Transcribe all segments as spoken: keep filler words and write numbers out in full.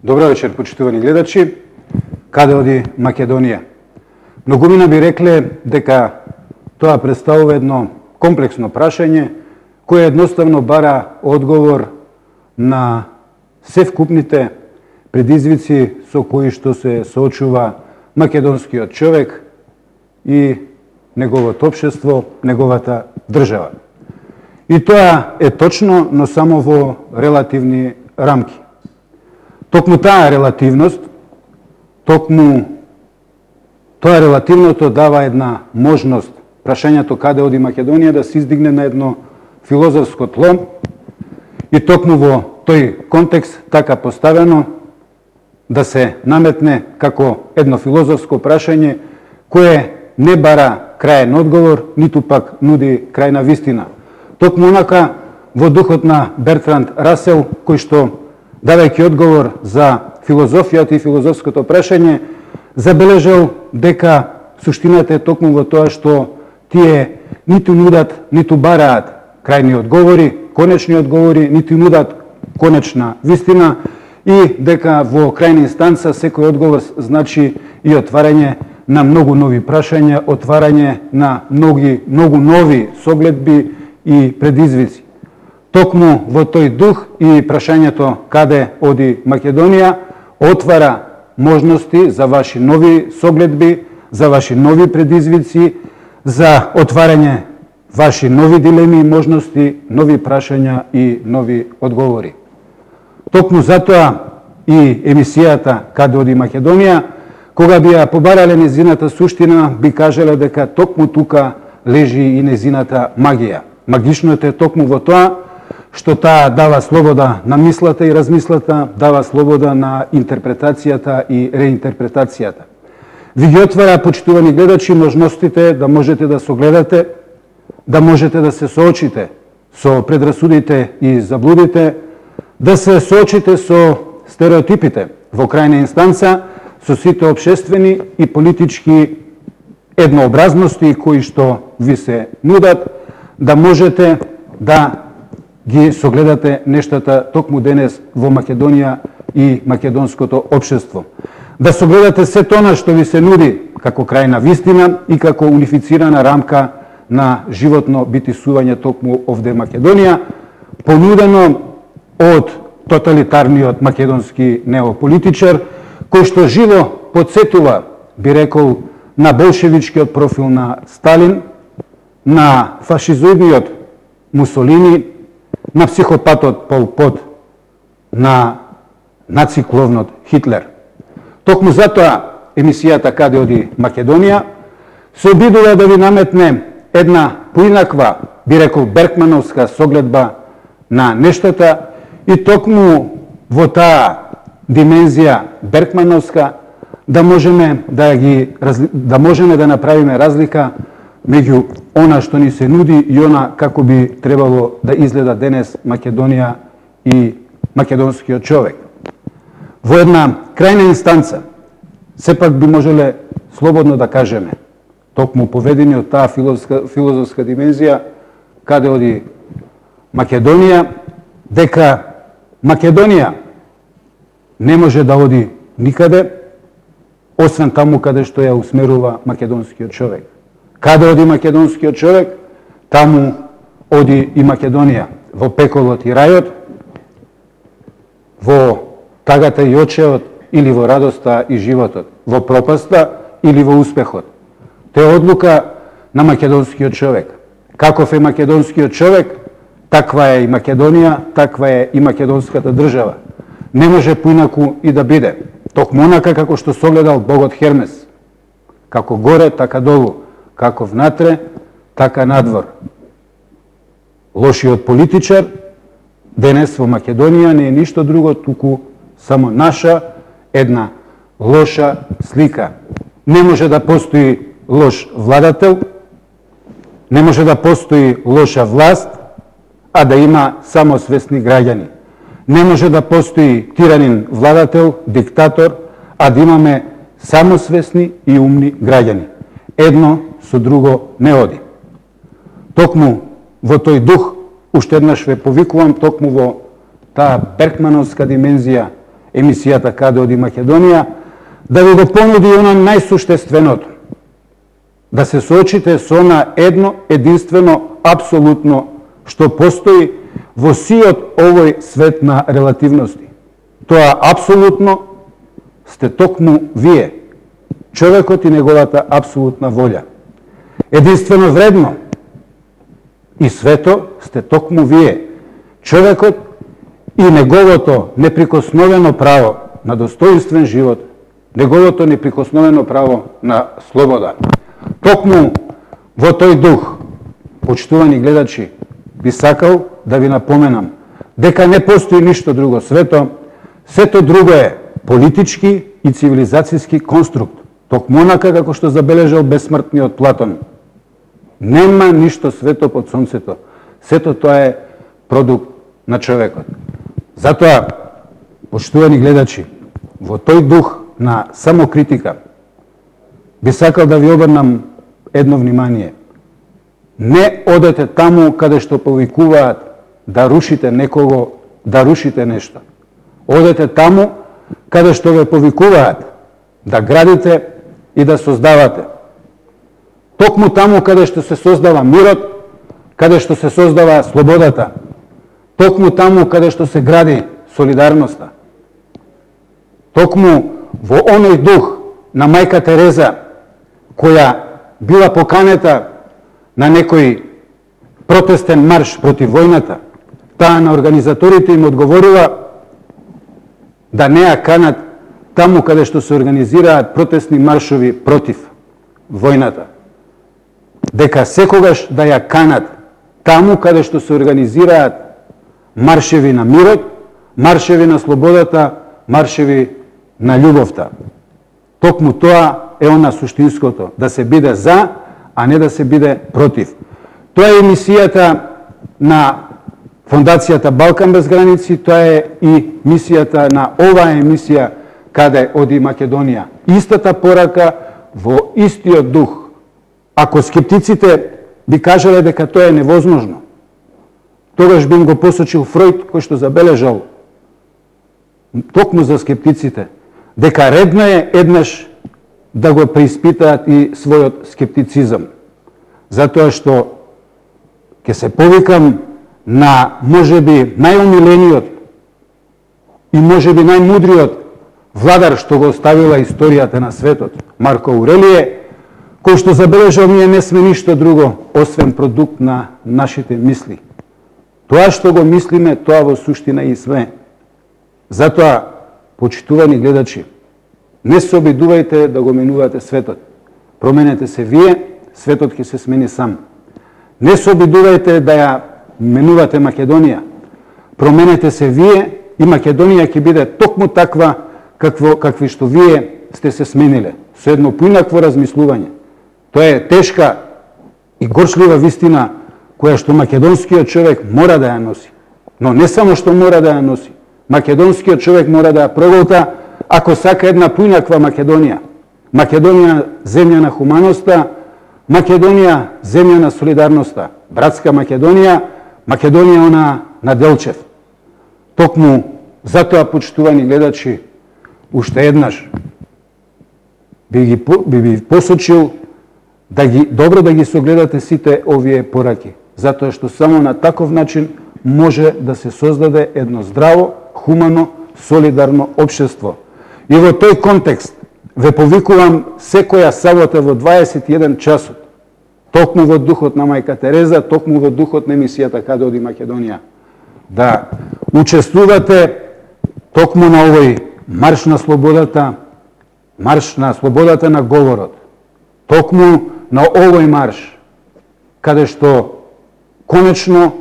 Добро вечер, почитувани гледачи. Каде оди Македонија? Многумина би рекле дека тоа представува едно комплексно прашање кое едноставно бара одговор на севкупните предизвици со кои што се соочува македонскиот човек и неговото општество, неговата држава. И тоа е точно, но само во релативни рамки. Токму таа релативност, токму тоа релативното дава една можност прашањето каде оди Македонија да се издигне на едно филозофско тло и токму во тој контекст така поставено да се наметне како едно филозофско прашање кое не бара краен одговор, ниту пак нуди крајна вистина. Токму онака во духот на Бертранд Расел, кој што давајќи одговор за филозофијата и филозофското прашање, забележал дека суштината е токму во тоа што тие ниту нудат, ниту бараат крајни одговори, конечни одговори, ниту нудат конечна вистина и дека во крајна инстанца секој одговор значи и отварање на многу нови прашања, отварање на многу, многу нови согледби и предизвици. Токму во тој дух и прашањето каде оди Македонија отвара можности за ваши нови согледби, за ваши нови предизвици, за отварање ваши нови дилеми, можности, нови прашања и нови одговори. Токму затоа и емисијата Каде оди Македонија, кога би ја побарале незината суштина, би кажале дека токму тука лежи и незината магија. Магичното е токму во тоа што таа дава слобода на мислата и размислата, дава слобода на интерпретацијата и реинтерпретацијата. Ви ги отвара, почитувани гледачи, можностите да можете да согледате, да можете да се соочите со предрасудите и заблудите, да се соочите со стереотипите, во крајна инстанца со сите општествени и политички еднообразности кои што ви се нудат, да можете да ги согледате нештата токму денес во Македонија и македонското општество. Да согледате се тоа што ви се нуди како крајна вистина и како унифицирана рамка на животно битисување токму овде Македонија, понудено од тоталитарниот македонски неополитичар, кој што живо подсетува, би рекол, на болшевичкиот профил на Сталин, на фашизоидниот Мусолини, на психопатот Пол Пот, на нацикловнот Хитлер. Токму затоа емисијата Каде оди Македонија се обидува да ви наметне една поинаква, би рекол, Беркмановска согледба на нештата и токму во таа димензија Беркмановска да можеме да ги да можеме да направиме разлика меѓу она што ни се нуди и она како би требало да изгледа денес Македонија и македонскиот човек. Во една крајна инстанца, сепак би можеле слободно да кажеме, токму поведени од таа филозофска, филозофска димензија, каде оди Македонија, дека Македонија не може да оди никаде, освен таму каде што ја усмерува македонскиот човек. Каде оди македонскиот човек, таму оди и Македонија, во пеколот и рајот, во тагата и очеот или во радоста и животот, во пропаста или во успехот. Тоа е одлука на македонскиот човек. Каков е македонскиот човек, таква е и Македонија, таква е и македонската држава. Не може поинаку и да биде. Токму онака како што согледал богот Хермес. Како горе, така долу. Како внатре, така надвор. Лошиот политичар денес во Македонија не е ништо друго, туку само наша една лоша слика. Не може да постои лош владател, не може да постои лоша власт, а да има само свесни граѓани. Не може да постои тиранин владател, диктатор, а да имаме само свесни и умни граѓани. Едно со друго не оди. Токму во тој дух, уште еднаш ве повикувам, токму во таа Беркмановска димензија емисијата Каде оди Македонија, да ви го понуди она најсуштественото. Да се соочите со она едно, единствено, апсолутно, што постои во сиот овој свет на релативности. Тоа апсолутно сте токму вие, човекот и неговата апсолутна волја. Единствено вредно и свето сте токму вие, човекот и неговото неприкосновено право на достоинствен живот, неговото неприкосновено право на слобода. Токму во тој дух, почитувани гледачи, би сакал да ви напоменам дека не постои ништо друго свето, сето друго е политички и цивилизацијски конструкт, токму онака како што забележал бесмртниот Платон. Нема ништо свето под сонцето, сето тоа е продукт на човекот. Затоа, почитувани гледачи, во тој дух на самокритика, би сакал да ви обрнам едно внимание. Не одете таму каде што повикуваат да рушите некого, да рушите нешто. Одете таму каде што ве повикуваат да градите и да создавате. Токму таму каде што се создава мирот, каде што се создава слободата. Токму таму каде што се гради солидарноста. Токму во оној дух на мајка Тереза, која била поканета на некој протестен марш против војната, таа на организаторите им одговорила да не ја канат таму каде што се организираат протестни маршови против војната. Дека секогаш да ја канат таму каде што се организираат маршеви на мирот, маршеви на слободата, маршеви на љубовта. Токму тоа е она суштинското, да се биде за, а не да се биде против. Тоа е мисијата на Фондацијата Балкан без граници, тоа е и мисијата на оваа емисија Каде оди Македонија. Истата порака во истиот дух. Ако скептиците би кажале дека тоа е невозможно, тогаш би им го посочил Фројд, кој што забележал токму за скептиците, дека редно е еднаш да го преиспитаат и својот скептицизам. Затоа што ќе се повикам на можеби најомилениот и можеби најмудриот владар што го оставила историјата на светот, Марко Аурелије, кој што забележал ние не сме ништо друго освен продукт на нашите мисли. Тоа што го мислиме, тоа во суштина и сме. Затоа, почитувани гледачи, не се обидувајте да го менувате светот. Променете се вие, светот ќе се смени сам. Не се обидувајте да ја менувате Македонија. Променете се вие и Македонија ќе биде токму таква какво, какви што вие сте се смениле. Со едно поинакво размислување. Тоа е тешка и горчлива вистина која што македонскиот човек мора да ја носи. Но не само што мора да ја носи. Македонскиот човек мора да ја проголта ако сака една поинаква Македонија. Македонија земја на хуманоста, Македонија земја на солидарноста, братска Македонија, Македонија она на Делчев. Токму затоа, почитувани гледачи, уште еднаш би ги би ви посочил да ги добро да ги согледате сите овие пораки, затоа што само на таков начин може да се создаде едно здраво, хумано, солидарно општество. И во тој контекст ве повикувам секоја сабота во дваесет и еден часот, токму во духот на мајка Тереза, токму во духот на емисијата Каде оди Македонија, да учествувате токму на овој марш на слободата, марш на слободата на говорот, токму на овој марш, каде што конечно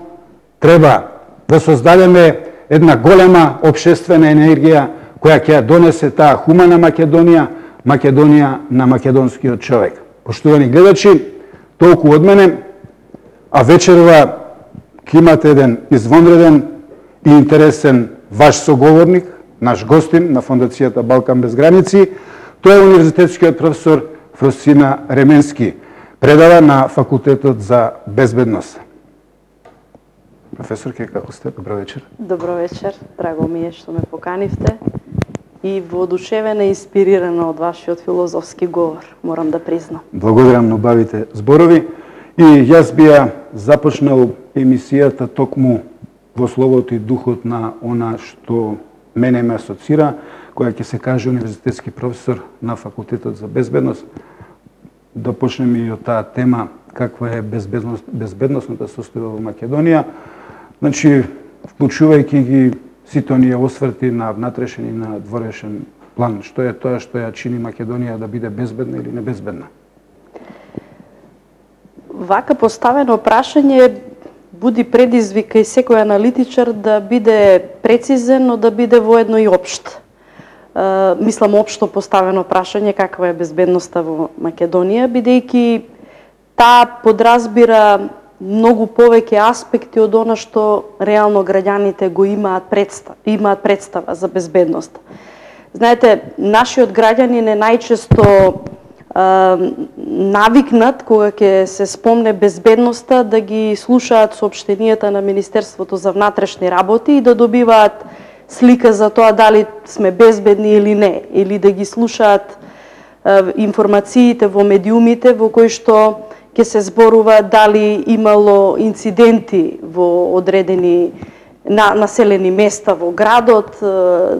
треба да создадеме една голема општествена енергија која ќе ја донесе таа хумана Македонија, Македонија на македонскиот човек. Поштувани гледачи, толку од мене, а вечерва ќе имате еден извонреден и интересен ваш соговорник, наш гостин на Фондацијата Балкан без граници. Тој е универзитетскиот професор Фросина Ременски, предава на Факултетот за безбедност. Професорке, како сте? Добро вечер. Добро вечер, драго ми е што ме поканивте. и воодушевена и инспирирана од вашиот филозофски говор, морам да признам. Благодарам на убавите зборови. И јас би ја започнал емисијата токму во словото и духот на она што мене ме асоцира, која ќе се каже универзитетски професор на Факултетот за безбедност. Да почнеме и од таа тема, каква е безбедност, безбедносната состојба во Македонија. Значи, вклучувајќи ги сите оние осврти на внатрешен и на дворешен план, што е тоа што ја чини Македонија да биде безбедна или небезбедна? Вака поставено прашање буди предизвик и секој аналитичар да биде прецизен, но да биде воедно и општ. Uh, мислам општо поставено прашање каква е безбедноста во Македонија, бидејќи таа подразбира многу повеќе аспекти од она што реално граѓаните го имаат представа, имаат представа за безбедност. Знаете, нашиот граѓанин е најчесто Uh, навикнат кога ќе се спомне безбедноста да ги слушаат соопштенијата на Министерството за внатрешни работи и да добиваат слика за тоа дали сме безбедни или не, или да ги слушаат uh, информациите во медиумите во кои што ќе се зборува дали имало инциденти во одредени на населени места во градот,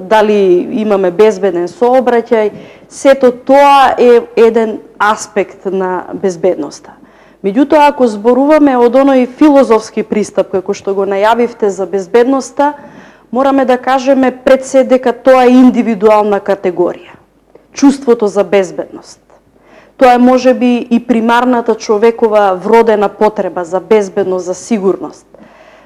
дали имаме безбеден сообраќај. Сето тоа е еден аспект на безбедноста. Меѓутоа, ако зборуваме од оној филозофски пристап, како што го најавивте за безбедноста, мораме да кажеме пред се дека тоа е индивидуална категорија. Чувството за безбедност. Тоа е можеби и примарната човекова вродена потреба за безбедност, за сигурност.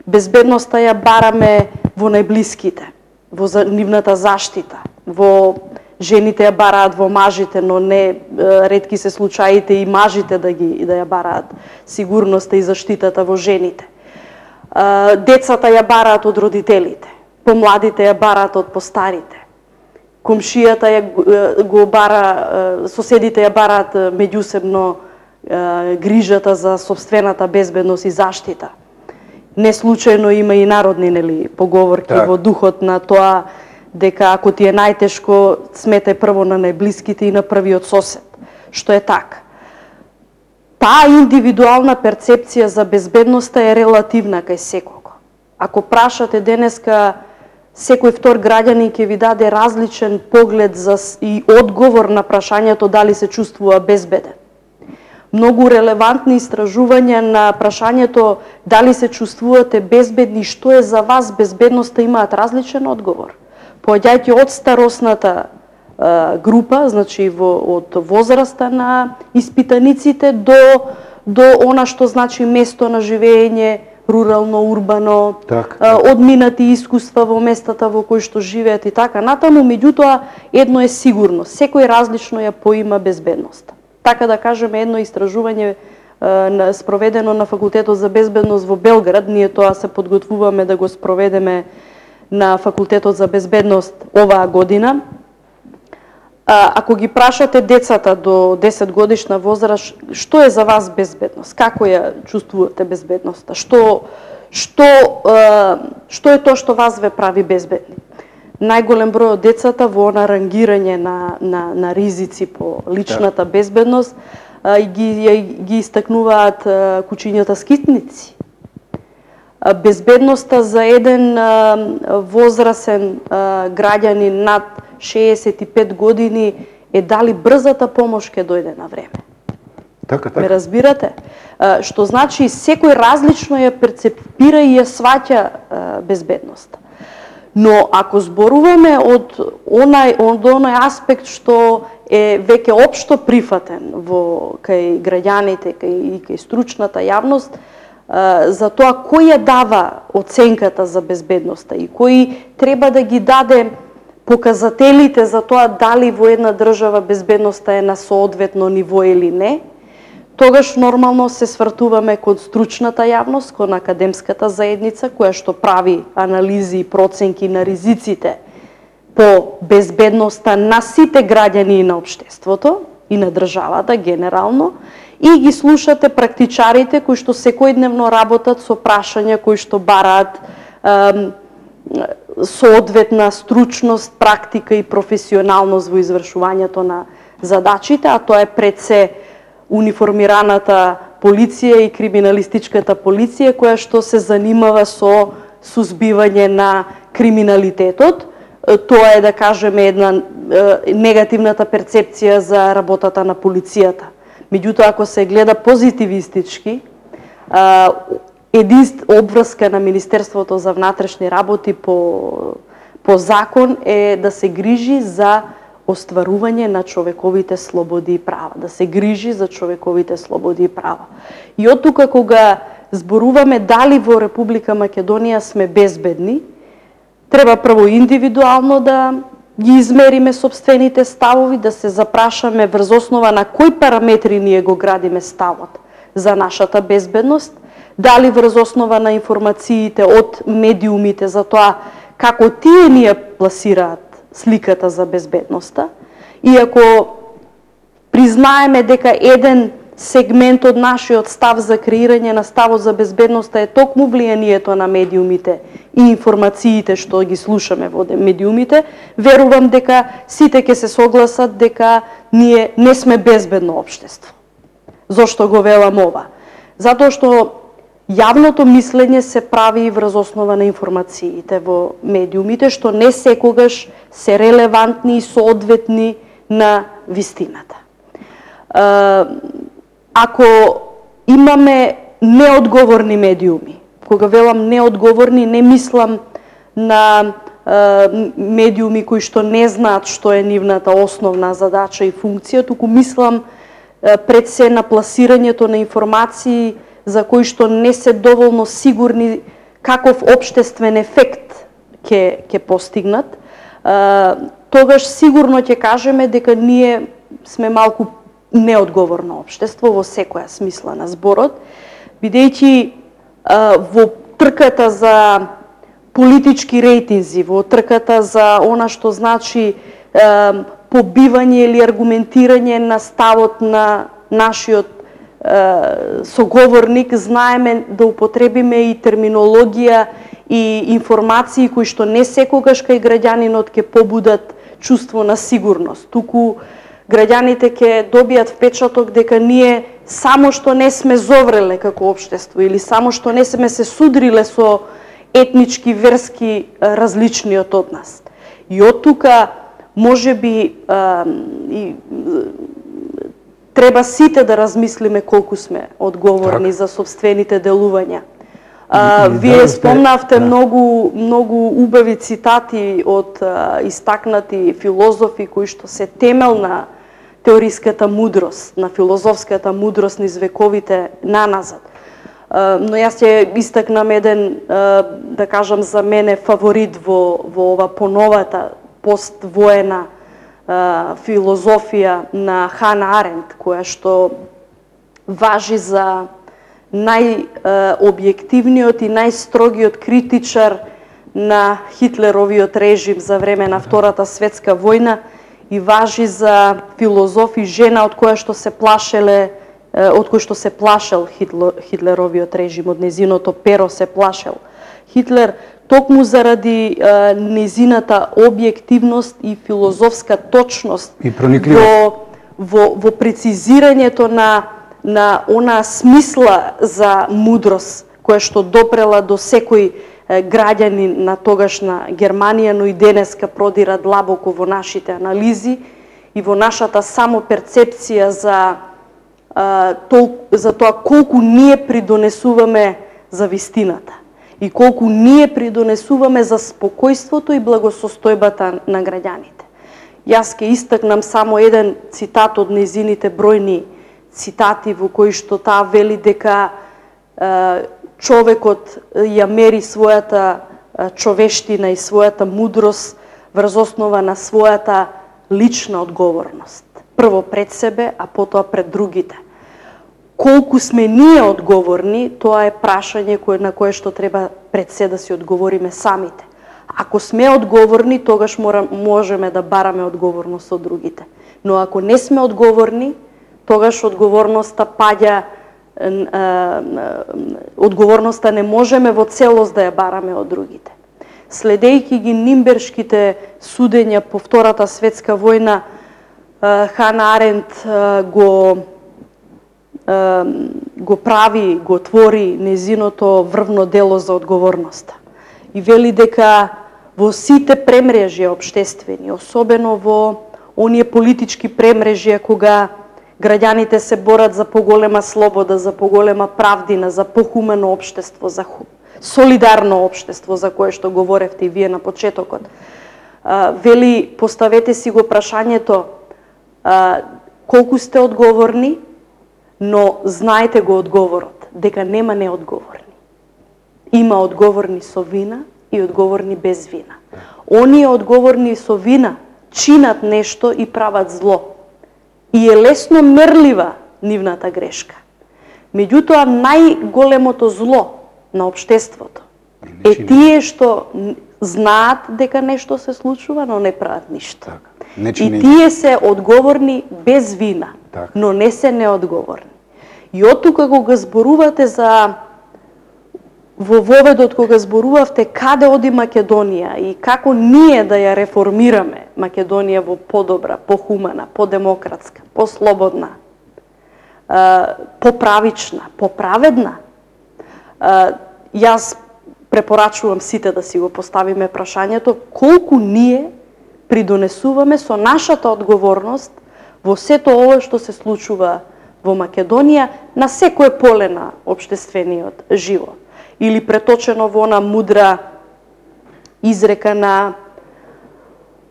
Безбедноста ја бараме во најблиските, во нивната заштита, во жените ја бараат во мажите, но не ретки се случаите и мажите да ги да ја бараат сигурноста и заштитата во жените. Децата ја бараат од родителите, помладите ја бараат од постарите. Комшијата ја го бара, соседите ја бараат меѓусебно грижата за сопствената безбедност и заштита. Не случајно има и народни нели поговорки так. Во духот на тоа дека ако ти е најтешко, сметај прво на најблиските и на првиот сосед, што е така. Таа индивидуална перцепција за безбедноста е релативна кај секого. Ако прашате денеска, секој втор граѓанин ќе ви даде различен поглед за и одговор на прашањето дали се чувствува безбеден. Многу релевантни истражувања на прашањето дали се чувствувате безбедни, што е за вас безбедноста, имаат различен одговор. Поаѓајќи од старосната е, група, значи во, од возраста на испитаниците до, до она што значи место на живење, рурално, урбано, так, так. Е, одминати искуства во местата во кои што живеат и така натаму, меѓутоа едно е сигурно, секој различно ја поима безбедноста. Така да кажеме, едно истражување е, спроведено на Факултетот за безбедност во Белград, ние тоа се подготвуваме да го спроведеме на Факултетот за безбедност оваа година. Ако ги прашате децата до десет годишна возраст, што е за вас безбедност? Како ја чувствувате безбедноста? Што, што, што е тоа што вас ве прави безбедни? Најголем број од децата во она рангирање на, на, на ризици по личната да. безбедност ги, ги истакнуваат кучињата скитници. Безбедноста за еден а, возрасен а, граѓанин над шеесет и пет години е дали брзата помош ќе дојде на време. Така, така. Ме разбирате? А, што значи секој различно ја перцепира и ја сваќа а, безбедноста. Но ако зборуваме од онај од онај аспект што е веќе општо прифатен во кај граѓаните, кај и кај стручната јавност, за тоа кој ја дава оценката за безбедноста и кој треба да ги даде показателите за тоа дали во една држава безбедноста е на соодветно ниво или не, тогаш нормално се свртуваме кон стручната јавност, кон академската заедница, која што прави анализи и проценки на ризиците по безбедноста на сите граѓани на општеството и на државата генерално, и ги слушате практичарите кои што секојдневно работат со прашања кои што бараат е, соодветна стручност, практика и професионалност во извршувањето на задачите, а тоа е пред се униформираната полиција и криминалистичката полиција која што се занимава со сузбивање на криминалитетот. Тоа е, да кажеме, една негативната перцепција за работата на полицијата. Меѓутоа, ако се гледа позитивистички, единст обврска на Министерството за внатрешни работи по, по закон е да се грижи за остварување на човековите слободи и права, да се грижи за човековите слободи и права. И од тука кога зборуваме дали во Република Македонија сме безбедни, треба прво индивидуално да ги измериме собствените ставови, да се запрашаме врз основа на кои параметри ние го градиме ставот за нашата безбедност, дали врз основа на информациите од медиумите за тоа како тие ние пласираат сликата за безбедноста, и ако признаеме дека еден сегмент од нашиот став за креирање на ставот за безбедноста е токму влијанието на медиумите и информациите што ги слушаме во медиумите, верувам дека сите ќе се согласат дека ние не сме безбедно општество. Зошто го велам ова? Затоа што јавното мислење се прави врз основа на информациите во медиумите, што не секогаш се релевантни и соодветни на вистината. Ако имаме неодговорни медиуми, кога велам неодговорни, не мислам на медиуми кои што не знаат што е нивната основна задача и функција, туку мислам пред се на пласирањето на информации за кои што не се доволно сигурни каков општествен ефект ќе ќе постигнат, тогаш сигурно ќе кажеме дека ние сме малку неодговорно општество во секоја смисла на зборот, бидејќи во трката за политички рейтинзи, во трката за она што значи побивање или аргументирање на ставот на нашиот соговорник, знаеме да употребиме и терминологија и информации кои што не секогаш кај граѓанинот ќе побудат чувство на сигурност, туку граѓаните ќе добијат впечаток дека ние само што не сме зовреле како општество или само што не сме се судриле со етнички, верски различниот од нас. И од тука можеби и треба сите да размислиме колку сме одговорни так за собствените делувања. А, вие спомнавте да. многу многу убави цитати од а, истакнати филозофи кои што се темел на теориската мудрост, на филозофската мудрост низ вековите наназад. А, но јас ќе истакнам еден, а, да кажам за мене, фаворит во, во ова поновата поствоена а, филозофија на Хана Аренд, која што важи за најобјективниот и најстрогиот критичар на Хитлеровиот режим за време на Втората светска војна и важи за филозофи жена од која што се плашеле, од кој што се плашел Хитлеровиот режим, од незиното перо се плашел Хитлер, токму заради незината објективност и филозофска точност и во, во, во прецизирањето на на она смисла за мудрост која што допрела до секој граѓанин на тогашна Германија, но и денеска продира длабоко во нашите анализи и во нашата самоперцепција за за тоа колку ние придонесуваме за вистината и колку ние придонесуваме за спокојството и благосостојбата на граѓаните. Јас ќе истакнам само еден цитат од незините бројни цитати во кои што таа вели дека е, човекот ја мери својата е, човештина и својата мудрост врз основа на својата лична одговорност. Прво пред себе, а потоа пред другите. Колку сме ние одговорни, тоа е прашање кое, на кое што треба пред се да си одговориме самите. Ако сме одговорни, тогаш мора, можеме да бараме одговорност од другите. Но ако не сме одговорни, тогаш одговорноста паѓа, одговорноста не можеме во целост да ја бараме од другите. следејќи ги нимбершките судења по Втората светска војна, Хана Аренд го го прави, го твори незиното врвно дело за одговорноста. И вели дека во сите премрежја обштествени, особено во оние политички премрежја кога граѓаните се борат за поголема слобода, за поголема правдина, за похумено општество, за солидарно општество, за кое што говоревте и вие на почетокот. Вели, поставете си го прашањето колку сте одговорни, но знаете го одговорот, дека нема неодговорни. Има одговорни со вина и одговорни без вина. Оние одговорни со вина чинат нешто и прават зло. И е лесно мерлива нивната грешка. Меѓутоа, најголемото зло на општеството е тие што знаат дека нешто се случува, но не прават ништо. И тие се одговорни без вина, но не се неодговорни. И од тука кога зборувате за во воведот кога зборувавте каде оди Македонија и како ние да ја реформираме Македонија во подобра, похумана, подемократска, послободна, поправична, поправедна, јас препорачувам сите да си го поставиме прашањето колку ние придонесуваме со нашата одговорност во сето ова што се случува во Македонија на секое поле на општествениот живот. Или преточено во она мудра изрека на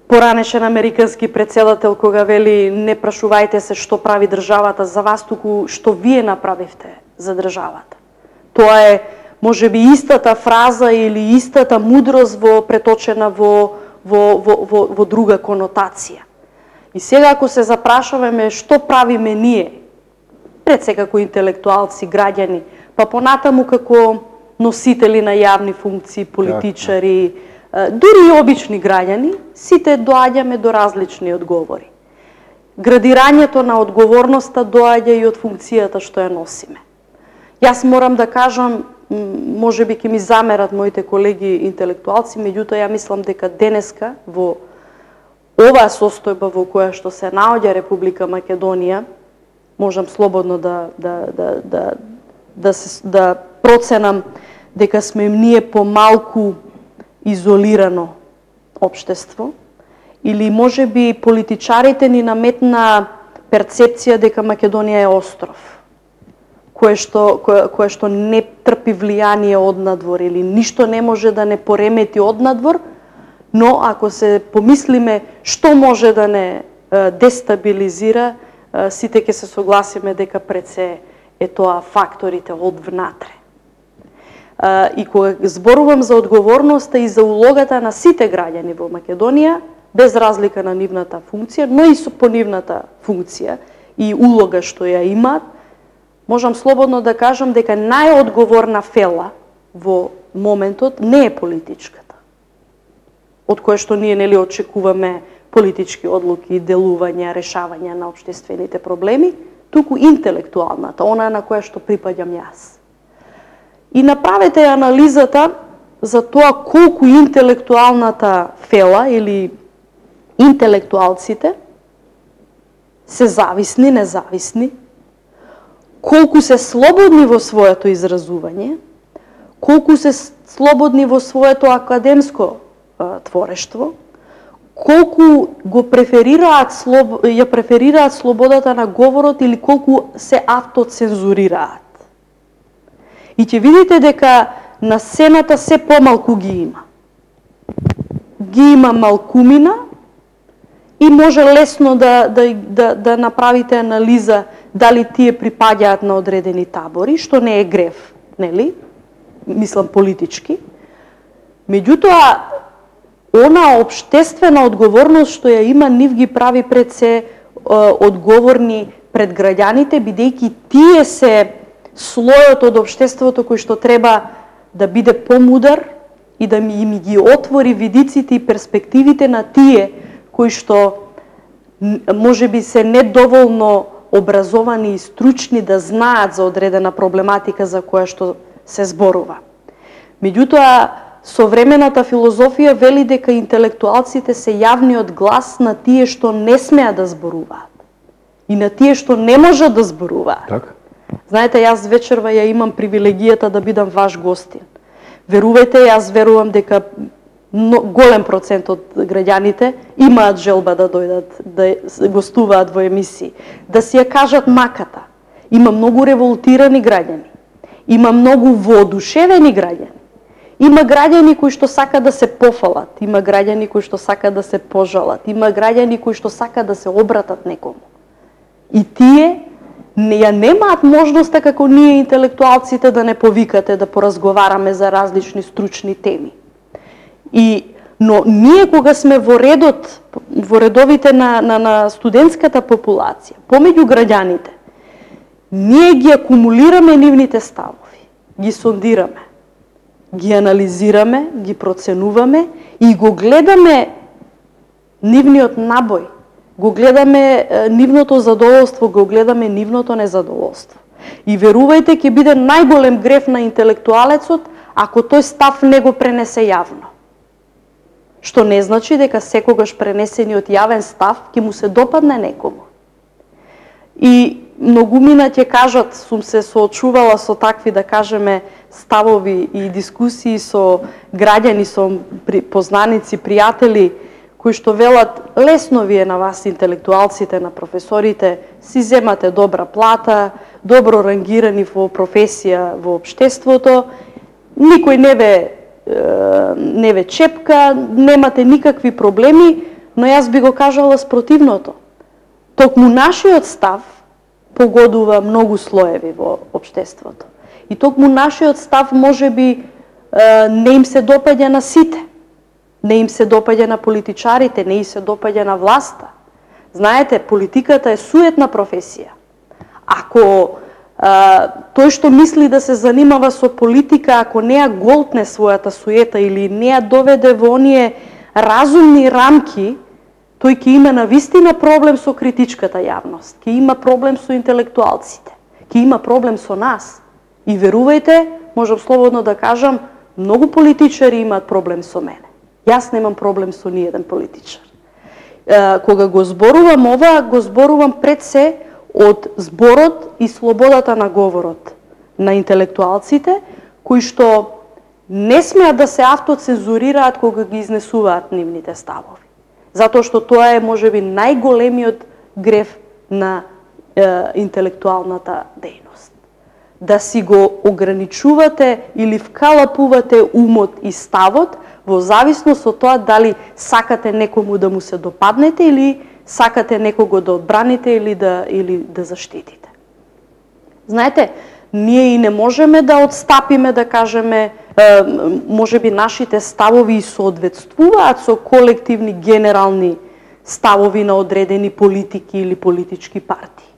поранешен американски претседател кога вели не прашувајте се што прави државата за вас, туку што вие направивте за државата. Тоа е можеби истата фраза или истата мудрост во преточена во во во во, во друга конотација. И сега ако се запрашуваме што правиме ние, пред се како интелектуалци, граѓани, па понатаму како носители на јавни функции, политичари, дури и обични граѓани, сите доаѓаме до различни одговори. Градирањето на одговорноста доаѓа и од функцијата што ја носиме. Јас морам да кажам, може би ќе ми замерат моите колеги интелектуалци, меѓутоа ја мислам дека денеска во оваа состојба во која што се наоѓа Република Македонија, можам слободно да да да да да се да проценам дека сме ние помалку изолирано општество, или може би политичарите ни наметна перцепција дека Македонија е остров, кое што кое, кое што не трпи влијание однадвор или ништо не може да не поремети однадвор, но ако се помислиме што може да не дестабилизира, сите ќе се согласиме дека пред се е тоа факторите од внатре. И кога зборувам за одговорноста и за улогата на сите граѓани во Македонија, без разлика на нивната функција, но и со по нивната функција и улога што ја имаат, можам слободно да кажам дека најодговорна фела во моментот не е политичката, од која што ние нели очекуваме политички одлуки, делувања, решавања на општествените проблеми, туку интелектуалната, она на која што припаѓам јас. И направете анализата за тоа колку интелектуалната фела или интелектуалците се зависни, независни, колку се слободни во своето изразување, колку се слободни во своето академско а, творештво, колку го преферираат слоб... ја преферираат слободата на говорот или колку се автоцензурираат. И ќе видите дека на сцената се помалку ги има. Ги има малкумина и може лесно да, да, да, да направите анализа дали тие припаѓаат на одредени табори, што не е грев, нели? Мислам политички. Меѓутоа, она општествена одговорност што ја има, нив ги прави пред се одговорни пред граѓаните, бидејќи тие се слојот од општеството кој што треба да биде помудар и да ми ги отвори видиците и перспективите на тие кои што може би се недоволно образовани и стручни да знаат за одредена проблематика за која што се зборува. Меѓутоа, современата филозофија вели дека интелектуалците се јавниот глас на тие што не смеат да зборуваат и на тие што не можат да зборуваат. Така. Знаете, јас вечерва ја имам привилегијата да бидам ваш гостин. Верувајте, јас верувам дека голем процент од граѓаните имаат желба да дојдат, да гостуваат во емисии, да си ја кажат маката. Има многу револтирани граѓани, има многу воодушевени граѓани, има граѓани кои што сакаат да се пофалат, има граѓани кои што сакаат да се пожалат, има граѓани кои што сакаат да се обратат некому. И тие не ја немаат можноста како ние интелектуалците да не повикате, да поразговараме за различни стручни теми. И, но ние кога сме во редот, во редовите на, на, на студентската популација, помеѓу граѓаните, ние ги акумулираме нивните ставови, ги сондираме, ги анализираме, ги проценуваме и го гледаме нивниот набој, го гледаме нивното задоволство, го гледаме нивното незадоволство. И верувајте, ќе биде најголем греф на интелектуалецот ако тој став не го пренесе јавно. Што не значи дека секогаш пренесениот јавен став ќе му се допадне некому. И многумина ќе кажат, сум се соочувала со такви, да кажеме, ставови и дискусии со граѓани, со познаници, пријатели, кои што велат, лесно ви е на вас интелектуалците, на професорите, си земате добра плата, добро рангирани во професија во општеството, никој не ве, не ве чепка, немате никакви проблеми, но јас би го кажала спротивното. Токму нашиот став погодува многу слоеви во општеството. И токму нашиот став може би не им се допаѓа на сите. Не им се допаѓа на политичарите, не им се допаѓа на власта. Знаете, политиката е суетна професија. Ако а, тој што мисли да се занимава со политика, ако не ја голтне својата суета или не ја доведе во оние разумни рамки, тој ќе има навистина проблем со критичката јавност, ќе има проблем со интелектуалците, ќе има проблем со нас. И верувајте, можам слободно да кажам, многу политичари имаат проблем со мене. Јас немам проблем со ниеден политичар. Е, кога го зборувам ова, го зборувам пред се од зборот и слободата на говорот на интелектуалците, кои што не смеат да се автоцензурираат кога ги изнесуваат нивните ставови. Затоа што тоа е можеби најголемиот греф на е, интелектуалната дејност. Да си го ограничувате или вкалапувате умот и ставот во зависност од тоа дали сакате некому да му се допаднете или сакате некого да одбраните или да, или да заштитите. Знаете, ние и не можеме да отстапиме, да кажеме, е, може би нашите ставови соодветствуваат со колективни генерални ставови на одредени политики или политички партии.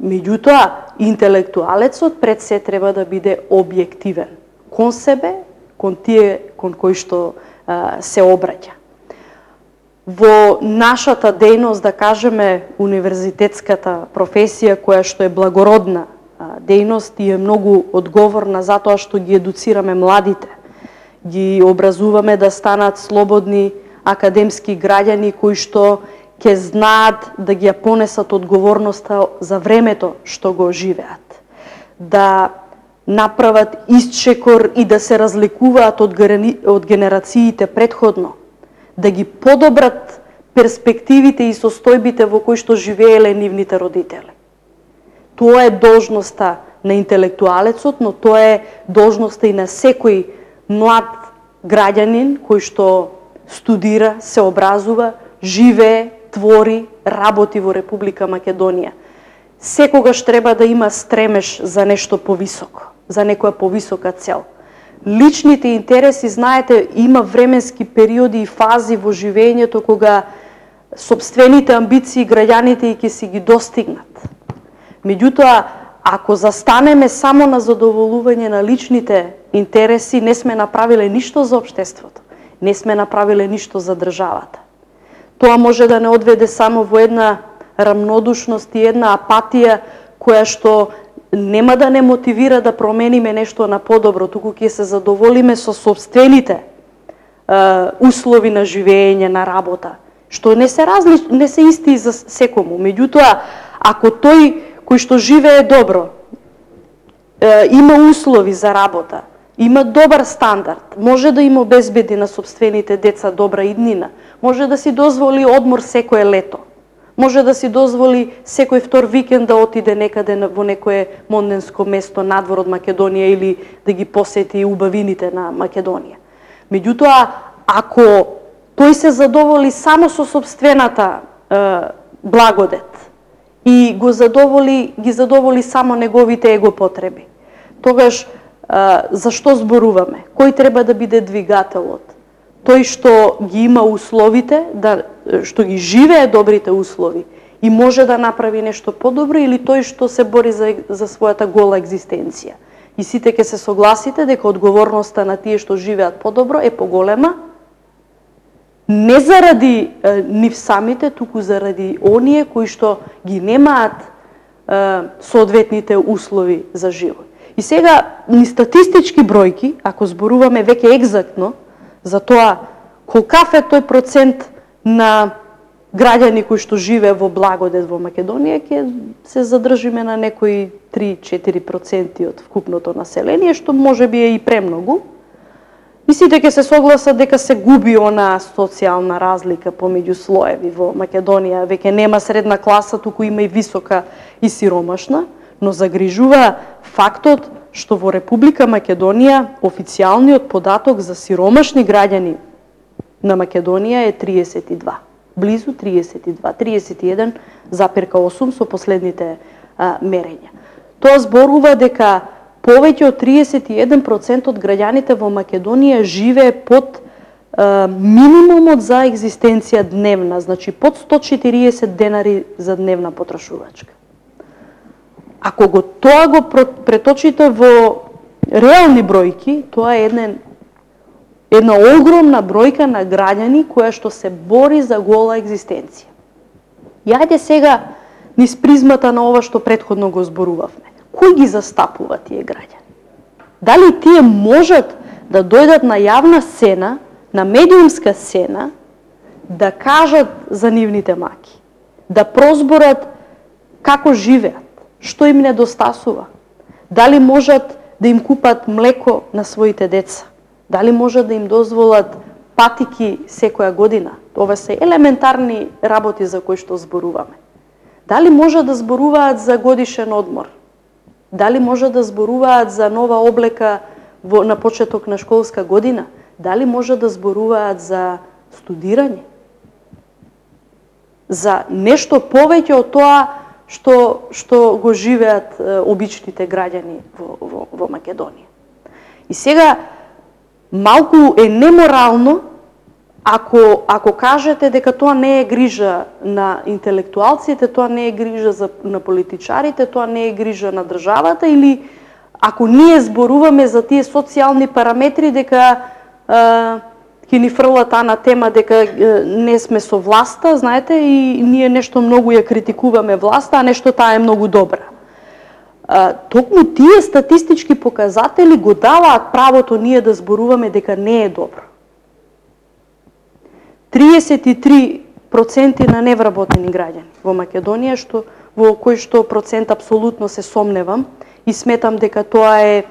Меѓутоа, интелектуалецот пред се треба да биде објективен кон себе, кон тие кон кои што а, се обраќа. Во нашата дејност, да кажеме, универзитетската професија, која што е благородна а, дејност и е многу одговорна затоа што ги едуцираме младите, ги образуваме да станат слободни академски граѓани кои што ќе знаат да ги ја понесат одговорноста за времето што го живеат. Да направат исчекор и да се разликуваат од, од генерациите предходно, да ги подобрат перспективите и состојбите во кои што живееле нивните родители. Тоа е должноста на интелектуалецот, но тоа е должноста и на секој млад граѓанин кој што студира, се образува, живее, твори, работи во Република Македонија. Секогаш треба да има стремеж за нешто повисоко, за некоја повисока цел. Личните интереси, знаете, има временски периоди и фази во живењето кога сопствените амбиции граѓаните ќе си ги достигнат. Меѓутоа, ако застанеме само на задоволување на личните интереси, не сме направиле ништо за општеството, не сме направиле ништо за државата. Тоа може да не одведе само во една рамнодушност и една апатија која што нема да не мотивира да промениме нешто на подобро, туку ќе се задоволиме со собствените е, услови на живење, на работа, што не се различ, не се исти за секому. Меѓутоа, ако тој кој што живее добро, е, има услови за работа, има добар стандард, може да им обезбеди на собствените деца добра иднина, може да си дозволи одмор секое лето, може да си дозволи секој втор викенд да отиде некаде во некое монденско место надвор од Македонија или да ги посети убавините на Македонија. Меѓутоа, ако тој се задоволи само со собствената е, благодет и го задоволи, ги задоволи само неговите его потреби, тогаш зашто зборуваме? Кој треба да биде двигателот? Тој што ги има условите, да, што ги живее добрите услови и може да направи нешто подобро, или тој што се бори за, за својата гола екзистенција? И сите ќе се согласите дека одговорноста на тие што живеат подобро е поголема, не заради е, нив самите, туку заради оние кои што ги немаат е, соодветните услови за живот. И сега, ни статистички бројки, ако зборуваме веќе екзактно, за тоа колкав е тој процент на граѓани кои што живее во благодет во Македонија, ќе се задржиме на некои три до четири проценти од вкупното население, што може би е и премногу. И сите ќе се согласат дека се губи она социјална разлика помеѓу слоеви во Македонија. Веќе нема средна класа, туку има и висока и сиромашна, но загрижува фактот што во Република Македонија официјалниот податок за сиромашни граѓани на Македонија е триесет и два. Близу триесет и два, триесет и еден запирка осум со последните а, мерења. Тоа зборува дека повеќе од триесет и еден процент од граѓаните во Македонија живее под а, минимумот за екзистенција дневна, значи под сто и четириесет денари за дневна потрошувачка. Ако го тоа го преточите во реални бројки, тоа е една, една огромна бројка на граѓани која што се бори за гола екзистенција. И ајде сега низ призмата на ова што претходно го зборувавме. Кој ги застапува тие граѓани? Дали тие можат да дојдат на јавна сцена, на медиумска сцена, да кажат за нивните маки, да прозборат како живеат, што им недостасува? Дали можат да им купат млеко на своите деца? Дали можат да им дозволат патики секоја година? Ова се елементарни работи за кои што зборуваме. Дали можат да зборуваат за годишен одмор? Дали можат да зборуваат за нова облека во, на почеток на школска година? Дали можат да зборуваат за студирање? За нешто повеќе од тоа што што го живеат е, обичните граѓани во, во, во Македонија. И сега малку е неморално ако ако кажете дека тоа не е грижа на интелектуалците, тоа не е грижа за на политичарите, тоа не е грижа на државата, или ако ние зборуваме за тие социјални параметри дека е, ќе ни фрлат таа на тема дека не сме со власта, знаете, и ние нешто многу ја критикуваме власта, а нешто таа е многу добра. А, токму тие статистички показатели го даваат правото ние да зборуваме дека не е добро. триесет и три проценти на невработени граѓани во Македонија, што во кој што процент апсолутно се сомневам и сметам дека тоа е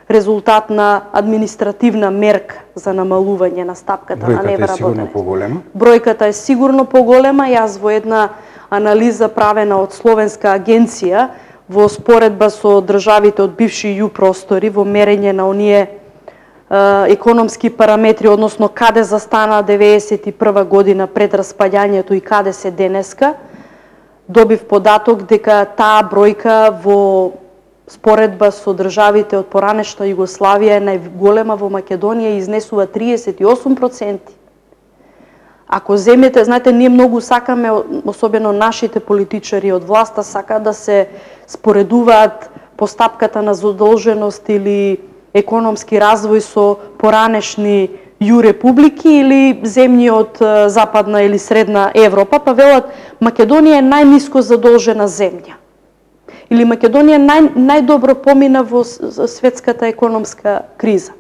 резултат на административна мерка за намалување на стапката на невработеност. Бројката е сигурно поголема. Јас во една анализа правена од Словенска агенција во споредба со државите од бивши ју простори во мерење на оние е, економски параметри, односно каде застана деветдесет и прва година пред распаѓањето и каде се денеска, добив податок дека таа бројка во споредба со државите од поранешна Југославија е најголема во Македонија и изнесува триесет и осум проценти. Ако земете, знаете, ние многу сакаме, особено нашите политичари од власта, сакаат да се споредуваат постапката на задолженост или економски развој со поранешни ју републики или земји од Западна или Средна Европа, па велат Македонија е најниско задолжена земја. Или Македонија нај, најдобро помина во светската економска криза.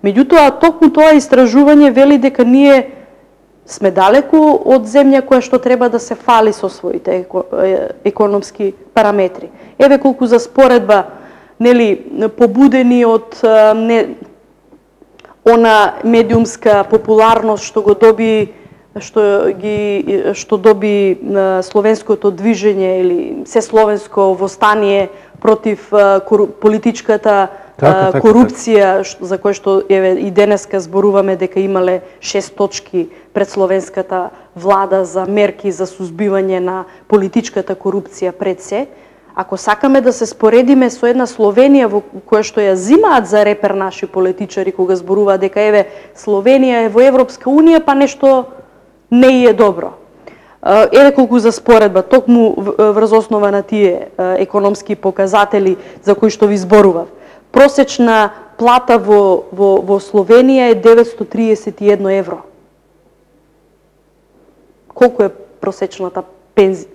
Меѓутоа, токму тоа истражување вели дека ние сме далеку од земја која што треба да се фали со своите економски параметри. Еве колку за споредба, нели, побудени од не, она медиумска популарност што го доби што ги што доби словенското движење или се словенско востание против кору, политичката така, корупција, така. За кој што еве и денеска зборуваме дека имале шест точки пред словенската влада за мерки за сузбивање на политичката корупција пред се. Ако сакаме да се споредиме со една Словенија во која што ја зимаат за репер наши политичари кога зборуваат дека еве Словенија е во Европска унија, па нешто не е добро. Еве колку за споредба, токму врз основа на тие економски показатели за кои што ви зборував. Просечна плата во, во, во Словенија е деветстотини триесет и едно евро. Колку е просечната пензи,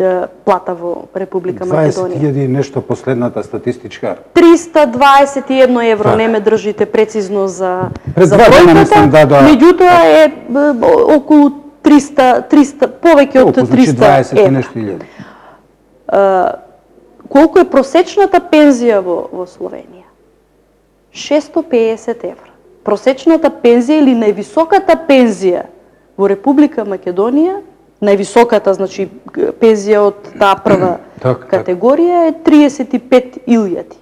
плата во Република Македонија? дваесет илјади нешто последната статистичка. триста дваесет и едно евро, так. Не ме држите прецизно за, Пред за бројката, да, да. Меѓутоа е околу триста, триста, повеќе од Колку, триста значи дваесет евра. и нешто илјади. Колку е просечната пензија во, во Словенија? шестоста и педесет евра. Просечната пензија или највисоката пензија во Република Македонија, највисоката, значи пензија од таа прва так, категорија е триесет и пет илјади.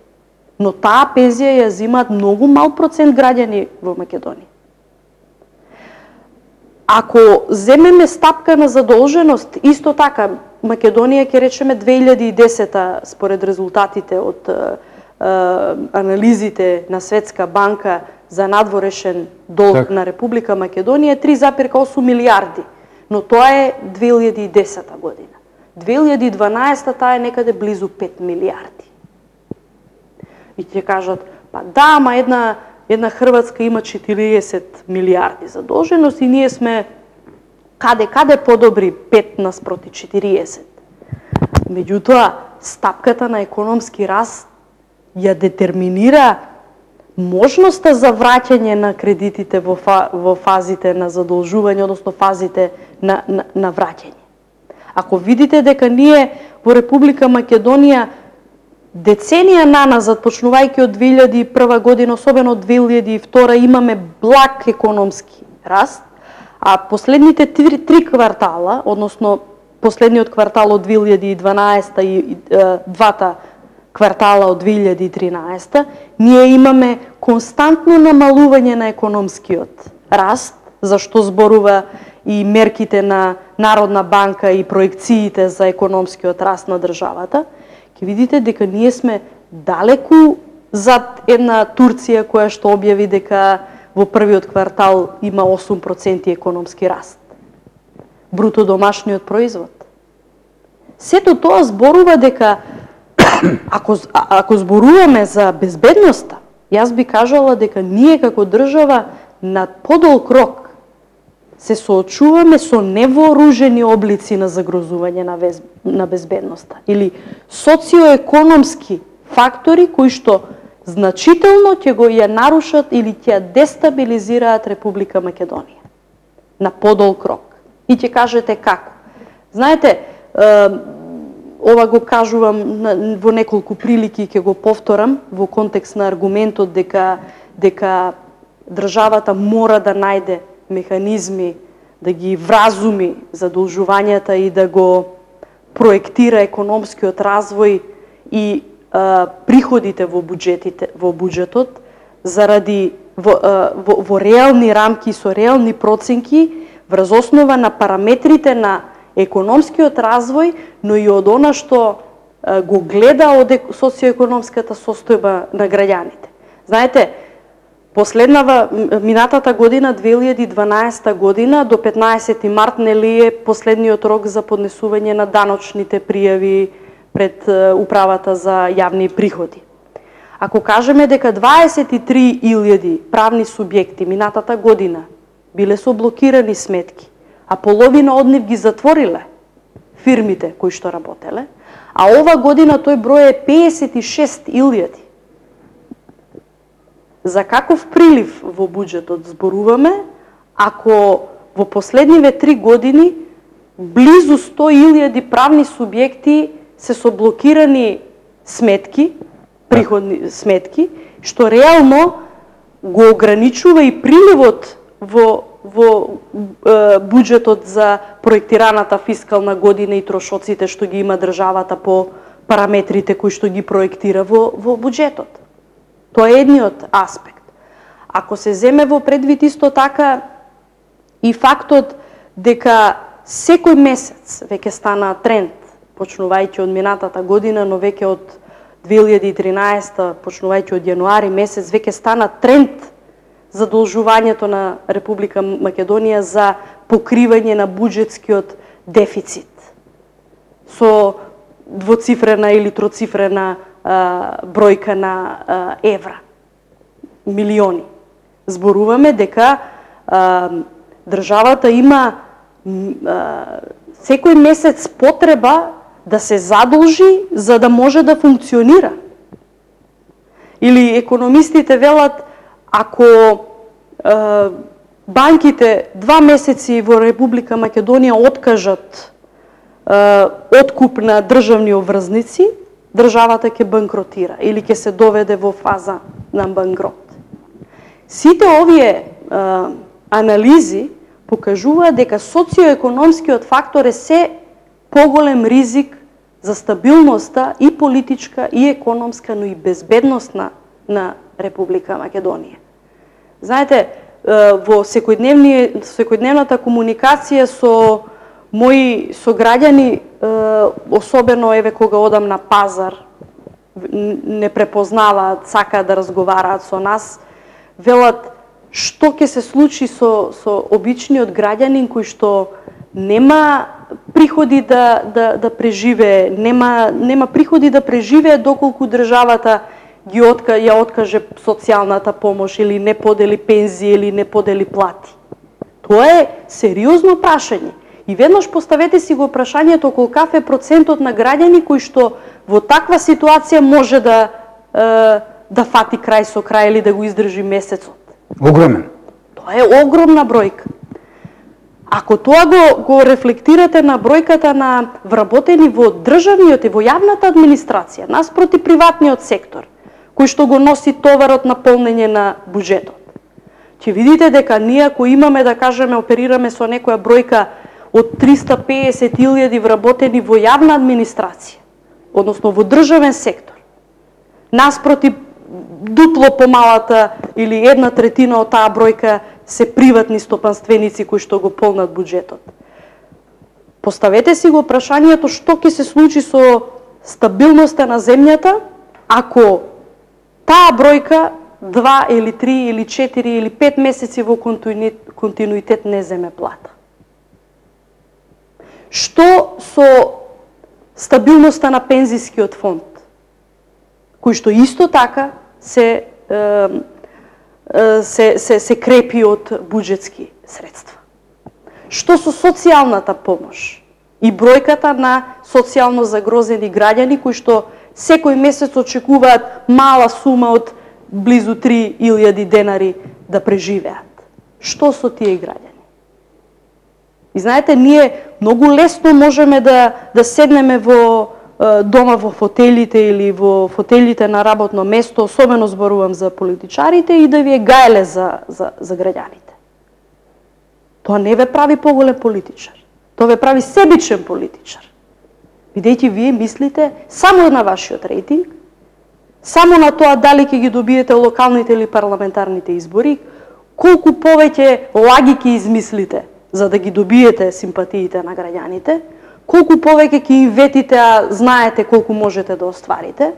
Но таа пензија ја зимаат многу мал процент граѓани во Македонија. Ако земеме стапка на задолженост, исто така Македонија ќе речеме две илјади и десета според резултатите од анализите на Светска банка за надворешен долг так. На Република Македонија три запир осум милијарди, но тоа е две илјади и десета година. две илјади и дванаесета таа е некаде близу пет милијарди. И ќе кажат, па да, ама една една Хрватска има четириесет милијарди задолженост и ние сме каде каде подобри пет наспроти четириесет. Меѓутоа, стапката на економски раст ја детерминира можноста за враќање на кредитите во, фа, во фазите на задолжување, односно фазите на, на, на враќање. Ако видите дека ние во Република Македонија деценија наназад, почнувајќи од две илјади и прва година, особено од две илјади и втора, имаме благ економски раст, а последните три, три квартала, односно последниот квартал од две илјади и дванаесета и, и е, двата квартала од две илјади и тринаесета, ние имаме константно намалување на економскиот раст, за што зборува и мерките на Народна банка и проекциите за економскиот раст на државата, ќе видите дека ние сме далеку зад една Турција која што објави дека во првиот квартал има осум проценти економски раст. Бруто домашниот производ. Сето тоа зборува дека ако, ако зборуваме за безбедноста, јас би кажала дека ние како држава на подолг рок се соочуваме со невооружени облици на загрозување на, вез... на безбедноста или социоекономски фактори кои што значително ќе го ја нарушат или ќе ја дестабилизираат Република Македонија на подолг рок. И ќе кажете како. Знаете, е, ова го кажувам на, во неколку прилики и ќе го повторам во контекст на аргументот дека дека државата мора да најде механизми да ги вразуми задолжувањата и да го проектира економскиот развој и а, приходите во буџетите во буџетот заради во, а, во, во реални рамки со реални проценки врз основа на параметрите на економскиот развој, но и од она што а, го гледа од социоекономската состојба на граѓаните. Знаете, последнава, минатата година, две илјади и дванаесета година, до петнаесети март, нели е последниот рок за поднесување на даночните пријави пред Управата за јавни приходи. Ако кажеме дека дваесет и три илјади правни субјекти минатата година биле со блокирани сметки, а половина од нив ги затвориле, фирмите кои што работеле, а ова година тој број е педесет и шест илјади. За каков прилив во буџетот зборуваме, ако во последниве три години близу сто илјади правни субјекти се со блокирани сметки, приходни сметки, што реално го ограничува и приливот во во е, буџетот за проектираната фискална година и трошоците што ги има државата по параметрите кои што ги проектира во во буџетот. Тоа е едниот аспект. Ако се земе во предвид исто така и фактот дека секој месец веќе стана тренд, почнувајќи од минатата година, но веќе од две илјади и тринаесета, почнувајќи од јануари месец, веќе стана тренд задолжувањето на Република Македонија за покривање на буџетскиот дефицит со двоцифрена или троцифрена а, бројка на а, евра, милиони. Зборуваме дека а, државата има а, секој месец потреба да се задолжи за да може да функционира. Или економистите велат, ако е, банките два месеци во Република Македонија откажат е, откуп на државни обврзници, државата ќе банкротира или ќе се доведе во фаза на банкрот. Сите овие е, анализи покажуваат дека социоекономскиот фактор е се поголем ризик за стабилноста и политичка, и економска, но и безбедностна на Република Македонија. Знаете, во секојдневната комуникација со мои сограѓани, особено еве кога одам на пазар, не препознаваат, сакаат да разговараат со нас, велат што ќе се случи со со обичниот граѓанин кој што нема приходи да да да преживее, нема нема приходи да преживее доколку државата ги отка, ја откаже социјалната помош или не подели пензии или не подели плати. Тоа е сериозно прашање. И веднаш поставете си го прашањето колкав е процентот на граѓани кои што во таква ситуација може да е, да фати крај со крај или да го издржи месецот. Огромен. Тоа е огромна бројка. Ако тоа го, го рефлектирате на бројката на вработени во државниот и во јавната администрација, наспроти приватниот сектор, кој што го носи товарот на полнење на буџетот, ќе видите дека ние ако имаме, да кажеме, оперираме со некоја бројка од триста педесет илјади вработени во јавна администрација, односно во државен сектор, наспроти дупло помалата или една третина од таа бројка се приватни стопанственици кои што го полнат буџетот. Поставете си го прашањето што ќе се случи со стабилноста на земјата ако таа бројка два или три или четири или пет месеци во континуитет не земе плата. Што со стабилноста на пензискиот фонд, кој што исто така се се се се крепи од буџетски средства. Што со социјалната помош и бројката на социјално загрозени граѓани кои што секој месец очекуваат мала сума од близу три илјади денари да преживеат. Што со тие граѓани? И знаете, ние многу лесно можеме да да седнеме во дома во фотелите или во фотелите на работно место, особено зборувам за политичарите, и да ви е гајле за, за, за граѓаните. Тоа не ве прави поголем политичар. Тоа ве прави себичен политичар. Бидејќи вие мислите само на вашиот рейтинг, само на тоа дали ќе ги добиете локалните или парламентарните избори, колку повеќе лаги ќе измислите за да ги добиете симпатиите на граѓаните, колку повеќе ќе им ветите, а знаете колку можете да остварите,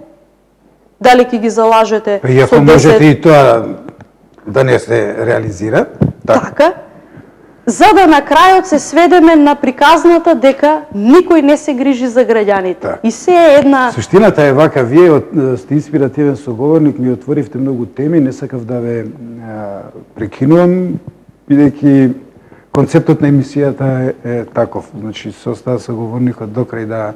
дали ќе ги залажете и ако со десет... можете и тоа да не се реализира. Так. Така, за да на крајот се сведеме на приказната дека никој не се грижи за граѓаните. Так. И се е една... Суштината е вака, вие сте инспиративен соговорник, ми отворивте многу теми, не сакав да ве а, прекинувам, бидејќи концептот на емисијата е, е таков. Значи, се остава соговорникот до крај да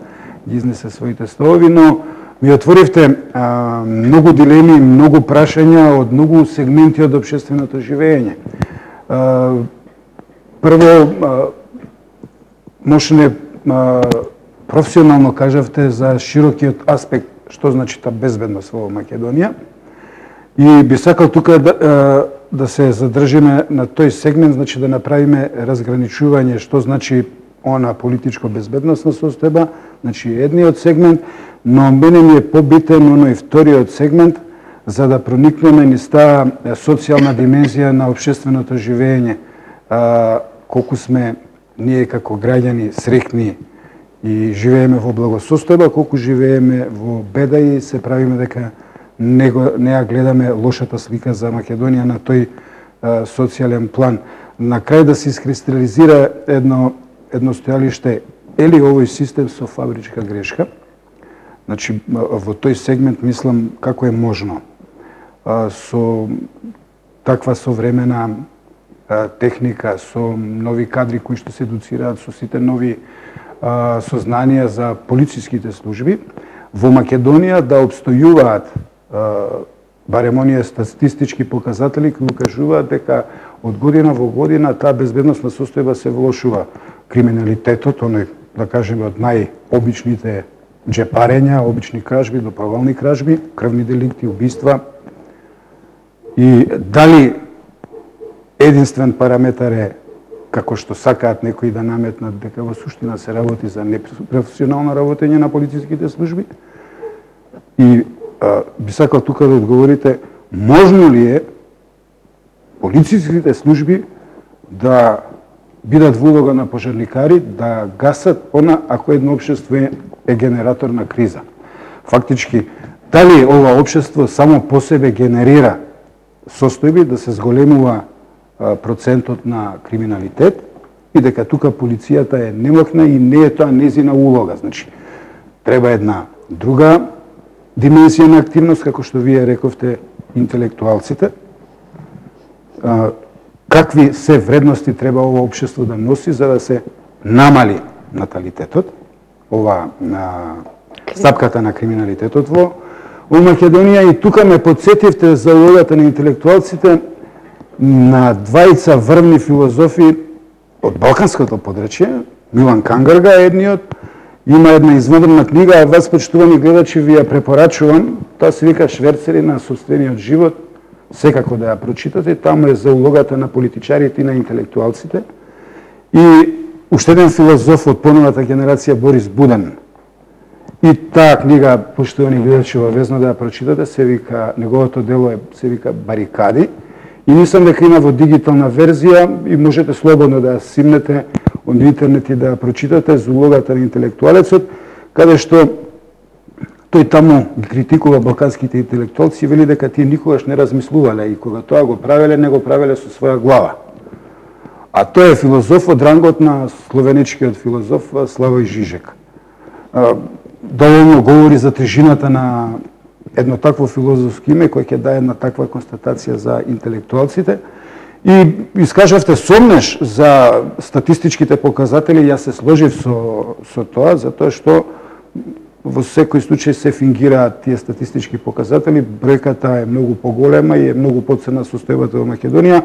ги изнесе своите ставови, но ми отворивте а, многу дилеми, многу прашања од многу сегменти од општественото живење. А, прво, а, можне а, професионално кажавте за широкиот аспект што значи та безбедност во Македонија. И би сакал тука да, да се задржиме на тој сегмент, значи да направиме разграничување што значи она политичко безбедносна состојба, значи едниот сегмент, но мене ми е побитен оној вториот сегмент за да проникнеме низ таа социјална димензија на општественото живење. А, колку сме ние како граѓани среќни и живееме во благосостојба, колку живееме во беда и се правиме дека не, го, не ја гледаме лошата слика за Македонија на тој а, социјален план. На крај да се искристализира едно, едно стојалиште, е ли овој систем со фабричка грешка? Значи, во тој сегмент мислам како е можно а, со таква современа а, техника, со нови кадри кои што се едуцираат, со сите нови а, сознанија за полициските служби, во Македонија да обстојуваат а, барем оние статистички показатели кои кажуваат дека од година во година таа безбедносна состојба се влошува. Криминалитетот, оној, да кажеме, од најобичните джепарења, обични кражби до провални кражби, крвни деликти, убиства. И дали единствен параметар е, како што сакаат некои да наметнат, дека во суштина се работи за непрофесионално работење на полициските служби? И а, би сакал тука да одговорите, можно ли е полициските служби да бидат во улога на пожарникари, да гасат она ако едно општество е, е генератор на криза. Фактички, дали ова општество само по себе генерира состојби да се зголемува а, процентот на криминалитет и дека тука полицијата е немокна и не е тоа незина улога. Значи, треба една друга димензија на активност, како што вие рековте, интелектуалците. А, какви се вредности треба ова општество да носи за да се намали наталитетот, ова на стапката на криминалитетот во, во Македонија. И тука ме подсетивте за улогата на интелектуалците на двајца врвни филозофи од балканското подречје. Милан Кангарга е едниот, има една извонредна книга, а вас, почитувани гледачи, ви ја препорачувам, таа се вика Шверцери на собствениот живот, секако да ја прочитате, таму е за улогата на политичарите и на интелектуалците. И уште еден филозоф од поновата генерација, Борис Буден. И таа книга, почитувани гледачи, обавезно да ја прочитате, се вика, неговото дело е, се вика Барикади. И мислам дека има во дигитална верзија и можете слободно да ја симнете од интернет и да ја прочитате за улогата на интелектуалецот, каде што тој таму ги критикува балканските интелектуалци и вели дека тие никогаш не размислувале и кога тоа го правеле, не го правеле со своја глава. А тој е филозоф од рангот на словенечкиот филозоф Славој Жижек. Доволно говори за тежината на едно такво филозофско име кој ќе даде една таква констатација за интелектуалците. И искажавте сомнеш за статистичките показатели, јас се сложив со, со тоа, затоа што во секој случај се фингираат тие статистички показатели, бројката е многу поголема и е многу подцена состојбата во Македонија,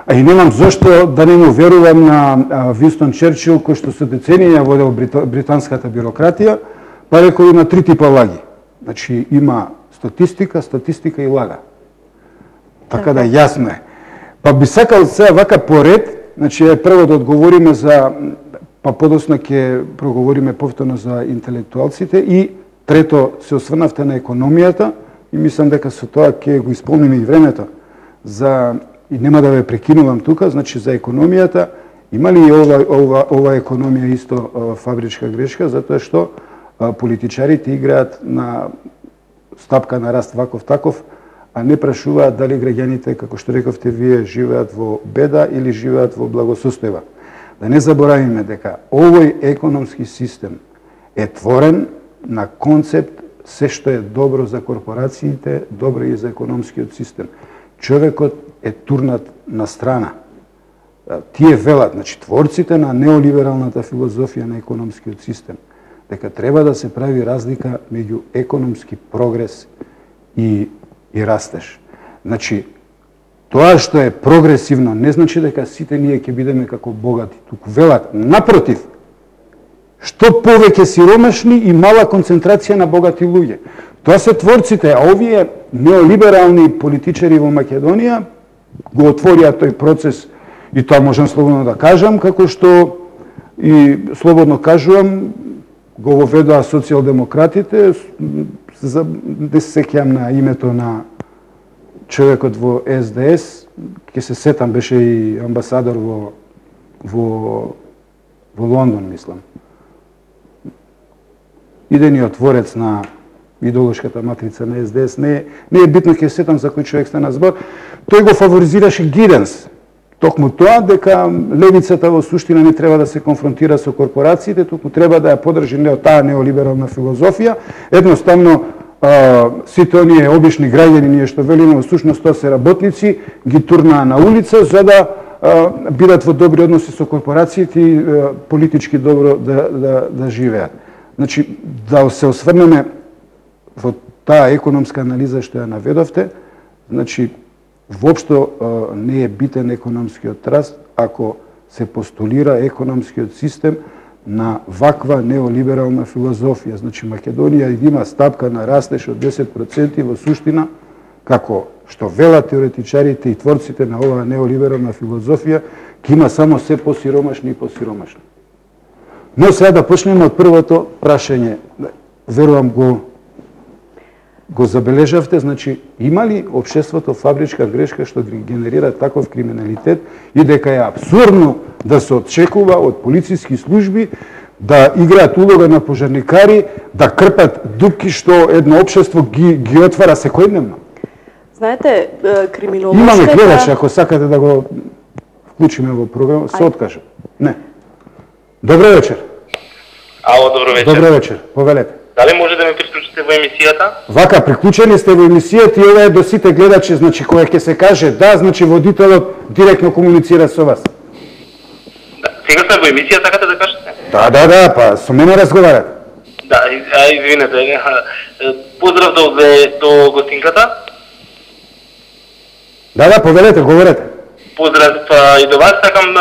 а и немам зошто да не му верувам на Винстон Черчил, кој што со децении ја водел британската бюрократија, па рекол има три типа лаги. Значи има статистика, статистика и лага. Така да јасно е. Па би сакал сега вака поред, значи прво да одговориме за, па подоцна ќе проговориме повторно за интелектуалците и трето се осврнавте на економијата и мислам дека со тоа ќе го исполниме и времето за и нема да ве прекинувам тука, значи за економијата има ли ова ова ова економија исто фабричка грешка, затоа што политичарите играат на стапка на раст ваков таков, а не прашуваат дали граѓаните, како што рековте вие, живеат во беда или живеат во благосостојба. Да не заборавиме дека овој економски систем е творен на концепт се што е добро за корпорациите, добро и за економскиот систем. Човекот е турнат на страна. тие велат, значи творците на неолибералната филозофија на економскиот систем, дека треба да се прави разлика меѓу економски прогрес и, и растеж. Значи, тоа што е прогресивно не значи дека сите ние ќе бидеме како богати. Туку велат, напротив, што повеќе сиромашни и мала концентрација на богати луѓе. Тоа се творците, а овие неолиберални политичари во Македонија го отворија тој процес, и тоа можам слободно да кажам, како што и слободно кажувам, го воведоа социјалдемократите, за да се сеќам на името на човекот во Ес Де Ес, ќе се сетам, беше и амбасадор во, во, во Лондон, мислам. Идениот творец на идеолошката матрица на Ес Де Ес, не, не е битно, ќе сетам за кој човек стана збор, тој го фаворизираше Гиденс. Токму тоа дека левицата во суштина не треба да се конфронтира со корпорациите, туку треба да ја подржи не таа неолиберална филозофија. Едноставно, а, сите оние обични граѓани, ние што велиме, во сушност тоа се работници, ги турнаа на улица за да а, бидат во добри односи со корпорациите и а, политички добро да, да, да живеат. Значи, да се осврнеме во таа економска анализа што ја наведовте, значи, воопшто не е битен економскиот раст ако се постулира економскиот систем на ваква неолиберална филозофија. Значи, Македонија има стапка на растеж од десет проценти во суштина, како што велат теоретичарите и творците на оваа неолиберална филозофија, ќе има само се посиромашни и посиромашни. Но сега да почнеме од првото прашање. Верувам го го забележавте, значи, има ли општеството фабричка грешка што генерира таков криминалитет и дека е абсурдно да се очекува од полициски служби да играат улога на пожарникари, да крпат дупки што едно општество ги, ги отвара секојдневно? Знаете, криминолошката... Имаме гледач, ако сакате да го вклучиме во програма, се откажам. Не. Добро вечер. Ало, добро вечер. Добро вечер, повелете. Дали може да ме приклучите во емисијата? Вака, приклучени сте во емисијата и ова е до сите гледачи, значи кога ќе се каже да, значи водителот директно комуницира со вас. Да, сега сме во емисија, сакате да кажете? Да, да, да, па со мене разговарате. Да, а, извинете. Поздрав до, до гостинката. Да, да, повелете, говорете. Поздрав и до вас. Сакам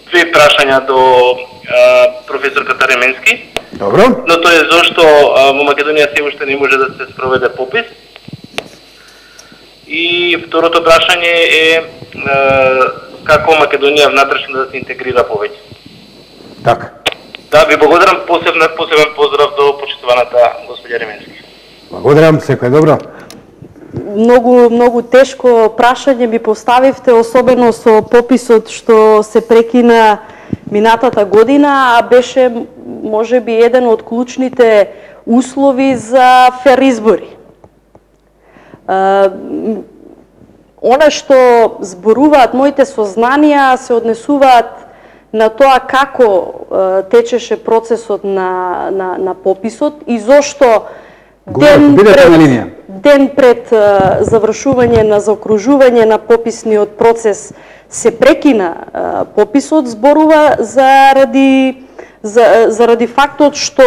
две прашања до а, професорката Ременски. Добро. Но тоа е зашто а, во Македонија се уште не може да се спроведе попис. И второто прашање е а, како Македонија внатрешно да се интегрира повеќе. Така. Да, ви благодарам, посебен, посебен поздрав до почитуваната господја Ременски. Благодарам, секој добро. Многу, многу тешко прашање ми поставивте, особено со пописот што се прекина минатата година, а беше можеби еден од клучните услови за фер избори. Она што зборуваат моите сознанија се однесуваат на тоа како течеше процесот на, на, на пописот и зошто ден пред, ден пред завршување на заокружување на пописниот процес се прекина пописот, зборува заради за, заради фактот што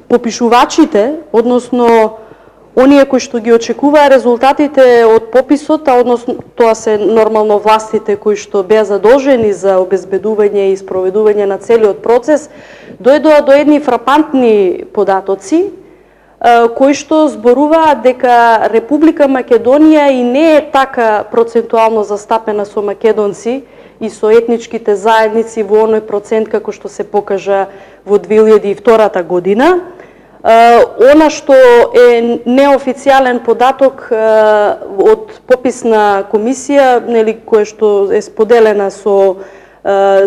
попишувачите, односно оние кои што ги очекуваа резултатите од пописот, а односно тоа се нормално властите кои што беа задолжени за обезбедување и спроведување на целиот процес, дојдоа до едни фрапантни податоци кои што зборуваат дека Република Македонија и не е така процентуално застапена со македонци и со етничките заедници во оној процент како што се покажа во две илјади и втора година. Она што е неофицијален податок од пописна комисија, нели, која што е споделена со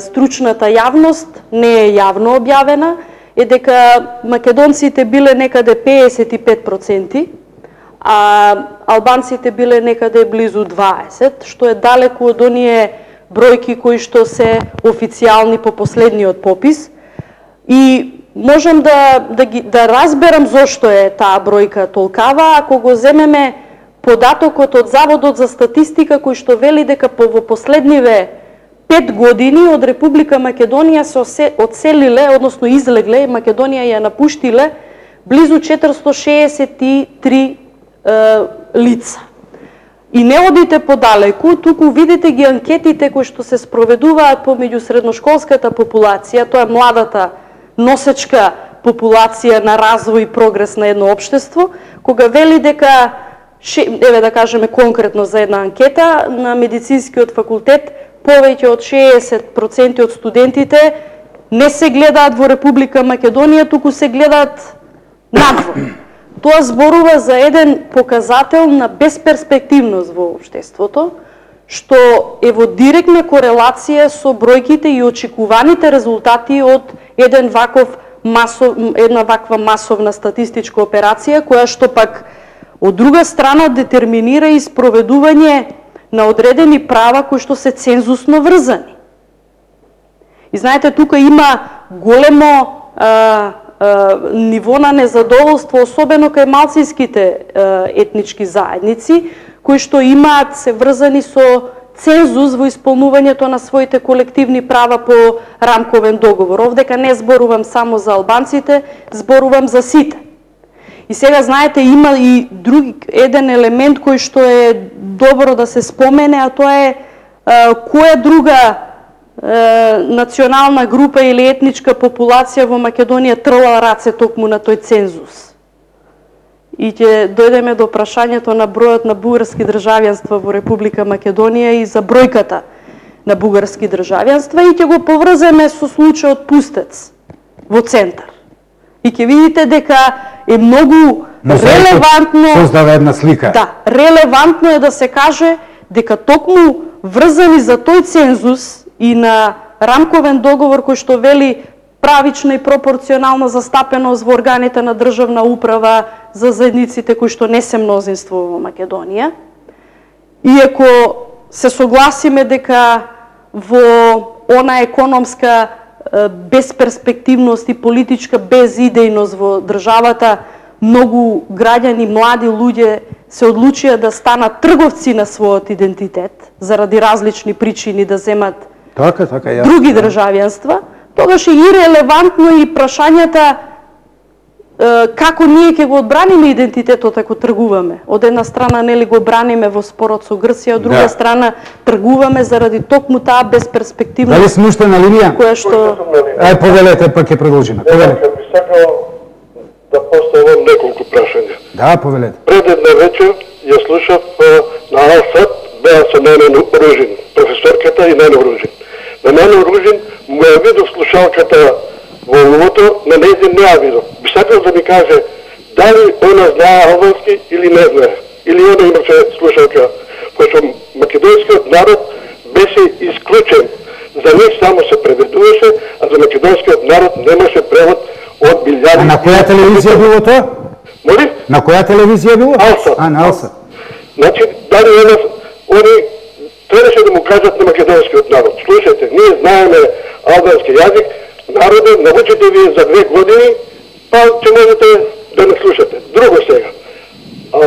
стручната јавност, не е јавно објавена, е дека македонците биле некаде пеесет и пет проценти, а албанците биле некаде близу дваесет, што е далеку од оние бројки кои што се официјални по последниот попис. И можам да, да, ги, да разберам зошто е таа бројка толкава, ако го земеме податокот од Заводот за статистика кој што вели дека по во последниве пет години од Република Македонија се одселиле, односно излегле, Македонија ја напуштиле близу четиристотини шеесет и три е, лица. И не одите подалеку, туку видите ги анкетите кои што се спроведуваат помеѓу средношколската популација, тоа е младата носечка популација на развој и прогрес на едно општество, кога вели дека, еве да кажеме конкретно за една анкета, на медицинскиот факултет повеќе од шеесет проценти од студентите не се гледаат во Република Македонија, туку се гледаат надвор. Тоа зборува за еден показател на безперспективност во општеството, што е во директна корелација со бројките и очекуваните резултати од еден ваков масов, една ваква масовна статистичка операција, која што пак од друга страна детерминира и спроведување на одредени права кои што се цензусно врзани. И знаете, тука има големо а, а, ниво на незадоволство, особено кај малцинските а, етнички заедници, кои што имаат се врзани со цензус во исполнувањето на своите колективни права по рамковен договор. Овдека не зборувам само за албанците, зборувам за сите. И сега, знаете, има и други еден елемент кој што е добро да се спомене, а тоа е а, која друга а, национална група или етничка популација во Македонија трла раце токму на тој цензус. И ќе дојдеме до прашањето на бројот на бугарски државјанства во Република Македонија и за бројката на бугарски државјанства и ќе го поврземе со случајот Пустец во центар. И ќе видите дека е многу релевантно создава една слика. Да, релевантно е да се каже дека токму врзани за тој цензус и на рамковен договор кој што вели правична и пропорционална застапеност во органите на државна управа за заедниците кои што не се мнозинство во Македонија. Иако се согласиме дека во она економска безперспективност и политичка безидејност во државата, многу граѓани, млади луѓе се одлучија да станат трговци на својот идентитет заради различни причини да земат така, така, ја, други државјанства, тогаш е ирелевантно и прашањата како ние ќе го одбраниме идентитетот ако тргуваме. Од една страна нели го браниме во спорот со Грција, од друга да. страна тргуваме заради токму таа безперспективност. Дали сме уште на линија? Која што Ај повелете, па ќе продолжиме. Повелете. Би сакал да поставам неколку прашања. Да, повелете. Пред една вечер ја слушав на Алсат, беа со Нено Ружин, професорката и Нено Ружин. На Нено Ружин му ја видов слушалката во уловото, на нејзин не ја видов. Би сакал да ми каже дали она знае албански или не знае. Или она имаше слушалка. Пошто македонскиот народ беше исклучен. За нив само се преведуваше, а за македонскиот народ немаше превод од билјади. А на која телевизија било тоа? Моли? На која телевизија било? Алса. А, на Алса. Значи, дали она, они требаше да му кажат на македонскиот народ. Слушайте, ние знаеме албански јазик, народе, научите вие за две години, па ќе можете да не слушате. Друго сега. А,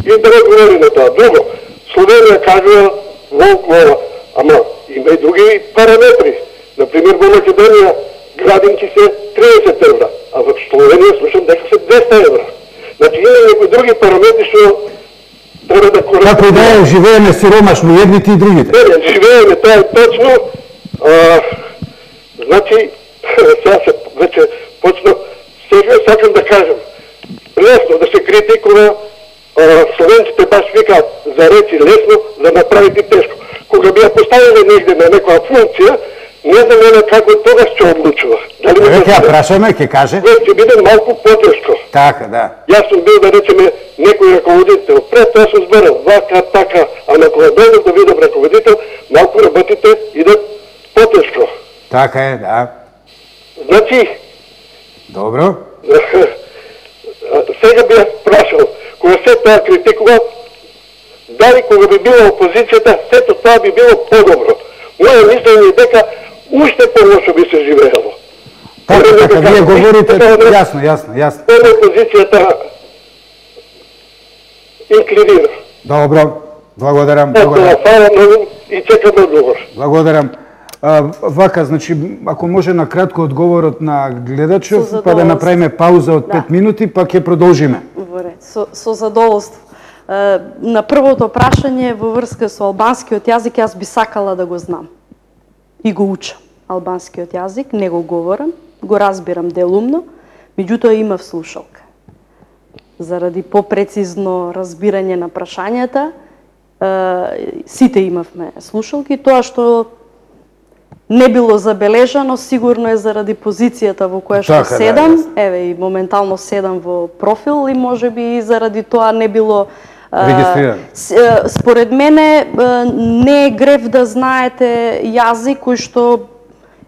и да не говори на тоа. Друго, Словенија кажува волкова, ама има и други параметри. Например, во Македонија градинки се триесет евра, а во Словенија слушам дека се двеста евра. Значи има некои други параметри што треба да коректираме. Како да е, живееме сиромашно едните и другите. Не, не, живееме, тоа е точно. А, значи, сега се вече почна, сега сакам да кажем, лесно да се критикува, а, словенците баш викаат за речи лесно, да направите тешко. Кога би ја поставиле негде на некоја функција, не знам она како тогаш ќе одлучува. Дали Еве ќе ја прашаме, ќе каже. Ќе биде малку потешко. Така, да. Јас сум бил, да речеме, некој раководител. Пред тоа сум зборал, вака, така, а на кога дојдов да видам раководител, малку работите идат потешко. Така е, да. Значи, Добро. сега би ја прашал, кога се тоа критикува, дали кога би била опозицијата, сето тоа би било подобро. Моја мислење е дека уште полошо би се живеело. Така, така, вие говорите, јасно, јасно, јасно. Тоа опозицијата инклинира. Добро, благодарам, Ето, благодарам. фала многу и чекам одговор. Благодарам. А, вака, значи, ако може на кратко одговорот на гледачов, Со па да направиме пауза од Да. пет минути, па ќе продолжиме. Во ред, со, со задоволство. Е, на првото прашање во врска со албанскиот јазик, јас би сакала да го знам. И го учам. Албанскиот јазик, не го говорам, го разбирам делумно, меѓутоа имав слушалка. Заради попрецизно разбирање на прашањата, е, сите имавме слушалки, тоа што не било забележано, сигурно е заради позицијата во која што Така, да, седам, јасно. еве и моментално седам во профил и можеби и заради тоа не било а, Регистрирано. с- е, според мене е, не е грев да знаете јазик кој што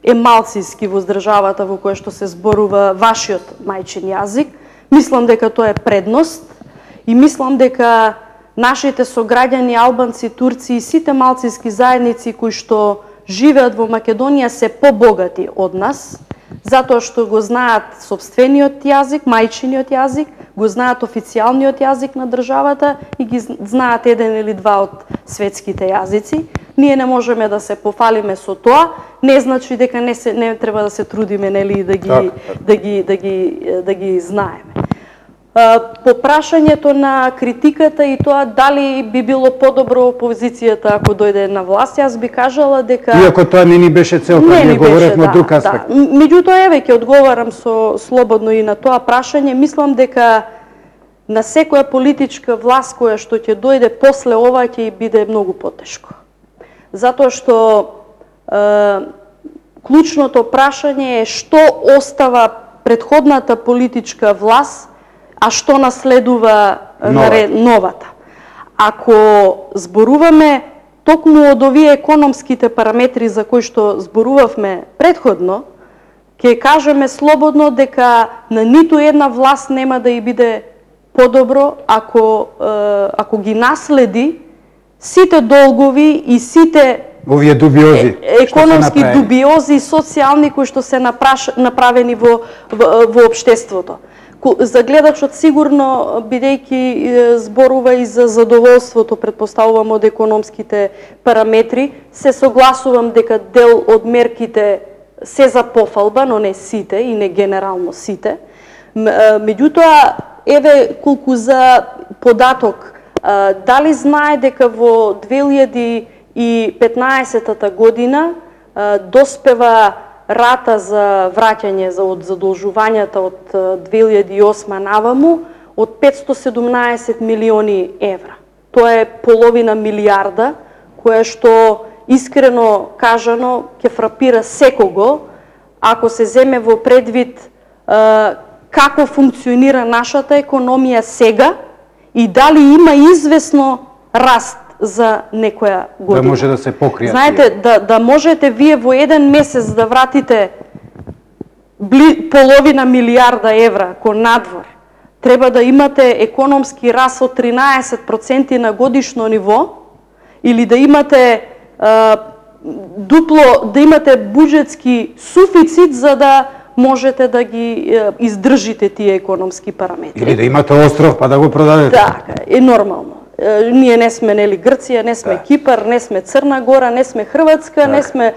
е малцински во државата во која што се зборува вашиот мајчин јазик. Мислам дека тоа е предност и мислам дека нашите сограѓани албанци, турци и сите малцински заедници кои што живеат во Македонија се побогати од нас, затоа што го знаат сопствениот јазик, мајчиниот јазик, го знаат официјалниот јазик на државата и ги знаат еден или два од светските јазици. Ние не можеме да се пофалиме со тоа, не значи дека не се не треба да се трудиме нели да ги Так, да ги да ги да ги знаеме. А, По прашањето на критиката и тоа дали би било подобро опозицијата ако дојде на власт, јас би кажала дека Иако тоа не ни беше целта, ние ни говоревме од да, друг аспект. Да. М- Меѓутоа, еве, ќе одговарам со слободно и на тоа прашање. Мислам дека на секоја политичка власт која што ќе дојде после ова ќе биде многу потешко. Затоа што е, клучното прашање е што остава претходната политичка власт, а што наследува Новата. новата. Ако зборуваме токму од овие економските параметри за кои што зборувавме предходно, ќе кажеме слободно дека на ниту една власт нема да ја биде подобро ако е, ако ги наследи сите долгови и сите Овие дубиози. е, што се економски направени. дубиози и социјални кои што се напраш, направени во, во, во општеството. Ку- За гледачот сигурно, бидејќи е, зборува и за задоволството, предпоставувам од економските параметри, се согласувам дека дел од мерките се за пофалба, но не сите и не генерално сите. М- е, Меѓутоа, еве колку за податок, е, дали знае дека во две илјади и петнаесетата година е, доспева рата за враќање за од задолжувањата од е, две илјади и осма наваму од петсто седумнаесет милиони евра. Тоа е половина милијарда, кое што искрено кажано ќе фрапира секого ако се земе во предвид е, како функционира нашата економија сега и дали има извесно раст за некоја година. Да може да се покријат. Знаете, да, да можете вие во еден месец да вратите бли, половина милијарда евра кон надвор, треба да имате економски раст од тринаесет проценти на годишно ниво или да имате а, дупло, да имате буџетски суфицит за да можете да ги е, издржите тие економски параметри. Или да имате остров па да го продадете. Така, е нормално. Е, Ние не сме нели Грција, не сме Да. Кипар, не сме Црна Гора, не сме Хрватска, не Така. сме е,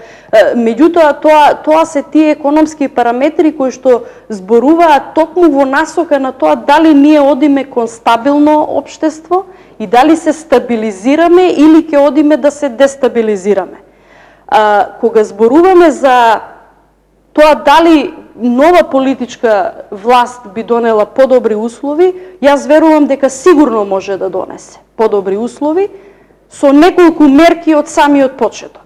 меѓутоа тоа тоа се тие економски параметри кои што зборуваат токму во насока на тоа дали ние одиме кон стабилно општество и дали се стабилизираме или ќе одиме да се дестабилизираме. А, кога зборуваме за тоа дали нова политичка власт би донела подобри услови, јас верувам дека сигурно може да донесе подобри услови со неколку мерки од самиот почеток.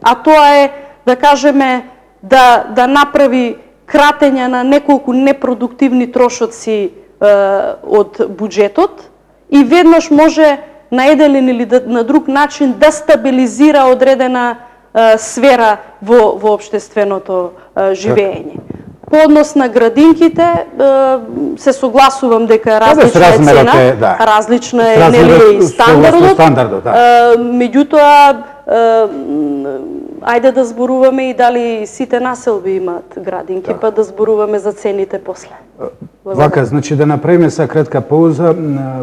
А тоа е, да кажеме, да, да направи кратење на неколку непродуктивни трошоци е, од буџетот и веднаш може на еден или да- на друг начин да стабилизира одредена е, сфера во, во општественото е, живење. По однос на градинките, е, се согласувам дека различна е размерот цена, е, да. различна е Размерот нели и согласно стандардот. стандардот, да. Е, Меѓутоа, е, м, ајде да зборуваме и дали сите населби имаат градинки, Да. па да зборуваме за цените после. Вака, значи да направиме са кратка пауза.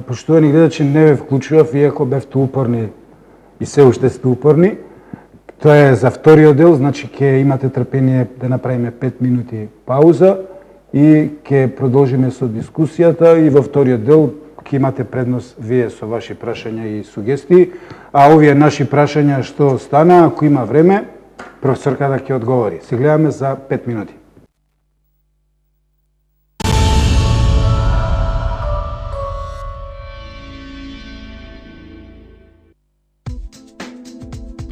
Поштовани гледачи, не ве вклучував, иако бевте упорни и се уште сте упорни. Тоа е за вториот дел, значи ќе имате трпение да направиме пет минути пауза и ќе продолжиме со дискусијата и во вториот дел ќе имате предност вие со ваши прашања и сугестии, а овие наши прашања што стана, ако има време, професорката ќе одговори. Се гледаме за пет минути.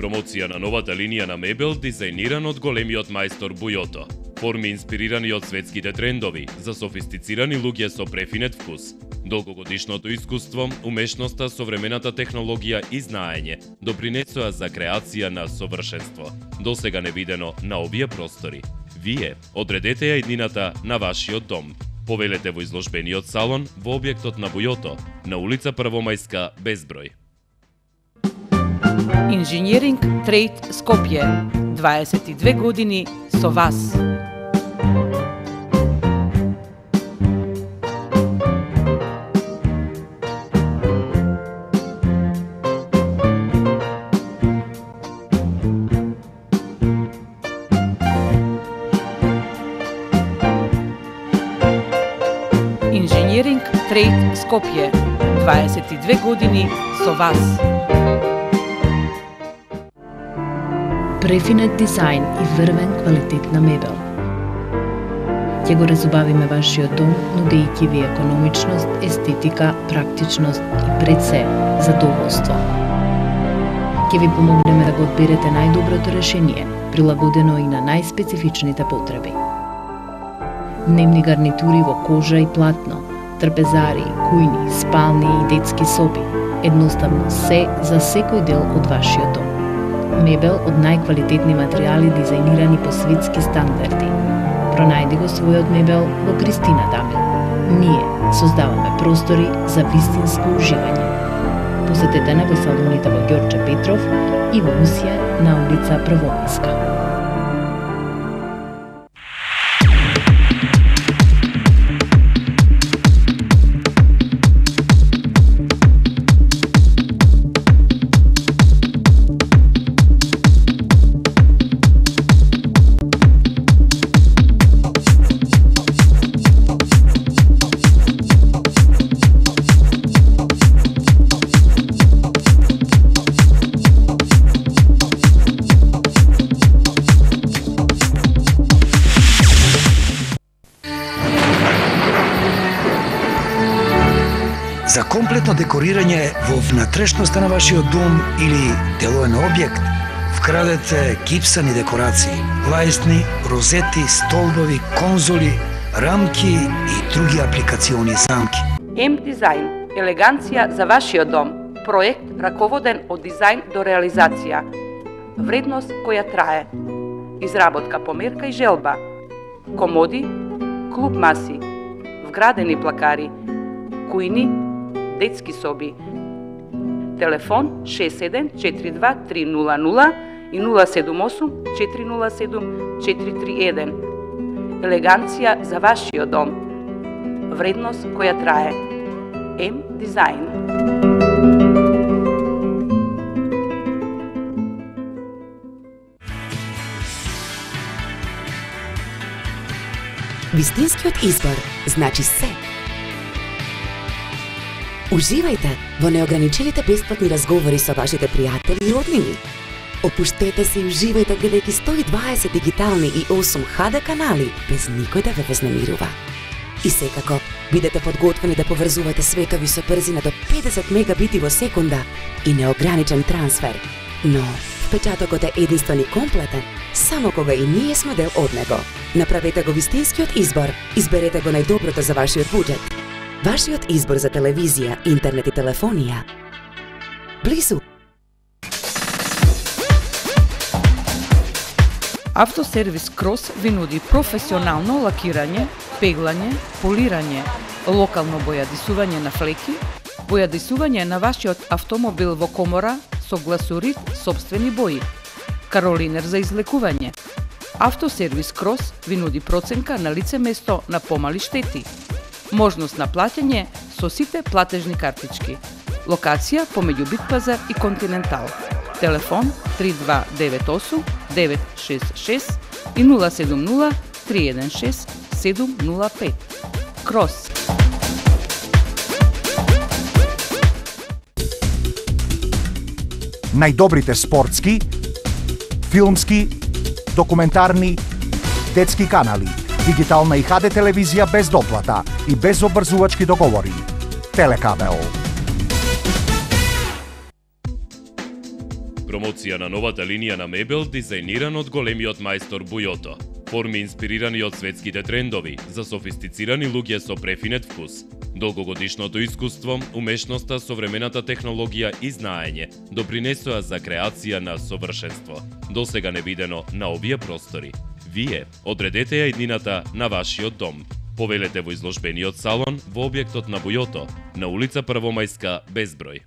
Промоција на новата линија на мебел дизајниран од големиот мајстор Бујото. Форми инспирирани од светските трендови, за софистицирани луѓе со префинет вкус. Долгогодишното искуство, умешноста, современата технологија и знаење допринесоа за креација на совршенство, досега невидено на овие простори. Вие одредете ја иднината на вашиот дом. Повелете во изложбениот салон во објектот на Бујото, на улица Првомајска, безброј. Инженеринг Трейд Скопје, дваесет и две години со вас. Инженеринг Трейд Скопје, дваесет и две години со вас. Префинет дизајн и врвен квалитетна мебел. Ќе го разубавиме вашиот дом, нудејќи ви економичност, естетика, практичност и пред се задоволство. Ќе ви помогнеме да го одберете најдоброто решение, прилагодено и на најспецифичните потреби. Дневни гарнитури во кожа и платно, трпезари, кујни, спални и детски соби, едноставно се за секој дел од вашиот дом. Мебел од најквалитетни материјали дизајнирани по светски стандарди. Пронајди го својот мебел во Кристина Дамил. Ние создаваме простори за вистинско уживање. Посетете не во салоните во Ѓорче Петров и во Усија на улица Првомајска. За комплетно декорирање во внатрешноста на вашиот дом или делоен објект, вкрадете гипсани декорации, лајсни, розети, столбови, конзоли, рамки и други апликациони замки. М Дизајн, елеганција за вашиот дом. Проект раководен од дизајн до реализација. Вредност која трае. Изработка по мерка и желба. Комоди, клуб маси, вградени плакари, кујни, детски соби. Телефон шест седум четири два три нула нула и нула седум осум четири нула седум четири три еден. Елеганција за вашиот дом. Вредност која трае. М Дизајн. Вистинскиот избор значи се. Уживајте во неограничените бесплатни разговори со вашите пријатели и роднини. Опуштете се и уживајте гледајќи сто и дваесет дигитални и осум Х Д канали без никој да ве вознемирува. И секако, бидете подготвени да поврзувате светови со брзина до педесет мегабити во секунда и неограничен трансфер. Но впечатокот е единствен и комплетен само кога и ние сме дел од него. Направете го вистинскиот избор, изберете го најдоброто за вашиот буџет. Вашиот избор за телевизија, интернет и телефонија. Близу. Автосервис Крос ви нуди професионално лакирање, пеглање, полирање, локално бојадисување на флеки, бојадисување на вашиот автомобил во комора со гласурит собствени бои, Каролинер за излекување. Автосервис Крос ви нуди проценка на лице место на помали штети. Можност на плаќање со сите платежни картички. Локација помеѓу Битпазар и Континентал. Телефон три два девет осум девет шест шест и нула седум нула три еден шест седум нула пет. Крос. Најдобрите спортски, филмски, документарни, детски канали, дигитална и ха де телевизија без доплата и без обрзувачки договори. Телекабел. Промоција на новата линија на мебел дизајниран од големиот мајстор Бујото. Форми инспирирани од светските трендови за софистицирани луѓе со префинет вкус. Долгогодишното искуство, умешноста, современата технологија и знаење допринесоа за креација на совршенство, досега невидено на овие простори. Вие одредете ја иднината на вашиот дом. Повелете во изложбениот салон во објектот на Бујото, на улица Првомајска, безброј.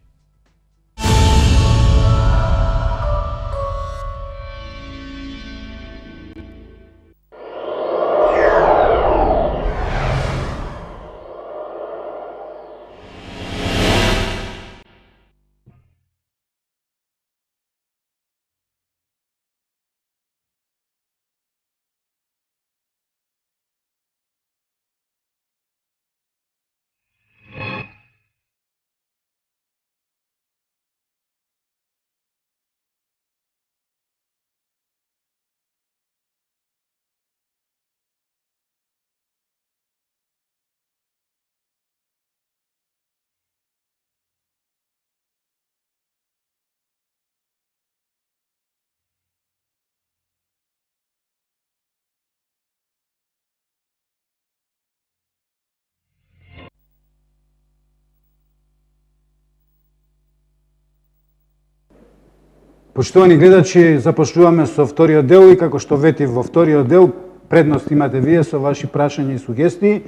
Почитувани гледачи, започнуваме со вториот дел и како што ветив во вториот дел, предност имате вие со ваши прашања и сугестии.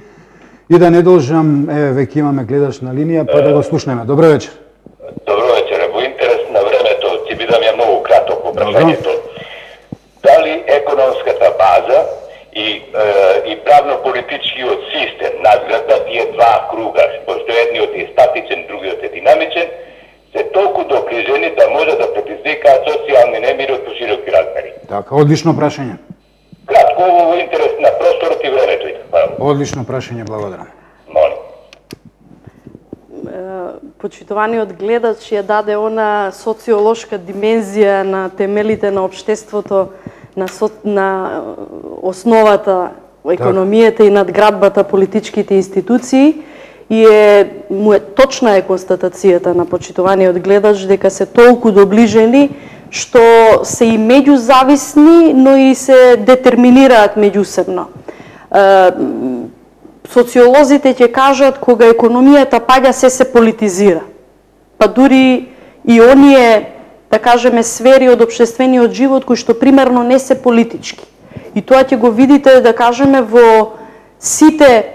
И да не должам, еве веќе имаме гледач на линија, па да го слушнеме. Добро вечер. Добро вечер. Во интерес на времето ќе бидам ја многу краток во прашањето. Дали економската база и е, и правно-политичкиот систем надграда тие два круга, пошто едниот е статичен, другиот е динамичен, се толку доближени да може да предизвикаат социјални немири од пошироки размери? Така, одлично прашање. Кратко во интерес на просторот и времето. Одлично прашање, благодарам. Молим. Почитуваниот гледач ја даде она социолошка димензија на темелите на општеството, на, со, на основата економијата и надградбата политичките институции. И е, му е точна е констатацијата на почитуваниот гледач дека се толку доближени што се и меѓузависни, но и се детерминираат меѓусебно. Социолозите ќе кажат кога економијата паѓа се се политизира. Па дури и оние, да кажеме, сфери од општествениот живот кои што примерно не се политички. И тоа ќе го видите, да кажеме, во сите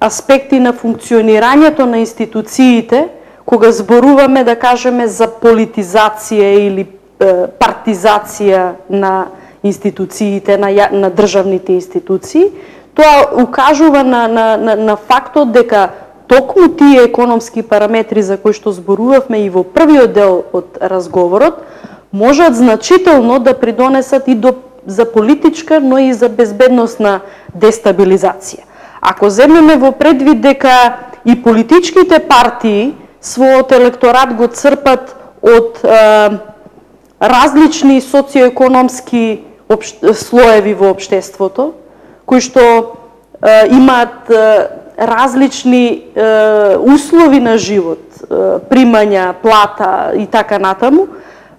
аспекти на функционирањето на институциите, кога зборуваме, да кажеме, за политизација или е, партизација на институциите, на, на државните институции, тоа укажува на, на, на, на фактот дека токму тие економски параметри за кои што зборувавме и во првиот дел од разговорот, можат значително да придонесат и до, за политичка, но и за безбедносна дестабилизација. Ако земеме во предвид дека и политичките партии својот електорат го црпат од е, различни социоекономски обш... слоеви во општеството, кои што е, имаат е, различни е, услови на живот, е, примања, плата и така натаму,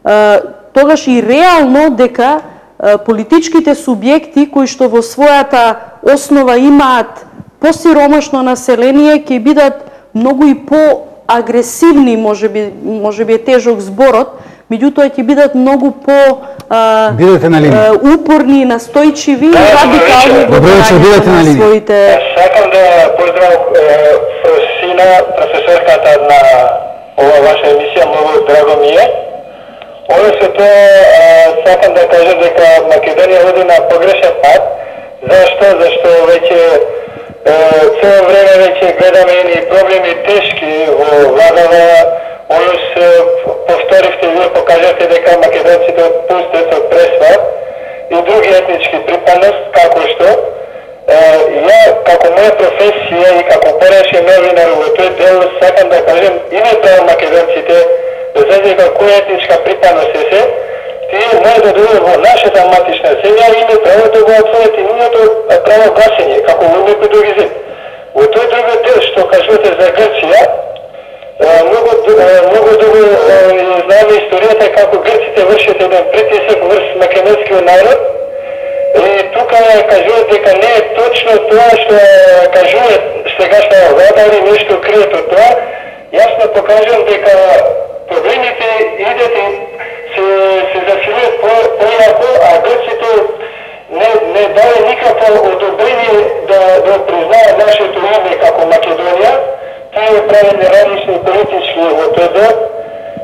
е, тогаш и реално дека е, политичките субјекти кои што во својата основа имаат посиромашно население ќе бидат многу и по-агресивни, можеби можеби е тежок зборот, меѓутоа ќе бидат многу по а, а, упорни, настојчиви и радикални во брањето на своите. Сакам да поздравам Фросина, професорката на ова ваша емисија, многу драго ми е. Односно тоа, сакам да кажам дека Македонија води на погрешен пат. Зашто? Зашто веќе цело време веќе гледаме и проблеми тешки во владава. Онос повторивте, вие покажате дека македонците отпустат од пресва и други етнички припадност, како што ја, како моја професија и како порешен новинар во тој дел, сакам да кажем името на македонците, без разлика која етничка припадност е се, тие може да дојдат во нашата матична земја и имаат право да го отворат и нивното право гласење, како во некој други земји. Во тој други дел што кажувате за Грција, многу многу добро знаеме историјата како грците вршат еден притисок врз македонскиот народ. И тука кажуваат дека не е точно тоа што кажуваат сегашна влада или нешто криет од тоа. Јасно покажам дека проблемите идат и се, се засилуваат појако, а грците не, не даде никакво одобрение да, да признаат нашето име како Македонија. Тие прават неразлични политички во тој дел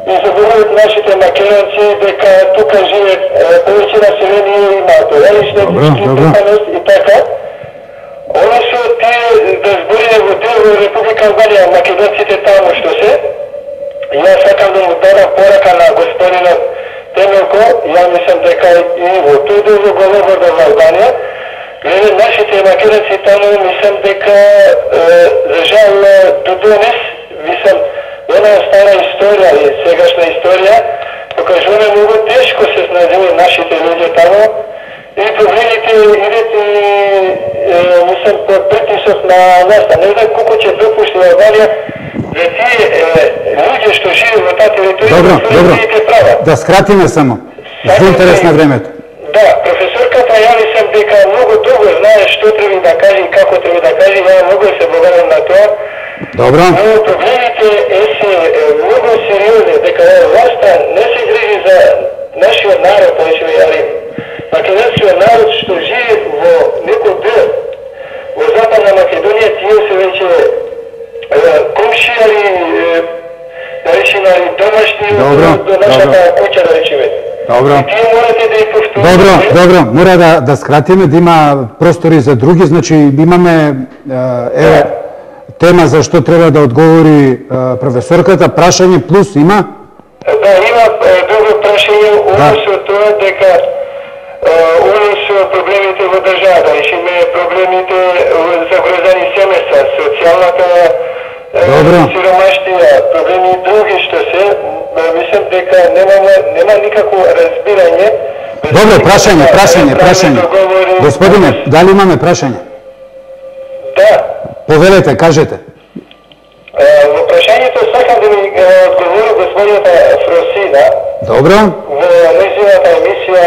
и заборават нашите македонци дека тука живеат повеќе население, имаат различни етнички припадност и така. Оно што тие да збориме во дел во Република Албанија, македонците таму што се, јас сакам да му дадам порака на господинот Темелко, ја мислам дека и во тој дел во говорот во Албанија, гледа нашите македонци таму, мислам дека за жал до денес, мислам, една стара историја и сегашна историја, покажуваме многу тешко се снајдени нашите луѓе таму и проблемите идат и мислам под притисок на нас. Не знам колку ќе допушти Албанија за тие луѓе што живеат во таа територија. Добро, добро. Да скратиме само. За интерес на времето. Да, професорката ја мислам дека многу добро знае што треба да каже и како треба да каже, ја многу се благодарам на тоа. Добро. Но проблемите е се многу сериозни, дека власта не се грижи за нашиот народ, повеќе јари. Македонскиот народ што живее во некој дел во Западна Македонија, тие се веќе комшијари, да речеме, домашни до нашата куќа, да речеме. Добро. Тие морате да ја повторите. Добро, добро, мора да да скратиме, да има простори за други, значи имаме е тема за што треба да одговори професорката, прашање плюс има? Да, има друго прашање, однесо тоа дека однесо проблемите во државата, речеме проблемите за грозани семејства, социјалната сиромаштија, проблеми други што се, мислам дека нема нема никакво разбирање. Добро, прашање, прашање, прашање. Господине, дали имаме прашање? Да. Повелете, кажете. Во прашањето сакам да ми одговори господината Фросина. Добро. Во нејзината емисија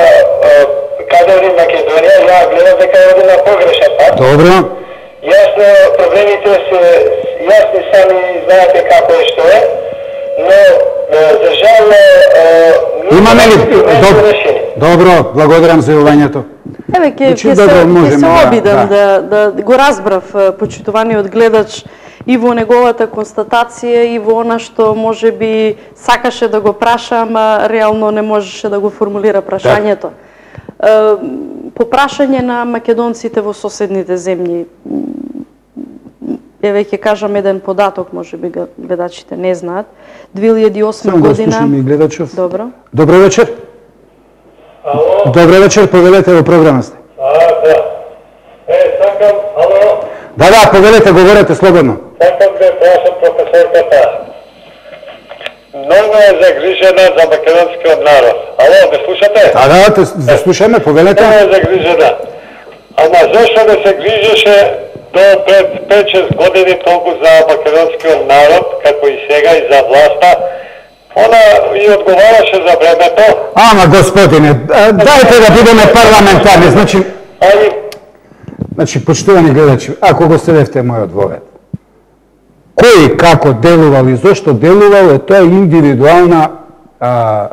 Каде оди Македонија, ја гледам дека оди на погрешен пат. Добро. Јасно, проблемите се јасни, сами знаете како е што е, но за жал имаме ли добро, благодарам за јавањето. Еве ќе ќе се ќе се обидам да да го разбрав почитуваниот гледач и во неговата констатација и во она што може би сакаше да го праша, ама реално не можеше да го формулира прашањето. По прашање на македонците во соседните земји, еве ќе кажам еден податок, може би гледачите не знаат. две илјади и осма година. Само го гледачов. Добро. Добро вечер. Ало. Добро вечер, повелете во програма сте. А, да. Е, сакам, ало. Да, да, повелете, говорете слободно. Сакам да прашам професорката. Многу е загрижена за македонскиот народ. Ало, ме слушате? Да, да, те да слушаме, повелете. Многу е загрижена. Ама зашто не се грижеше до пред пет-шест години толку за македонскиот народ, како и сега и за власта? Она и одговараше за времето. Ама, господине, дајте да бидеме парламентарни, значи... Али... Значи, почитувани гледачи, ако го следевте мојот вовед, кој како делувал и зошто делувал, е тоа индивидуална а,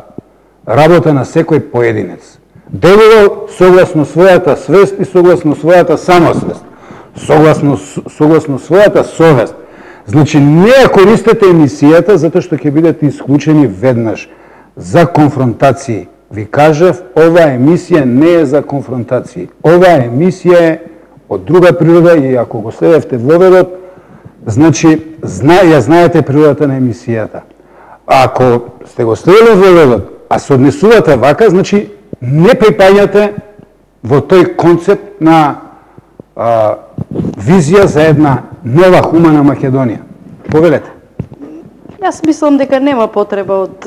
работа на секој поединец. Делувал согласно својата свест и согласно својата самосвест, согласно, согласно својата совест. Значи, не ја користете емисијата затоа што ќе бидете исклучени веднаш. за конфронтации. Ви кажав, оваа емисија не е за конфронтации. Оваа емисија е од друга природа и ако го следевте воведот, значи, зна, ја знаете природата на емисијата. А ако сте го следили воведот, а се однесувате вака, значи, не припаѓате во тој концепт на а, визија за една нова хумана Македонија. Повелете. Јас мислам дека нема потреба од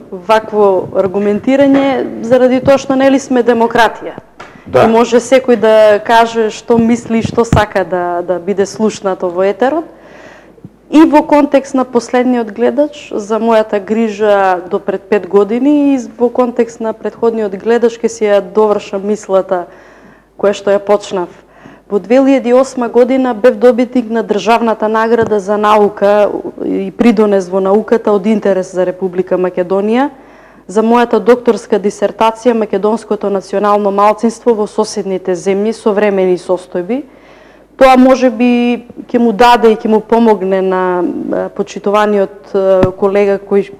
вакво аргументирање, заради тоа што нели сме демократија. Да. И може секој да каже што мисли, што сака да, да биде слушнато во етерот. И во контекст на последниот гледач, за мојата грижа до пред пет години, и во контекст на предходниот гледач, ке си ја довршам мислата која што ја почнав. Во две илјади и осма година бев добитник на државната награда за наука и придонес во науката од интерес за Република Македонија за мојата докторска дисертација Македонското национално малцинство во соседните земји, современи состојби. Тоа може би ќе му даде и ќе му помогне на почитуваниот колега кој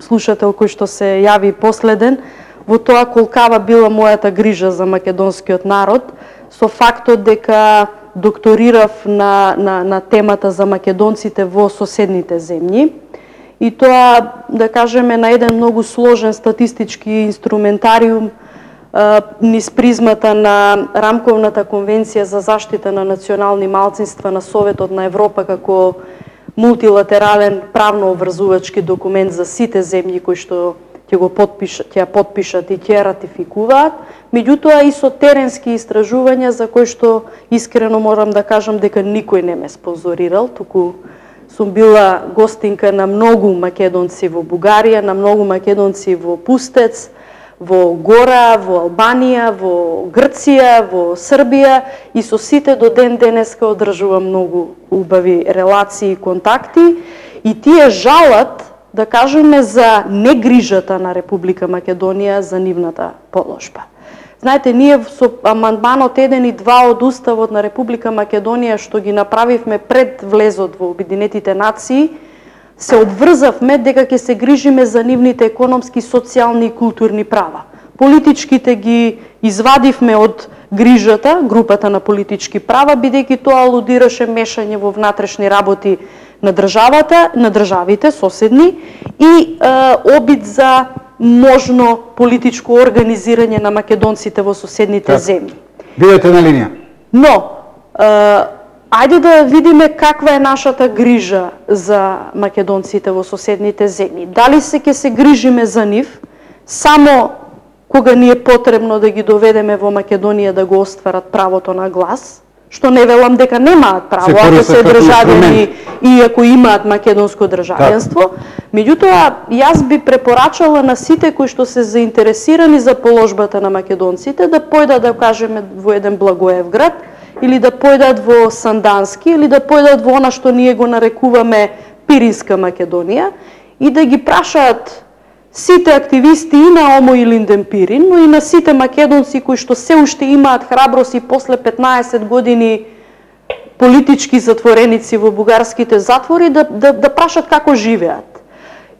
слушател кој што се јави последен во тоа колкава била мојата грижа за македонскиот народ, со фактот дека докторирав на, на, на темата за македонците во соседните земји. И тоа, да кажеме, на еден многу сложен статистички инструментариум низ призмата на Рамковната конвенција за заштита на национални малцинства на Советот на Европа како мултилатерален правно обврзувачки документ за сите земји кои што ќе го подпишат, ќе ја подпишат и ќе ја ратификуваат, меѓутоа и со теренски истражувања за кои што искрено морам да кажам дека никој не ме спонзорирал, туку сум била гостинка на многу македонци во Бугарија, на многу македонци во Пустец, во Гора, во Албанија, во Грција, во Србија и со сите до ден денеска одржувам многу убави релации и контакти и тие жалат, да кажеме, за негрижата на Република Македонија за нивната положба. Знаете, ние со амандманот еден и два од Уставот на Република Македонија што ги направивме пред влезот во Обединетите нации, се одврзавме дека ќе се грижиме за нивните економски, социјални и културни права. Политичките ги извадивме од грижата, групата на политички права, бидејќи тоа алудираше мешање во внатрешни работи на државата, на државите соседни и е, обид за можно политичко организирање на македонците во соседните так. земји. Бидете на линија. Но, е, ајде да видиме каква е нашата грижа за македонците во соседните земји. Дали се ќе се грижиме за нив само кога ни е потребно да ги доведеме во Македонија да го остварат правото на глас, што не велам дека немаат право, ако се државјани и ако имаат македонско државјанство. Меѓутоа, јас би препорачала на сите кои што се заинтересирани за положбата на македонците да појдат, да кажеме, во еден Благоевград, или да појдат во Сандански, или да појдат во она што ние го нарекуваме Пиринска Македонија и да ги прашаат сите активисти и на Омо и Линден Пирин, но и на сите македонци кои што се уште имаат храброст и после петнаесет години политички затвореници во бугарските затвори да, да, да прашат како живеат.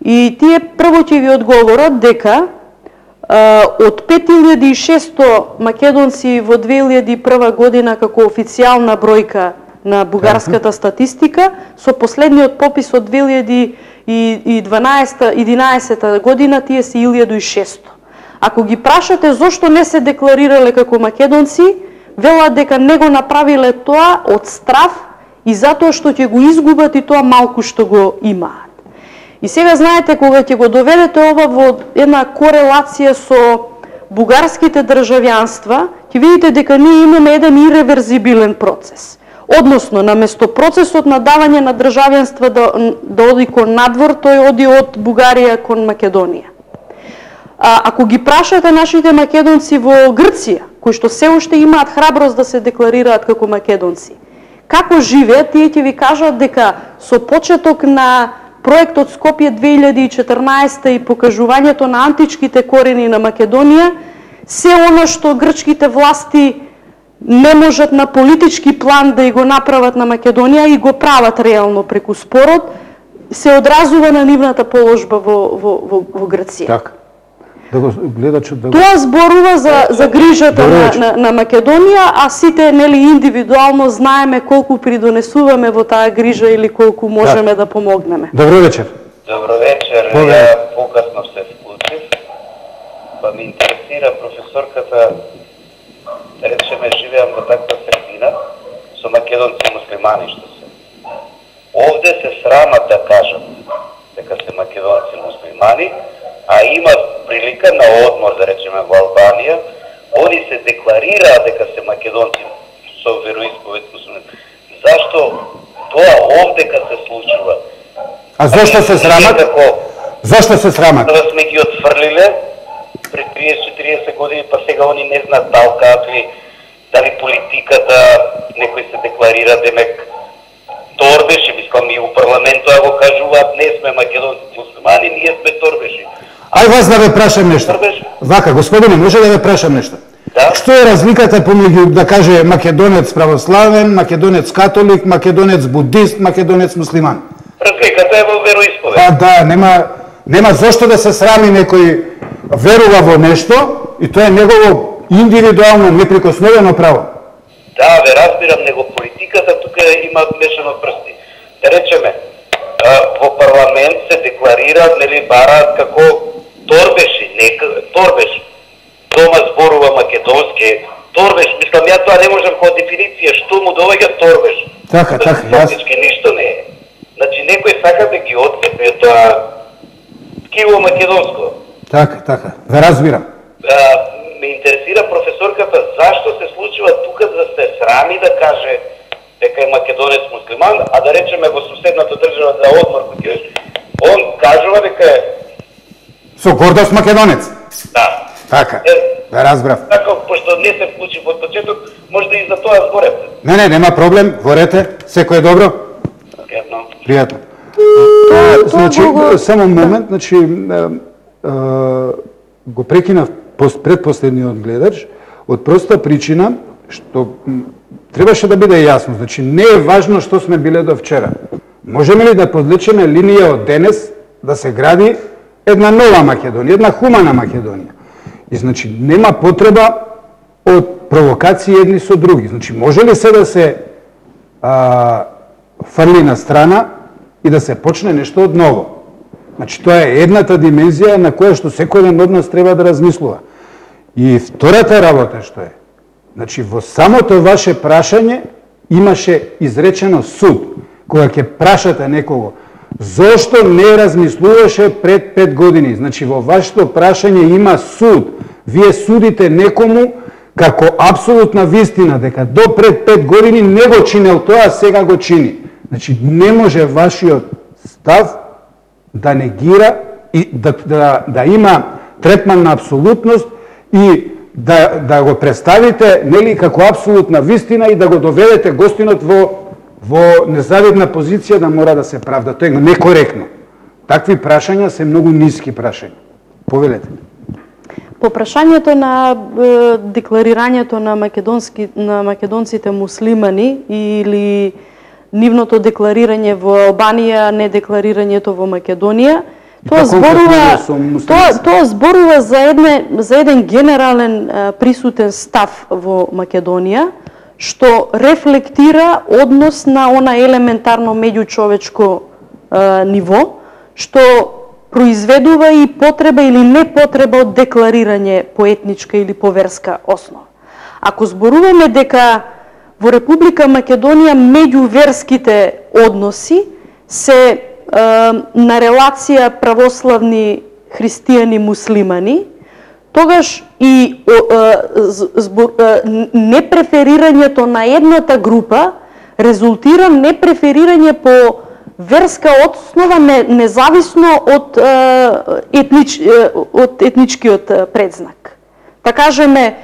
И тие прво ќе ви одговорат дека а, од пет илјади и шесто македонци во две илјади и прва година како официјална бројка на бугарската статистика, со последниот попис од две илјади и единаесета година тие се илјада и шесто. Ако ги прашате зошто не се декларирале како македонци, велат дека не го направиле тоа од страв и затоа што ќе го изгубат и тоа малку што го имаат. И сега знаете, кога ќе го доведете ова во една корелација со бугарските државјанства, ќе видите дека ние имаме еден иреверзибилен процес. Односно, наместо процесот на давање на државјанства да, да оди кон надвор, тој оди од Бугарија кон Македонија. А, ако ги прашате нашите македонци во Грција, кои што се уште имаат храброст да се декларираат како македонци, како живеат, тие ќе ви кажат дека со почеток на проектот Скопје две илјади и четрнаесета и покажувањето на античките корени на Македонија, се она што грчките власти не можат на политички план да и го направат на Македонија и го прават реално преку спорот, се одразува на нивната положба во, во, во, во Грција. Так. Да го гледачот да го... Тоа зборува за за грижата на, на на Македонија, а сите нели индивидуално знаеме колку придонесуваме во таа грижа или колку можеме да, да помогнеме. Добро вечер. Добро вечер. Ја покасно се вклучив. Па ми интересира професорката, да речеме, живеам во таква средина со македонци муслимани што се. Овде се срамат да кажат дека се македонци муслимани, а има прилика на одмор, да речеме, во Албанија, они се декларираат дека се македонци со вероисповед муслимани. Зашто тоа овде кога се случува? А зашто се срамат? Како, зашто се срамат? Да сме ги отфрлиле пред триесет-четириесет години, па сега они не знаат дал какви, дали политиката, некои се декларира, демек торбеши, мислам и у парламентот го кажуваат, не сме македонци муслимани, ние сме торбеши. Ај вас да ве прашам нешто. Вака, господине, може да ве прашам нешто? Да? Што е разликата помеѓу, да каже, македонец православен, македонец католик, македонец будист, македонец муслиман? Разликата е во вероисповед. Па да, нема нема зошто да се срами некој верува во нешто и тоа е негово индивидуално неприкосновено право. Да, ве разбирам, него политиката тука има мешано прсти. Да речеме, во парламент се декларира, нели, бараат како торбеши, нека торбеш. Дома зборува македонски, торбеш, мислам, ја тоа не можам која дефиниција, што му доаѓа торбеш. Така, така, јас. Ништо не е. Значи, некој сака да ги отцепи тоа ткиво македонско. Така, така, ве разбирам. А, ме интересира професорката зашто се случува тука да се срами да каже дека е македонец муслиман, а да речеме во соседната држава за одмор, он кажува дека е со гордост македонец. Да. Така, да разбрав. Така, пошто не се вклучи во почеток, може да и за тоа зборевте. Не, не, нема проблем, говорете, секој е добро. Пријатно. Пријатно. Значи, само момент, значи, го прекинав предпоследниот гледач, од проста причина, што требаше да биде јасно. Значи, не е важно што сме биле до вчера. Можеме ли да подлечеме линија од денес да се гради една нова Македонија, една хумана Македонија? И значи, нема потреба од провокации едни со други. Значи, може ли се да се а, фрли на страна и да се почне нешто од ново? Значи, тоа е едната димензија на која што секој ден од нас треба да размислува. И втората работа што е, значи, во самото ваше прашање имаше изречено суд. Кога ќе прашате некого, зошто не размислуваше пред пет години? Значи, во вашето прашање има суд. Вие судите некому како апсолутна вистина, дека до пред пет години не го чинел тоа, а сега го чини. Значи, не може вашиот став да негира и да, да, да има третман на апсолутност и да, да го представите, нели, како апсолутна вистина и да го доведете гостинот во, во незавидна позиција да мора да се правда. Тоа е некоректно. Такви прашања се многу ниски прашања. Повелете. По прашањето на е, декларирањето на македонски на македонците муслимани или нивното декларирање во Албанија, не декларирањето во Македонија, тоа зборува тоа тоа зборува за едне за еден генерален е, присутен став во Македонија, што рефлектира однос на она елементарно меѓучовечко е, ниво, што произведува и потреба или непотреба од декларирање по етничка или по верска основа. Ако зборуваме дека во Република Македонија меѓуверските односи се е, на релација православни христијани муслимани, тогаш и е, збор, е, непреферирањето на едната група резултира непреферирање по верска основа не, независно од е, етнич, е, од етничкиот предзнак. Да кажеме,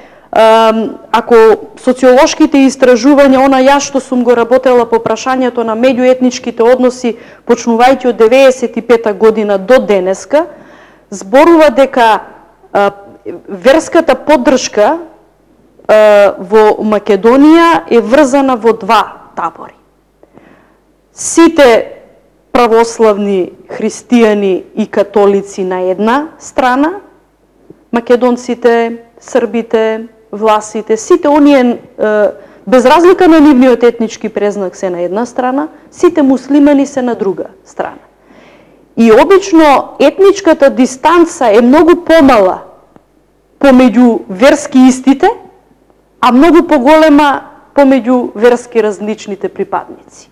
ако социолошките истражувања, она јас што сум го работела по прашањето на меѓуетничките односи, почнувајќи од деветдесет и пета година до денеска, зборува дека а, верската поддршка а, во Македонија е врзана во два табори. Сите православни христијани и католици на една страна македонците, србите, власите, сите оние без разлика на нивниот етнички презнак се на една страна, сите муслимани се на друга страна. И обично етничката дистанца е многу помала помеѓу верски истите, а многу поголема помеѓу верски различните припадници.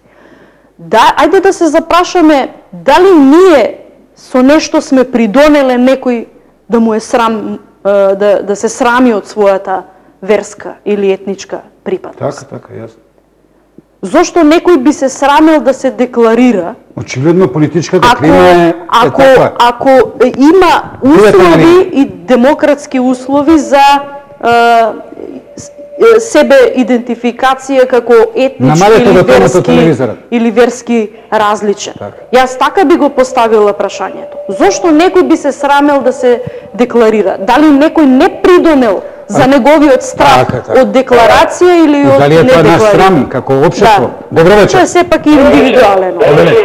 Да, ајде да се запрашаме дали ние со нешто сме придонеле некој да му е срам, да, да се срами од својата верска или етничка припадност. Така, така, јасно. Зошто некој би се срамел да се декларира? Очигледно политичката клима е, е ако, таква. Ако има услови и демократски услови за е, себе идентификација како етнички или верски, или верски различен. Так. Јас така би го поставила прашањето. Зошто некој би се срамел да се декларира? Дали некој не придонел за неговиот страх така, така. Од декларација или од недекларација? Дали е тоа наш срам како општество? Да. Добро вечер. Тоа е сепак индивидуалено. Повелете,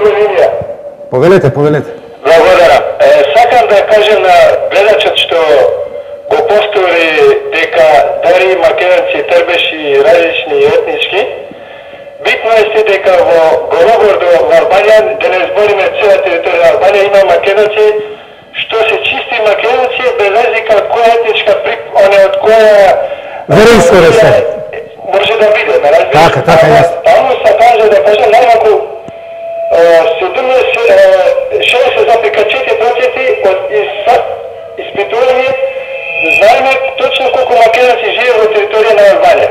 повелете. повелете. Благодарам. Е, сакам да кажем на гледачот што го повтори дека дари македонци трбеши различни и етнички. Битно е си дека во Голобор до Албанија, да не збориме цела територија на Албанија, има македонци што се чисти македонци без разлика од која етничка прип, оне од која веринско ресте. Може да биде, ме разбираш? Така, така, јасно. Таму се каже да кажем најмалку шеесет запирка четири проценти од испитување знаеме точно колку македонци живеат во територија на Албанија.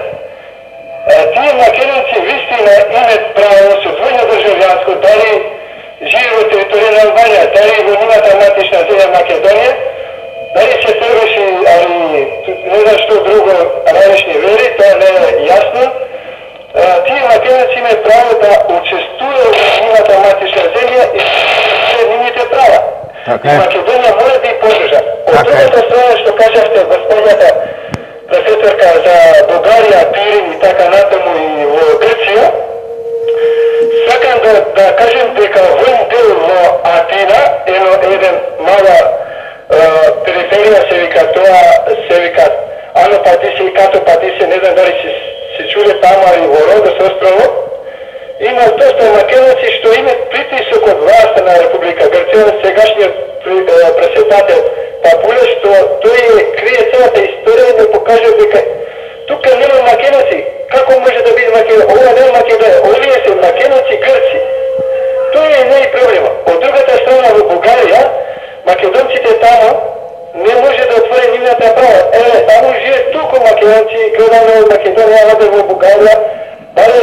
Тие македонци вистина имаат право со двојно државјанство, дали живеат во територија на Албанија, дали во нивната матична земја Македонија, дали се трбеши, али не знам што друго, различни вери, тоа не е јасно. Тие македонци имаат право да учествуваат во нивната матична земја и се нивните права. Така е. Македонија мора да ја поддржа. Од другата страна што кажавте, господјата професорка, за Бугарија, Пирин и така натаму и во Грција, сакам да, да кажем дека во дел во Атина, едно, еден мала е, периферија се вика тоа, се вика Ано Патисе и Като Патисе, не знам дали се, се чуле тама и во Родос острово, има доста македонци што имат притисок од власта на Република Грција, сегашниот председател Папуле, што тој крие целата историја и да покаже дека тука нема македонци. Како може да биде македонци? Ова не е Македонија, овие се македонци грци. Тоа е не е проблема. Од другата страна во Бугарија, македонците таму не може да отвори нивната права. Еве, таму живеат толку македонци, гледаме од Македонија, оде во Бугарија, баре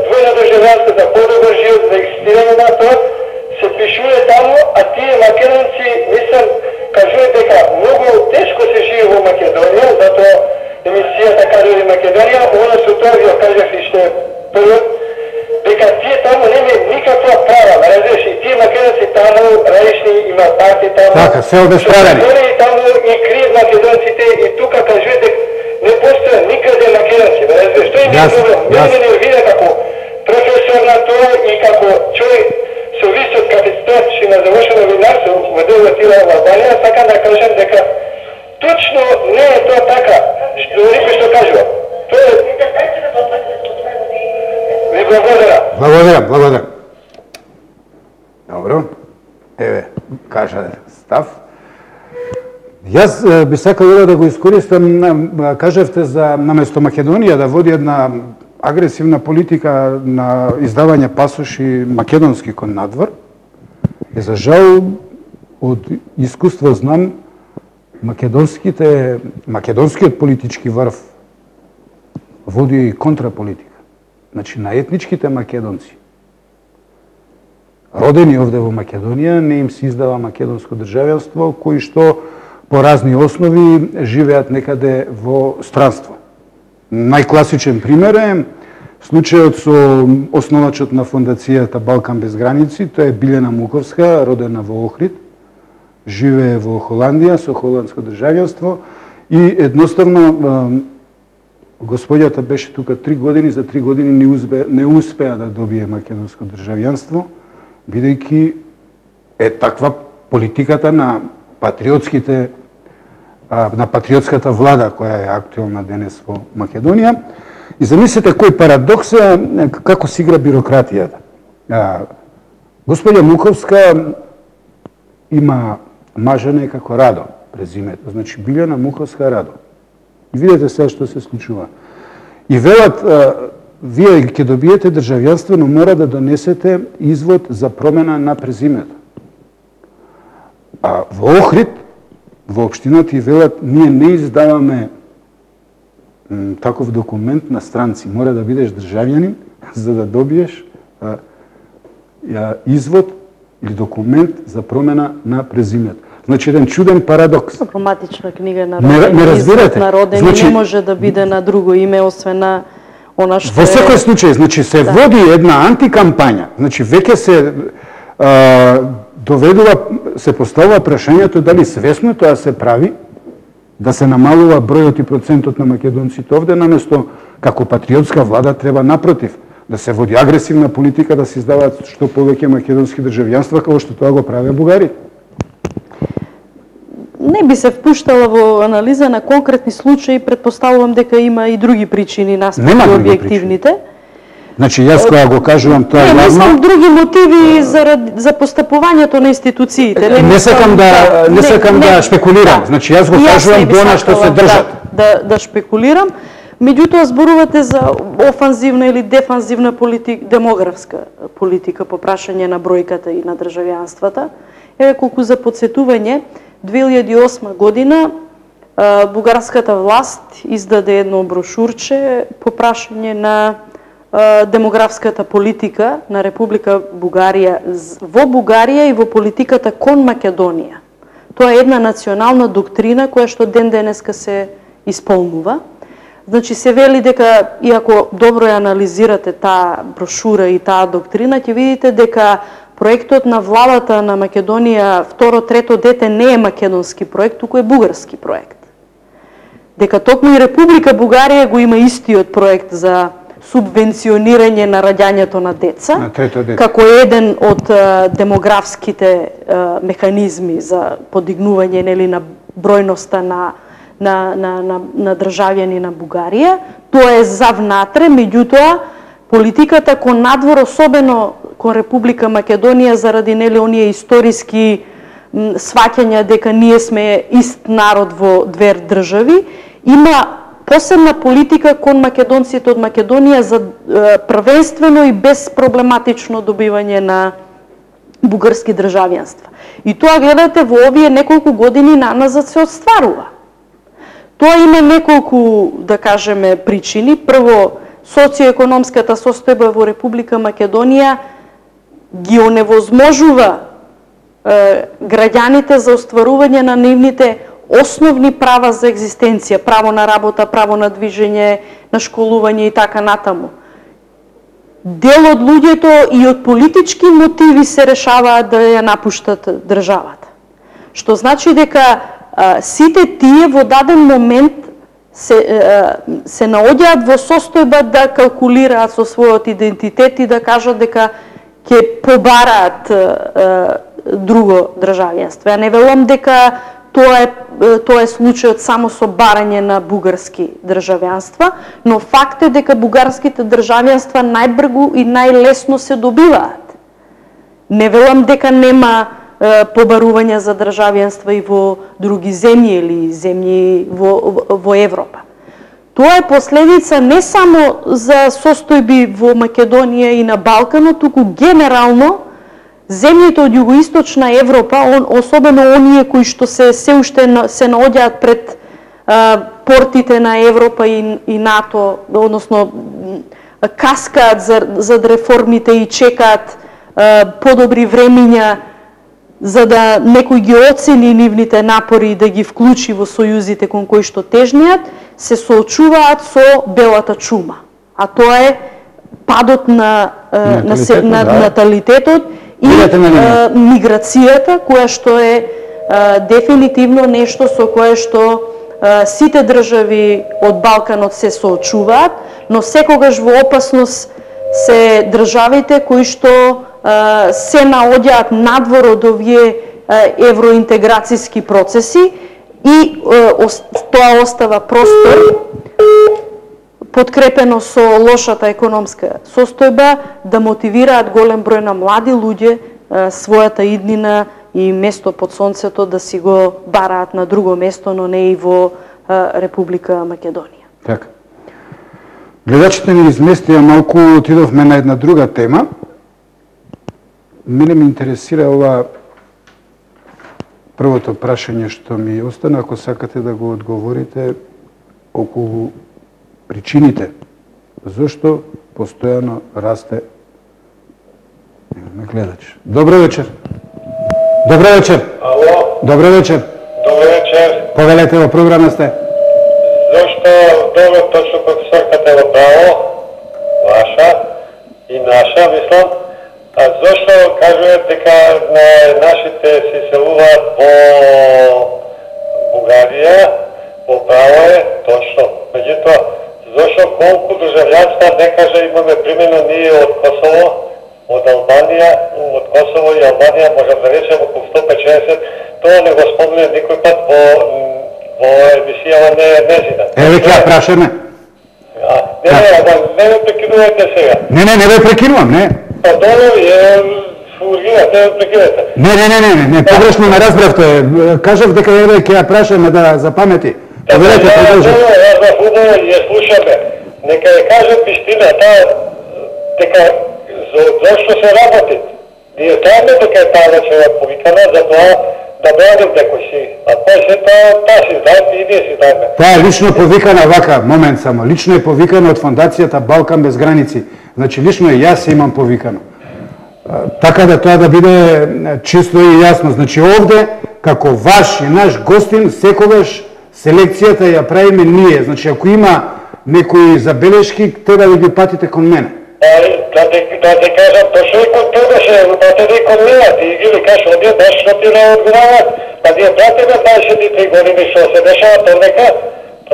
двојно државјанство за подобар живот, за екзистирање на тоа, се пишува таму, а тие македонци, мислам, кажуваат дека многу тешко се живе во Македонија, затоа емисијата кажува Македонија, она со тоа ви кажав и што е првот, дека тие таму нема никаква права, разбираш, и тие македонци таму, различни има партии таму. Така, се обесправени. И таму и кријат македонците и тука кажуваат дека не постоја никаде македонци, разбираш, тоа е проблем. Мене ме нервира како професор на тоа и како човек со висок капацитет што на завршено винарство во дел Атина во Албанија, сакам да кажам дека точно не е тоа така, што никој што кажува. Тоа е... Ви благодарам. Благодарам, благодарам. Добро. Еве, кажа став. Јас би сакал да го искористам, кажавте за наместо Македонија да води една агресивна политика на издавање пасоши македонски кон надвор. И за жал, од искуство знам, македонските, македонскиот политички врв води контраполитика. Значи, на етничките македонци, родени овде во Македонија, не им се издава македонско државјанство, кои што по разни основи живеат некаде во странство. Најкласичен пример е случајот со основачот на фондацијата Балкан без граници, тоа е Билјана Муковска, родена во Охрид, живее во Холандија со холандско државјанство и едноставно господјата беше тука три години, за три години не, узбе, не успеа да добие македонско државјанство, бидејќи е таква политиката на патриотските на патриотската влада која е актуелна денес во Македонија. И замислете кој парадокс е како се игра бирократијата. Господја Муковска има мажене како Радо презимето, значи Билјана Муковска Радо. И видете сега што се случува. И велат, вие ќе добиете државјанство, но мора да донесете извод за промена на презимето. А во Охрид, во општината и велат, ние не издаваме таков документ на странци. Мора да бидеш државјанин за да добиеш а, а, извод или документ за промена на презимето. Значи еден чуден парадокс. Проматична книга на родени, не, не разбирате. На родени значи, не може да биде на друго име освен на она што во секој случај, значи се да. води една антикампања. Значи веќе се а, доведува, се поставува прашањето дали свесно тоа се прави, да се намалува бројот и процентот на македонците овде, наместо како патриотска влада треба напротив, да се води агресивна политика, да се издаваат што повеќе македонски државјанства, како што тоа го правеа бугарите. Не би се впуштала во анализа на конкретни случаи, предпоставувам дека има и други причини наспроти објективните. Значи јас кога го кажувам тоа јавно... Не, мислам други мотиви за, за постапувањето на институциите. Не, не сакам да не сакам да, да шпекулирам. Да. Значи јас го кажувам до на што се држат. Да, да, да шпекулирам. Меѓутоа зборувате за офанзивна или дефанзивна политика, демографска политика по прашање на бројката и на државјанствата. Еве колку за подсетување, две илјади и осма година бугарската власт издаде едно брошурче по прашање на демографската политика на Република Бугарија во Бугарија и во политиката кон Македонија. Тоа е една национална доктрина која што ден денеска се исполнува. Значи се вели дека, иако добро ја анализирате таа брошура и таа доктрина, ќе видите дека проектот на владата на Македонија, второ, трето дете не е македонски проект, туку е бугарски проект. Дека токму и Република Бугарија го има истиот проект за субвенционирање на раѓањето на деца, на трето дете, како еден од а, демографските а, механизми за подигнување нели на бројноста на на на на, на државјани на Бугарија. Тоа е за внатре, меѓутоа политиката кон надвор, особено кон Република Македонија, заради нели оние историски сваќања дека ние сме ист народ во две држави, има посебна политика кон македонците од Македонија за е, првенствено и безпроблематично добивање на бугарски државјанства. И тоа гледате во овие неколку години наназад се отстварува. Тоа има неколку, да кажеме, причини. Прво, социоекономската состојба во Република Македонија ги оневозможува е, граѓаните за остварување на нивните основни права за екзистенција, право на работа, право на движење, на школување и така натаму. Дел од луѓето и од политички мотиви се решаваат да ја напуштат државата. Што значи дека а, сите тие во даден момент се, а, се наоѓаат во состојба да калкулираат со својот идентитет и да кажат дека ќе побараат а, друго државјанство. Ја не велам дека Тоа е, тоа е случајот само со барање на бугарски државјанства, но факт е дека бугарските државјанства најбргу и најлесно се добиваат. Не велам дека нема е, побарување за државјанства и во други земји или земји во, во Европа. Тоа е последица не само за состојби во Македонија и на Балканот, туку генерално земјите од југоисточна Европа, он, особено оние кои што се се уште се наоѓаат пред а, портите на Европа и, и НАТО, односно каскаат за, за реформите и чекаат а, подобри времиња за да некој ги оцени нивните напори и да ги вклучи во сојузите кон кои што тежнеат, се соочуваат со белата чума. А тоа е падот на, а, на, се, на да. наталитетот и а, миграцијата, која што е а, дефинитивно нешто со кое што а, сите држави од Балканот се соочуваат, но секогаш во опасност се државите кои што а, се наоѓаат надвор од овие а, евроинтеграцијски процеси и тоа остава простор подкрепено со лошата економска состојба да мотивираат голем број на млади луѓе својата иднина и место под сонцето да си го бараат на друго место, но не и во Република Македонија. Така. Гледачите ни изместија малку, отидовме на една друга тема. Мене ме интересира ова првото прашање што ми остана, ако сакате да го одговорите околу причините зошто постојано расте. Имаме гледач. Добро вечер. Добро вечер. Ало. Добро вечер. Добро вечер. Повелете, во програма сте. Зошто добро точно професорката во право, ваша и наша, мислам, а зошто кажуваат дека на нашите се селуваат во Бугарија, во право е точно. Меѓутоа, зошто колку државјанства не каже имаме примено ние од Косово, од Албанија, од Косово и Албанија можам да речем околу сто петдесет, тоа не го спомне никој пат во во емисијава не е незина. Еве ќе ја прашаме. Не, не, не ме прекинувате сега. Не, не, не ве прекинувам, не. Па долу е фургина, не ме прекинете. Не, не, не, не, не, погрешно ме разбравте. Кажав дека еве ќе ја прашаме да запамети. Повелете, продолжи. Јас за фудбал ја слушаме. Нека ја кажат вистината дека зашто се работи. Ние знаеме дека е таа вечера повикана за тоа да браним некој си. А тој се тоа, таа си знаеме и ние си знаеме. Таа е лично повикана вака, момент само. Лично е повикана од фондацијата Балкан без граници. Значи лично е јас имам повикано. Така да тоа да биде чисто и јасно. Значи овде како ваш и наш гостин секогаш селекцијата ја правиме ние. Значи ако има некои забелешки, треба да ги патите кон мене. Да ти кажам, точно и кон тебе ще пратите кон мене, ти ги ли кажеш, овие баш што ти не одговарат, па ние пратиме дваесет и три години што се дешава тонека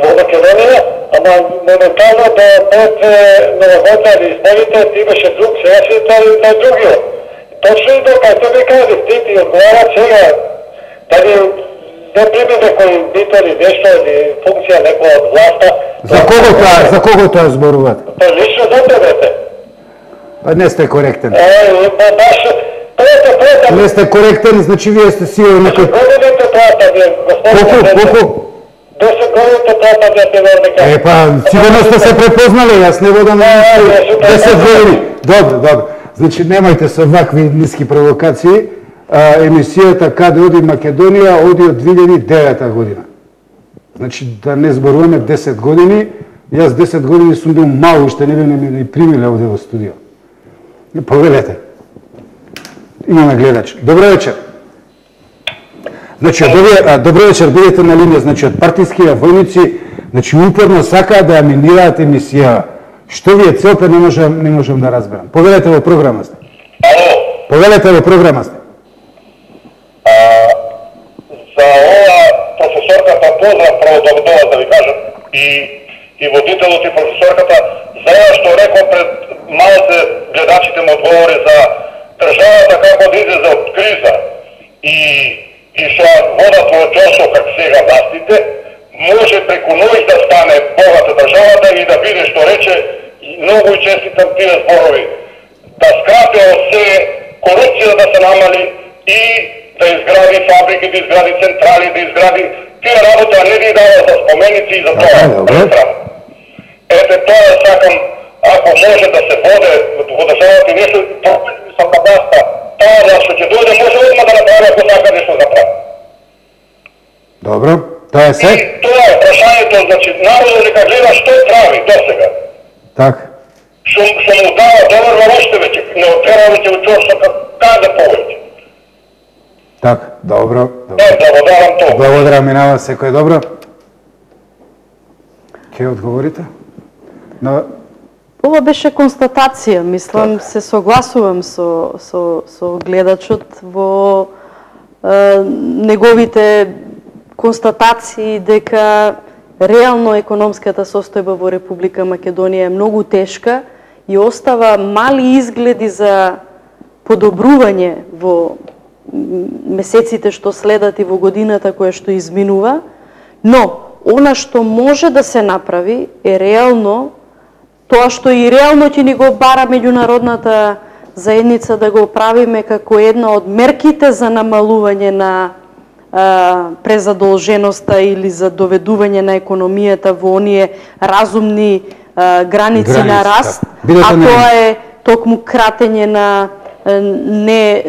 во Македонија, ама моментално до пред новогодна или изборите ти беше друг, сега си на другиот. Точно и до кај тебе кажи, ти ти одговарат сега, дали не прими некој битол или нешто, или функција некоја од власта. За кого тоа, за кого тоа зборувате? Па лично за тебе. Па не сте коректен. Е, па баш, прете, прете. Не сте коректен, значи вие сте сигурно некој... Годините плата вие, господине. Колку, колку? десет годините плата вие те верника. Е, па, сигурно сте се препознали, јас не водам десет години. Добро, добро. Значи, немајте со вакви ниски провокации. А, емисијата Каде оди Македонија оди од две илјади и девета година. Значи, да не зборуваме десет години, јас десет години сум бил мал, уште не бе не примиле овде во студио. Повелете. Имаме гледач. Добро вечер. Значи, од добро вечер, бидете на линија, значи, од партиските војници, значи, упорно сакаат да ја минираат емисија. Што ви е целта, не можам, не можам да разберам. Повелете во програма сте. Повелете во програма сте. За ова професорката поздрав прво да тоа да ви кажам и и водителот и професорката за ова што рекол пред малите гледачите му одговори за државата како да излезе од криза и и што водат во џосо како сега властите може преку ноќ да стане богата државата и да биде што рече многу и честитам тие зборови да скрати се корупција да се намали и да изгради фабрики, да изгради централи, да изгради тие работа, не ви дава за споменици и за тоа. Ете тоа сакам, ако може да се воде во државата и нешто, со кадастра, тоа што ќе дојде може одма да направи ако сака нешто да прави. Добро, тоа е се? И тоа е прашањето, значи народот нека гледа што прави досега. Така. Што му дава доволно още веќе, не отрема веќе во чошто каде повеќе. Така, добро. Добро. Е, благодарам тоа. Благодарам и на вас, секој добро. Ке одговорите? На... Ова беше констатација, мислам, се согласувам со, со, со гледачот во е, неговите констатации дека реално економската состојба во Република Македонија е многу тешка и остава мали изгледи за подобрување во месеците што следат и во годината која што изминува. Но, она што може да се направи е реално тоа што и реално ќе ни го бара меѓународната заедница да го правиме како една од мерките за намалување на а, презадолженоста или за доведување на економијата во оние разумни а, граници, граници на раст, а тоа е токму кратење на а, не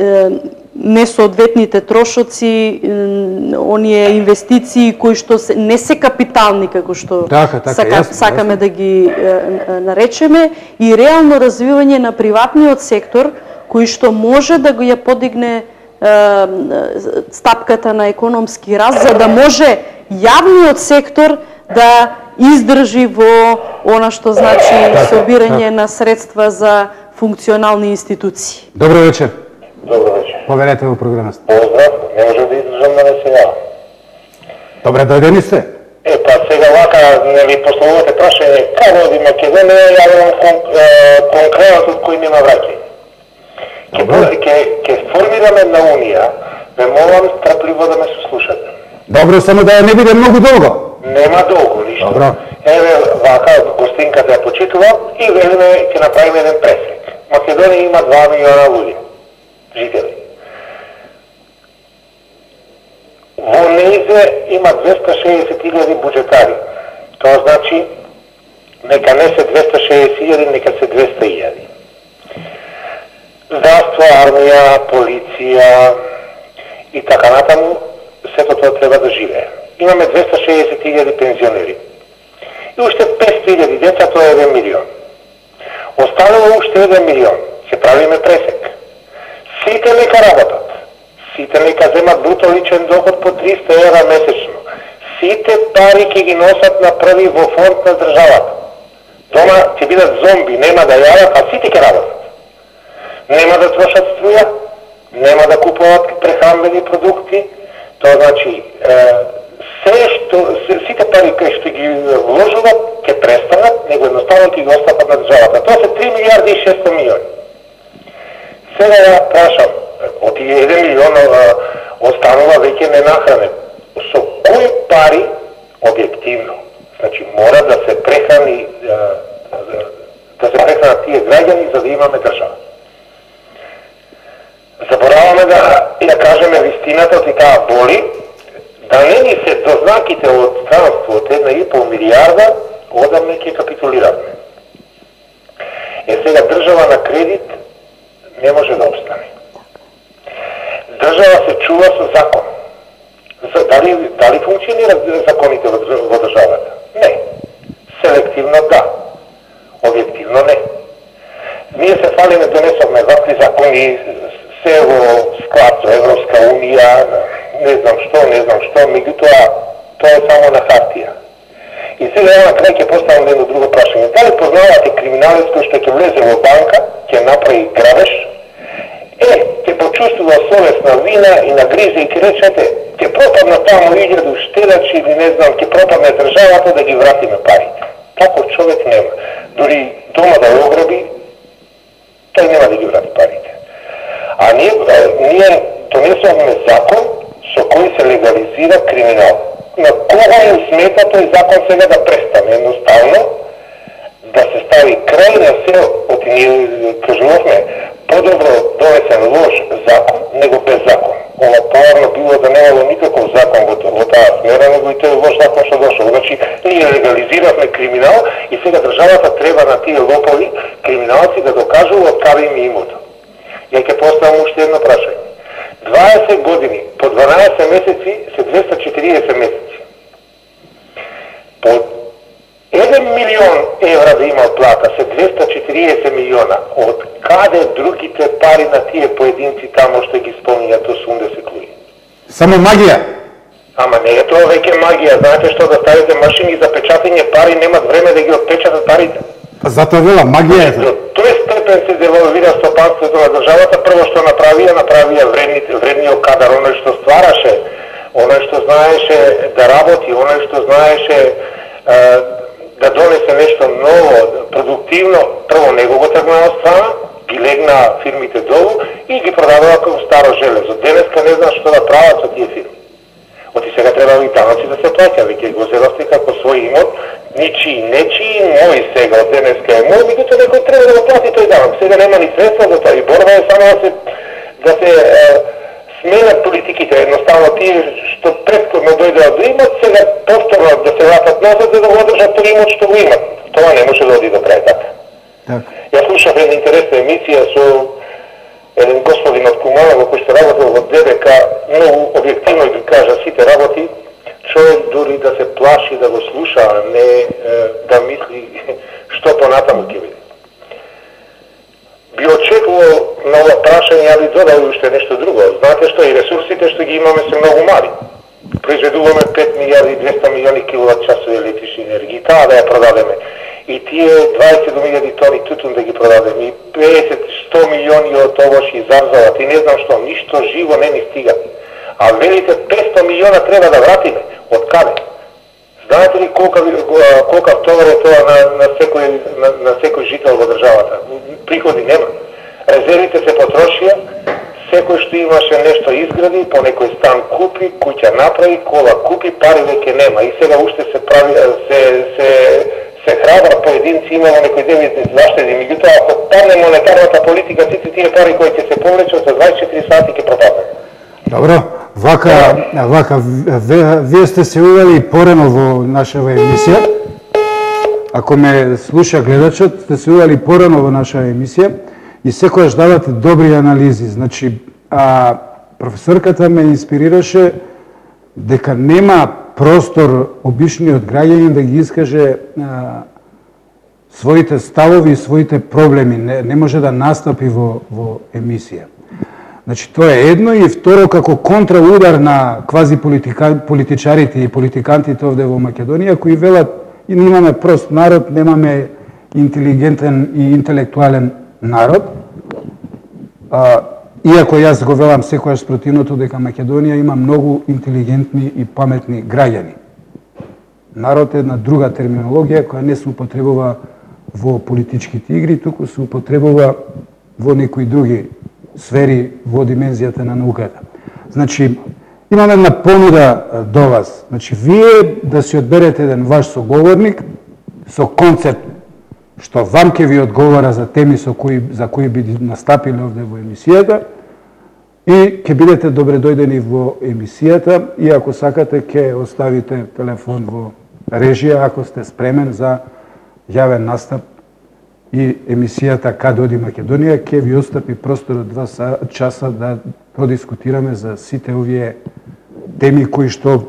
несоодветните трошоци, оние инвестиции кои што се, не се капитални како што така, така, сака, јасно, сакаме јасно. да ги е, наречеме, и реално развивање на приватниот сектор кој што може да го ја подигне е, стапката на економски раст, за да може јавниот сектор да издржи во она што значи собирање на средства за функционални институции. Добро вечер. Добро вечер. Поверете во програмата. Поздрав, не може да издржам да не се јавам. Добре, дојдени сте. Е, па сега вака, нели, пословувате прашање, како оди Македонија, јавам кон, конкретот кој нема враќање. Ке, ке формираме на Унија, ме молам страпливо да ме слушате. Добро, само да не биде многу долго. Нема долго, ништо. Добро. Еве, вака, гостинката ја почитува и велиме ќе направиме еден преслик. Македонија има два милиона луѓе, жители. Во нејзе има двеста шеесет илјади буџетари. Тоа значи, нека не се двеста шеесет илјади, нека се двеста илјади. Здравство, армија, полиција и така натаму, сето тоа треба да живее. Имаме двеста шеесет илјади пензионери. И уште петстотини илјади деца, тоа е еден милион. Останува уште еден милион. Ќе правиме пресек. Сите нека работат. Сите нека земат бруто личен доход по триста евра месечно. Сите пари ќе ги носат на први во фонд на државата. Дома ќе бидат зомби, нема да јадат, а сите ќе работат. Нема да трошат струја, нема да купуват прехранбени продукти. Тоа значи, е, се што, се, сите пари кои што ги вложуват, ќе престанат, него едноставно ќе ги остапат на државата. Тоа се три милиарди и шеста милиони. Сега ја прашам, од тие еден милион останува веќе ненахранен. Со кои пари објективно? Значи мора да се прехрани да се прехранат тие граѓани за да имаме држава. Забораваме да ја кажеме вистината, и таа боли, да не ни се дознаките од странство од една и пол милиарда, одамне ќе капитулираме. Е сега држава на кредит не може да остане. Држава се чува со закон. За, дали, дали функционират законите во, во државата? Не. Селективно да. Објективно не. Ние се фалиме, донесовме вакви закони, се во склад со Европска Унија, не знам што, не знам што, меѓутоа тоа е само на хартија. И сега ја на крај ќе поставам едно друго прашање. Дали познавате криминалец кој што ќе влезе во банка, ќе направи грабеж, е, ќе почувствува совесна вина и на грижа и ќе речете, ќе пропадна таму илјаду штедачи или не знам, ќе пропадне државата да ги вратиме парите. Таков човек нема. Дори дома да ја ограби, тој нема да ги врати парите. А ние, ние донесовме закон со кој се легализира криминал. На кога му смета тој закон сега да престане? Едноставно да се стави крај на се, оти ние кажувавме, подобро донесен лош закон, него без закон. Ова поварно било да немало никаков закон во, во таа смера, него и тој лош закон што дошол. Значи, ние легализиравме криминал и сега државата треба на тие лопови криминалци да докажува од каде им имото. Ја ќе поставам уште едно прашање. дваесет години, по дванаесет месеци се двеста четириесет месеци. По еден милион евра да има плата се двеста четириесет милиона. Од каде другите пари на тие поединци тамо што ги спомнјат осумдесет луѓе? Само магија. Ама не е тоа веќе магија. Знаете што, да ставите машини за печатање пари, немат време да ги отпечатат парите. Затоа вела магија е. До тој степен се девалвира стопанството на државата. Прво што направија, направија вредните, вредниот кадар, оној што ствараше, оној што знаеше да работи, оној што знаеше е, да донесе нешто ново, продуктивно. Прво него го тргна од страна, ги легна фирмите долу и ги продадува како старо железо. Денеска не знам што да прават со тие фирми. Оти сега треба и данъци да се плаќа, веќе го зедовте како свој имот, ничи, нечи, мој сега, од денеска е мој, меѓутоа некој треба да го плати тој данък. Сега нема ни средства за тоа и борба е само да се, да се е, сменат политиките. Едноставно тие што претходно дојдеа до имот, сега повторно да се вратат назад за да го одржат тој имот што го имат. Тоа не може да оди да прави така. Так. Јас слушав една интересна емисија со еден господин од Куманово кој што работел во Д Б К, многу објективно ги кажа сите работи, човек дури да се плаши да го слуша, а не е, да мисли што понатаму ќе биде. Би очекувал на ова прашање, ја би додал уште нешто друго. Знаете што, и ресурсите што ги имаме се многу мали. Произведуваме пет милиарди и двеста милиони киловат часови електрични енергии, таа да ја продадеме. И тие дваесет милиони тони тутун да ги продадеме, и песет до сто милиони од овош и зарзават, и не знам што, ништо живо не ни стига. А велите петстотини милиона треба да вратиме. Од каде? Знаете ли колка колка товар е тоа на на секој на, на секој жител во државата? Приходи нема. Резервите се потрошија, секој што имаше нешто изгради, по некој стан купи, куќа направи, кола купи, пари веќе нема. И сега уште се прави се се се храбра поединци имало некој девизни заштеди, меѓутоа ако падне монетарната политика, сите тие пари кои ќе се повлечат за дваесет и четири сати ќе пропаднат. Добро, вака, вака, вие сте се увели порано во нашава емисија. Ако ме слуша гледачот, сте се увели порано во наша емисија и секојаш давате добри анализи. Значи, а, професорката ме инспирираше дека нема простор обичниот граѓанин да ги искаже а, своите ставови и своите проблеми. Не, не може да настапи во, во емисија. Значи, тоа е едно, и второ, како контраудар на квази политика, политичарите и политикантите овде во Македонија, кои велат и немаме прост народ, немаме интелигентен и интелектуален народ. А, иако јас го велам секојаш спротивното дека Македонија има многу интелигентни и паметни граѓани. Народ е една друга терминологија која не се употребува во политичките игри, туку се употребува во некои други сфери во димензијата на науката. Значи, имам една понуда до вас. Значи, вие да си одберете еден ваш соговорник со концепт што вам ќе ви одговара за теми со кои, за кои би настапиле овде во емисијата, и ќе бидете добре дојдени во емисијата, и ако сакате ќе оставите телефон во режија ако сте спремен за јавен настап, и емисијата Каде оди Македонија ќе ви остапи простор од два часа да продискутираме за сите овие теми кои што,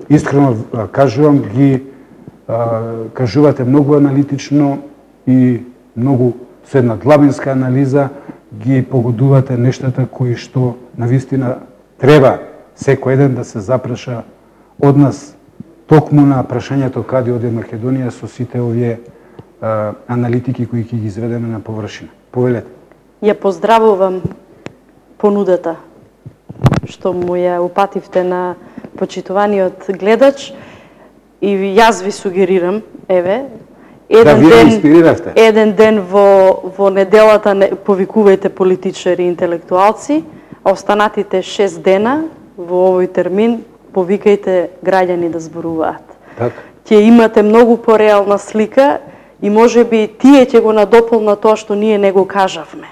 искрено кажувам, ги а, кажувате многу аналитично и многу со една длабинска анализа ги погодувате нештата кои што навистина треба секој еден да се запраша од нас токму на прашањето каде оди Македонија со сите овие а, аналитики кои ќе ги изведеме на површина. Повелете. Ја поздравувам понудата што му ја упативте на почитуваниот гледач, и јас ви сугерирам, еве, еден да, ден, еден ден во, во неделата не, повикувајте политичари и интелектуалци, а останатите шест дена во овој термин повикајте граѓани да зборуваат. Так. Ќе имате многу пореална слика и можеби тие ќе го надополнат тоа што ние не го кажавме.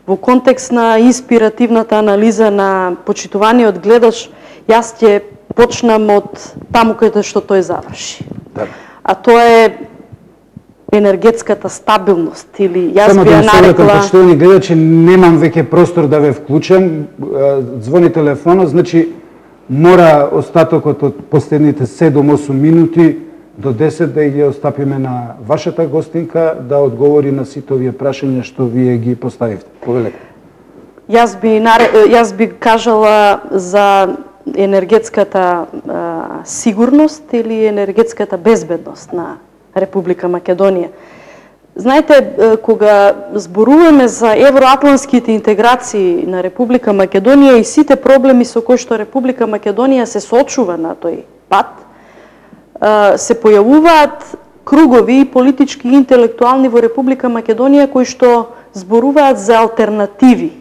Во контекст на инспиративната анализа на почитуваниот гледач, јас ќе почнам од таму каде што тој заврши. Так. А тоа е енергетската стабилност, или јас Само би ја да нарекла... почитувани гледачи, немам веќе простор да ве вклучам, звони телефонот, значи мора остатокот од последните седум-осум минути до десет да ги остапиме на вашата гостинка да одговори на сите овие прашања што вие ги поставивте. Повелете. Јас би, јас би кажала за енергетската а, сигурност или енергетската безбедност на Република Македонија. Знаете, кога зборуваме за евроатлантските интеграции на Република Македонија и сите проблеми со кои што Република Македонија се соочува на тој пат, се појавуваат кругови и политички и интелектуални во Република Македонија кои што зборуваат за алтернативи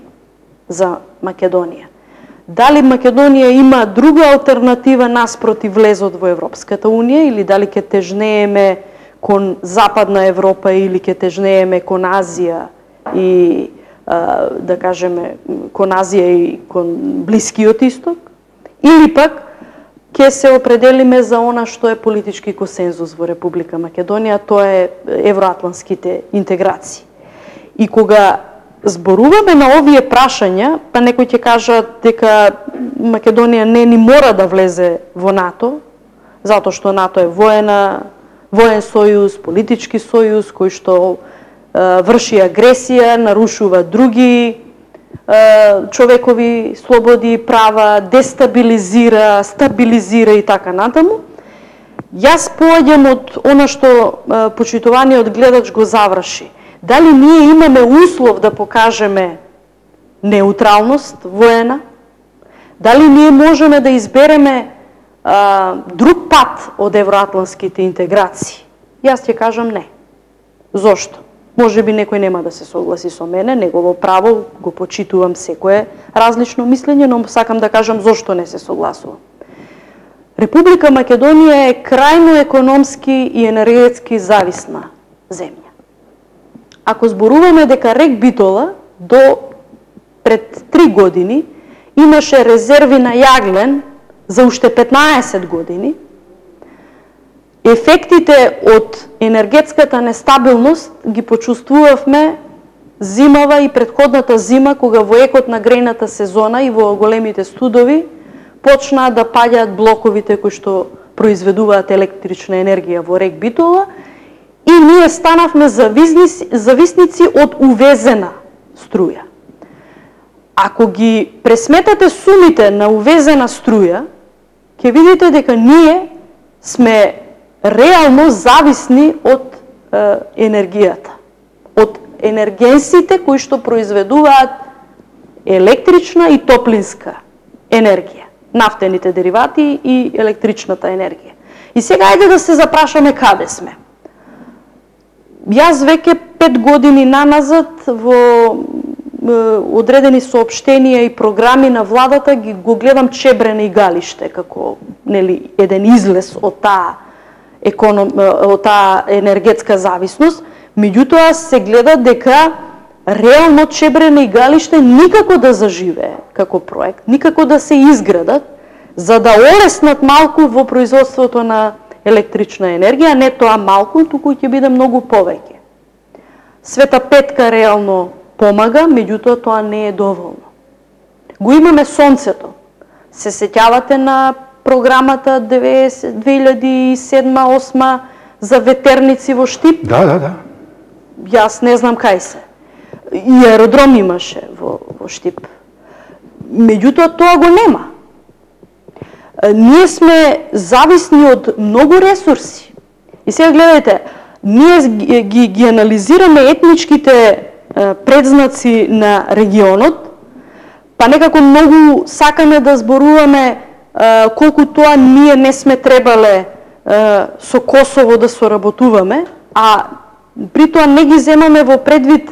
за Македонија. Дали Македонија има друга алтернатива наспроти влезот во Европската Унија или дали ќе тежнееме кон Западна Европа или ќе тежнееме кон Азија и да кажеме кон Азија и кон Блискиот Исток, или пак ќе се определиме за она што е политички консензус во Република Македонија, тоа е евроатлантските интеграции. И кога зборуваме на овие прашања, па некои ќе кажат дека Македонија не ни мора да влезе во НАТО, затоа што НАТО е воена, воен сојуз, политички сојуз, кој што е, врши агресија, нарушува други човекови слободи и права, дестабилизира, стабилизира и така натаму. Јас поаѓам од она што почитуваниот гледач го заврши. Дали ние имаме услов да покажеме неутралност воена? Дали ние можеме да избереме а, друг пат од евроатлантските интеграции? Јас ќе кажам не. Зошто? Може би некој нема да се согласи со мене, негово право, го почитувам секое различно мислење, но сакам да кажам зошто не се согласувам. Република Македонија е крајно економски и енергетски зависна земја. Ако зборуваме дека рек Битола до пред три години имаше резерви на јаглен за уште петнаесет години, ефектите од енергетската нестабилност ги почувствувавме зимава и претходната зима, кога во екот на грејната сезона и во големите студови почнаа да паѓаат блоковите кои што произведуваат електрична енергија во рек Битола и ние станавме зависници, зависници од увезена струја. Ако ги пресметате сумите на увезена струја, ќе видите дека ние сме реално зависни од е, енергијата, од енергенсите кои што произведуваат електрична и топлинска енергија, нафтените деривати и електричната енергија. И сега ајде да се запрашаме каде сме. Јас веќе пет години наназад во е, одредени соопштенија и програми на владата ги го гледам Чебрене и Галиште како нели еден излез од таа економ, од таа енергетска зависност, меѓутоа се гледа дека реално Чебрене и Галиште никако да заживее како проект, никако да се изградат, за да олеснат малку во производството на електрична енергија, не тоа малку, туку ќе биде многу повеќе. Света Петка реално помага, меѓутоа тоа не е доволно. Го имаме сонцето. Се сеќавате на програмата две илјади и седма осма за ветерници во Штип? Да, да, да. Јас не знам кај се. И аеродром имаше во, во Штип. Меѓутоа тоа го нема. Ние сме зависни од многу ресурси. И сега гледајте, ние ги, ги, ги анализираме етничките предзнаци на регионот, па некако многу сакаме да зборуваме колку тоа ние не сме требале со Косово да соработуваме, а при тоа не ги земаме во предвид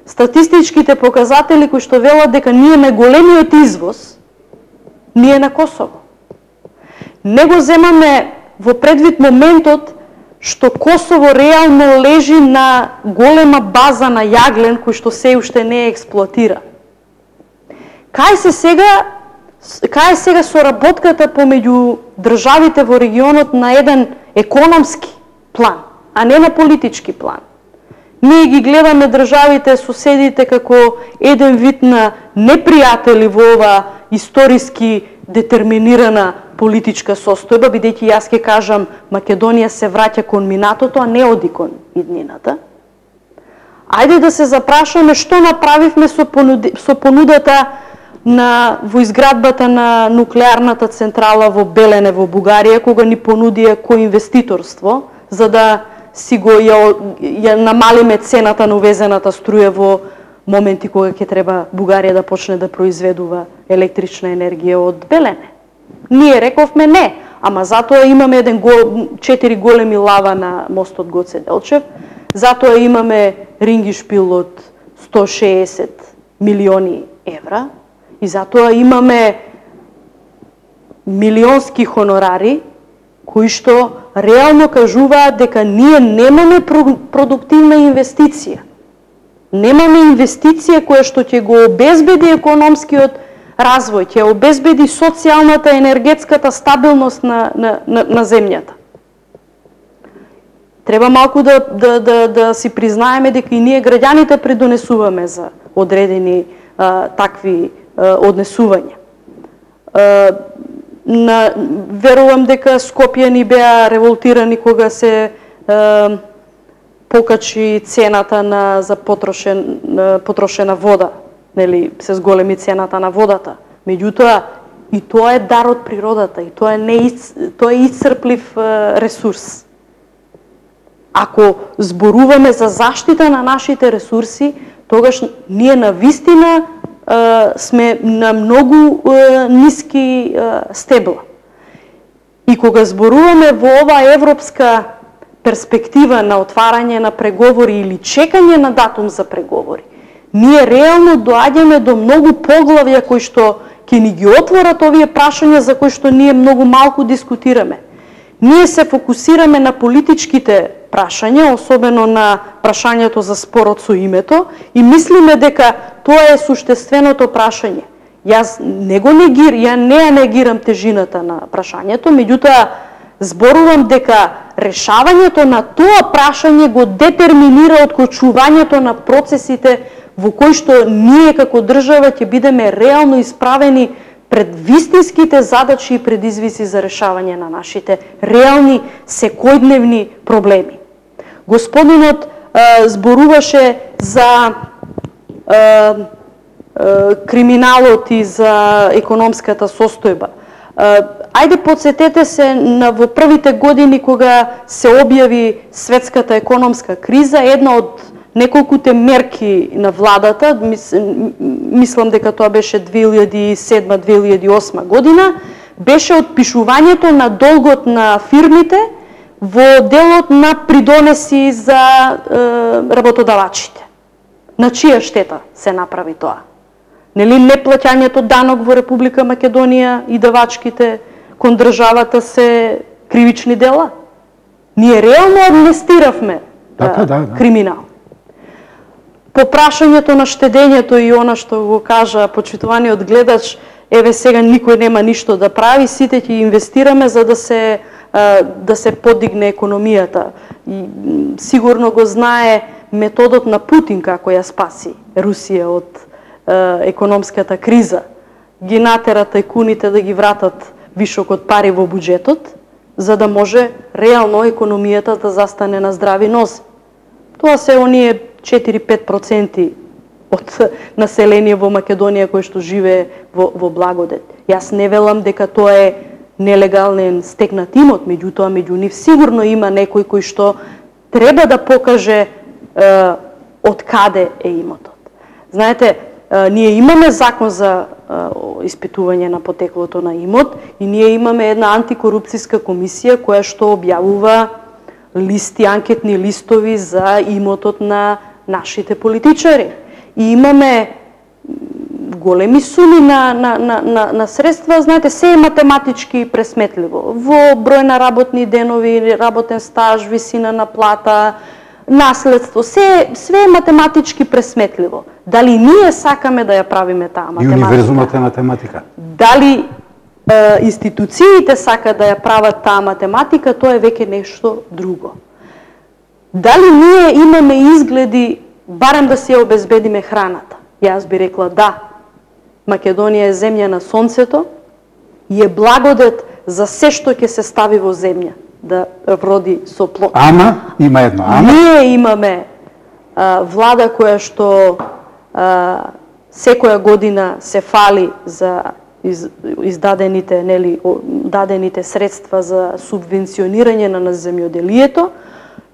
статистичките показатели кои што велат дека ние најголемиот извоз ние на Косово. Не го земаме во предвид моментот што Косово реално лежи на голема база на јаглен кој што се уште не е експлоатира. Кај се сега Кај е сега соработката помеѓу државите во регионот на еден економски план, а не на политички план? Ние ги гледаме државите, соседите како еден вид на непријатели во ова историски детерминирана политичка состојба, бидејќи јас ќе кажам Македонија се враќа кон минатото, а не оди кон иднината. Ајде да се запрашаме што направивме со, понуди, со понудата на во изградбата на нуклеарната централа во Белене во Бугарија, кога ни понудија коинвеститорство, за да си го ја, ја намалиме цената на увезената струја во моменти кога ќе треба Бугарија да почне да произведува електрична енергија од Белене. Ние рековме не, ама затоа имаме еден гол, четири големи лава на мостот Гоце Делчев, затоа имаме рингишпил од сто шеесет милиони евра, и затоа имаме милионски хонорари кои што реално кажуваат дека ние немаме продуктивна инвестиција. Немаме инвестиција која што ќе го обезбеди економскиот развој, ќе обезбеди социјалната, енергетската стабилност на, на, на, на земјата. Треба малку да, да, да, да си признаеме дека и ние граѓаните придонесуваме за одредени а, такви а, однесувања. А, на, верувам дека Скопје ни беа револтирани кога се а, покачи цената на за потрошен на потрошена вода, нели, се зголеми цената на водата. Меѓутоа и тоа е дар од природата и тоа е не тоа е исцрплив а, ресурс. Ако зборуваме за заштита на нашите ресурси, тогаш ние навистина е, сме на многу е, ниски е, стебла. И кога зборуваме во оваа европска перспектива на отварање на преговори или чекање на датум за преговори, ние реално доаѓаме до многу поглавја кои што ќе ни ги отворат овие прашања за кои што ние многу малку дискутираме. Ние се фокусираме на политичките прашања, особено на прашањето за спорот со името, и мислиме дека тоа е суштественото прашање. Јас не го негир, ја не ја негирам тежината на прашањето, меѓутоа зборувам дека решавањето на тоа прашање го детерминира откочувањето на процесите во кои што ние како држава ќе бидеме реално исправени пред вистинските задачи и предизвици за решавање на нашите реални секојдневни проблеми. Господинот е, зборуваше за е, е, криминалот и за економската состојба. Е, ајде подсетете се на во првите години кога се објави светската економска криза, една од неколкуте мерки на владата, мис, мислам дека тоа беше две илјади и седма две илјади и осма година, беше отпишувањето на долгот на фирмите во делот на придонеси за е, работодавачите. На чија штета се направи тоа? Нели неплаќањето данок во Република Македонија и давачките кон државата се кривични дела? Ние реално амнестиравме така, да, да. криминал. По прашањето на штедењето и она што го кажа почитуваниот гледач, еве сега никој нема ништо да прави, сите ќе инвестираме за да се да се подигне економијата. И сигурно го знае методот на Путин како ја спаси Русија од е, економската криза. Ги натера тајкуните да ги вратат вишокот пари во буџетот, за да може реално економијата да застане на здрави нозе. Тоа се оние четири-пет проценти од население во Македонија кој што живее во, во благодет. Јас не велам дека тоа е нелегален стекнат имот, меѓутоа меѓу нив сигурно има некој кој што треба да покаже е, од каде е имотот. Знаете, е, ние имаме закон за е, испитување на потеклото на имот и ние имаме една антикорупцијска комисија која што објавува листи, анкетни листови за имотот на нашите политичари. И имаме големи суми на, на, на, на, на средства, знаете, се е математички пресметливо. Во број на работни денови, работен стаж, висина на плата, наследство, се, све е математички пресметливо. Дали ние сакаме да ја правиме таа математика? И универзумот е математика. Дали е, институциите сакаат да ја прават таа математика, тоа е веќе нешто друго. Дали ние имаме изгледи барем да си ја обезбедиме храната? Јас би рекла да. Македонија е земја на сонцето и е благодет за се што ќе се стави во земја да роди со плод. Ама, има едно ама. Ние имаме а, влада која што а, секоја година се фали за из, издадените, нели, дадените средства за субвенционирање на земјоделието,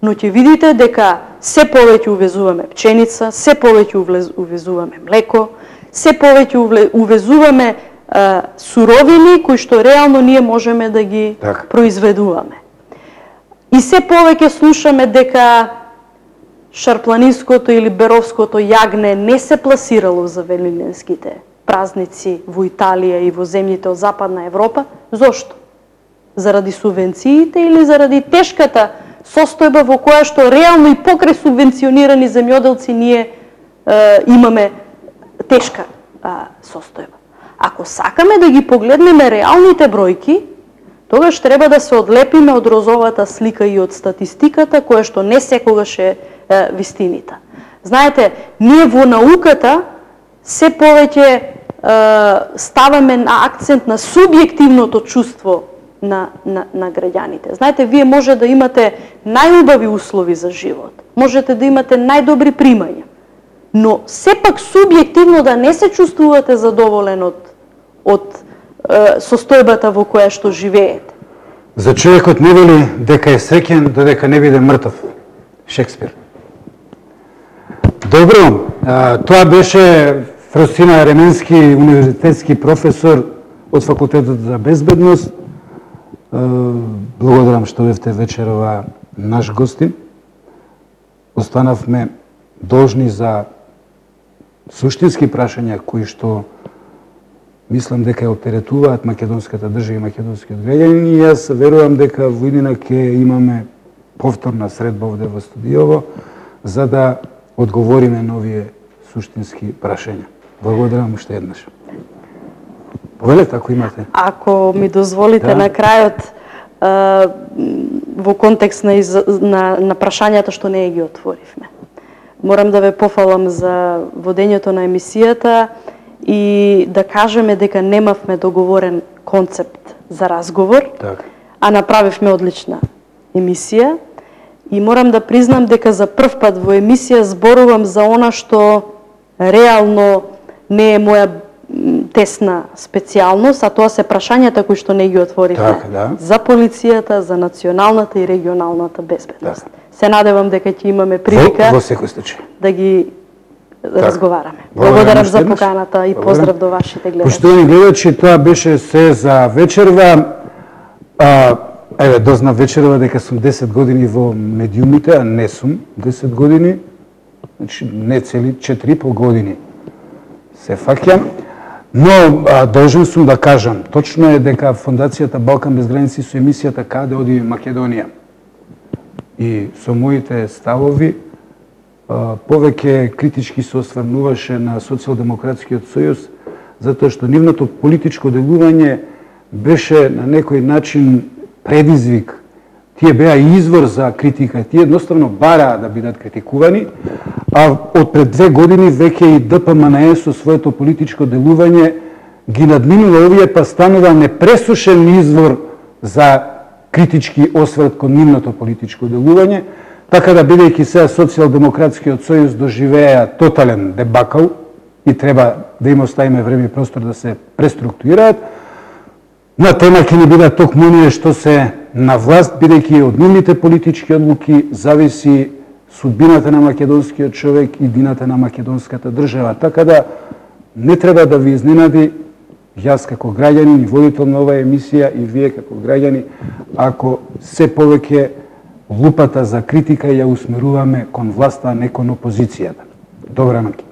но ќе видите дека се повеќе увезуваме пченица, се повеќе увезуваме млеко, се повеќе увезуваме а, суровини кои што реално ние можеме да ги так. произведуваме. И се повеќе слушаме дека шарпланинското или беровското јагне не се пласирало за велиненските празници во Италија и во земјите од Западна Европа. Зошто? Заради субвенциите или заради тешката состојба во која што реално и покрај субвенционирани земјоделци ние е, имаме тешка е, состојба. Ако сакаме да ги погледнеме реалните бројки, тогаш треба да се одлепиме од розовата слика и од статистиката, која што не секогаш е, е вистинита. Знаете, ние во науката се повеќе е, ставаме на акцент на субјективното чувство на, на, на граѓаните. Знаете, вие може да имате најубави услови за живот, можете да имате најдобри примања, но сепак субјективно да не се чувствувате задоволен од, од е, состојбата во која што живеете. За човекот не вели дека е среќен додека не биде мртов. Шекспир. Добро, а, тоа беше Фростина Ременски, универзитетски професор од Факултетот за безбедност. Благодарам што бевте вечерова наш гостин. Останавме должни за суштински прашања кои што мислам дека оперетуваат македонската држава и македонскиот граѓани, и јас верувам дека во иднина ќе имаме повторна средба овде во студиово за да одговориме на овие суштински прашања. Благодарам уште еднаш. Повелете, ако имате. Ако ми дозволите да. На крајот, во контекст на, из... на, на прашањата што не ги отворивме. Морам да ве пофалам за водењето на емисијата и да кажеме дека немавме договорен концепт за разговор, так. А направивме одлична емисија. И морам да признам дека за прв пат во емисија зборувам за она што реално не е моја тесна специјалност, а тоа се прашањата кои што не ги отворивме. Так, да. За полицијата, за националната и регионалната безбедност. Так. Се надевам дека ќе имаме прилика во, во секој случај да ги так. Разговараме. Благодарам, Благодарам за поканата и поздрав до вашите гледачи. Поштовани гледачи, тоа беше се за вечерва. А, еве, дознав вечерва дека сум десет години во медиумите, а не сум десет години. Значи, не цели четири и пол години се фаќам. Но а, должен сум да кажам, точно е дека Фондацијата Балкан без граници со емисијата Каде оди Македонија и со моите ставови а, повеќе критички се осврнуваше на Социјалдемократскиот сојуз, затоа што нивното политичко делување беше на некој начин предизвик. Тие беа извор за критика, тие едноставно бараа да бидат критикувани, а од пред две години веќе и ДПМНЕ со своето политичко делување ги надминува овие, па станува непресушен извор за критички осврт кон нивното политичко делување, така да бидејќи сега Социјалдемократскиот сојуз доживеа тотален дебакал и треба да им оставиме време и простор да се преструктурираат, на тема ќе ни бидат токму оние што се на власт, бидејќи од нивните политички одлуки зависи судбината на македонскиот човек и дината на македонската држава. Така да не треба да ви изненади јас како граѓанин и водител на оваа емисија и вие како граѓани, ако се повеќе лупата за критика ја усмеруваме кон власта, а не кон опозицијата. Добра ноќ.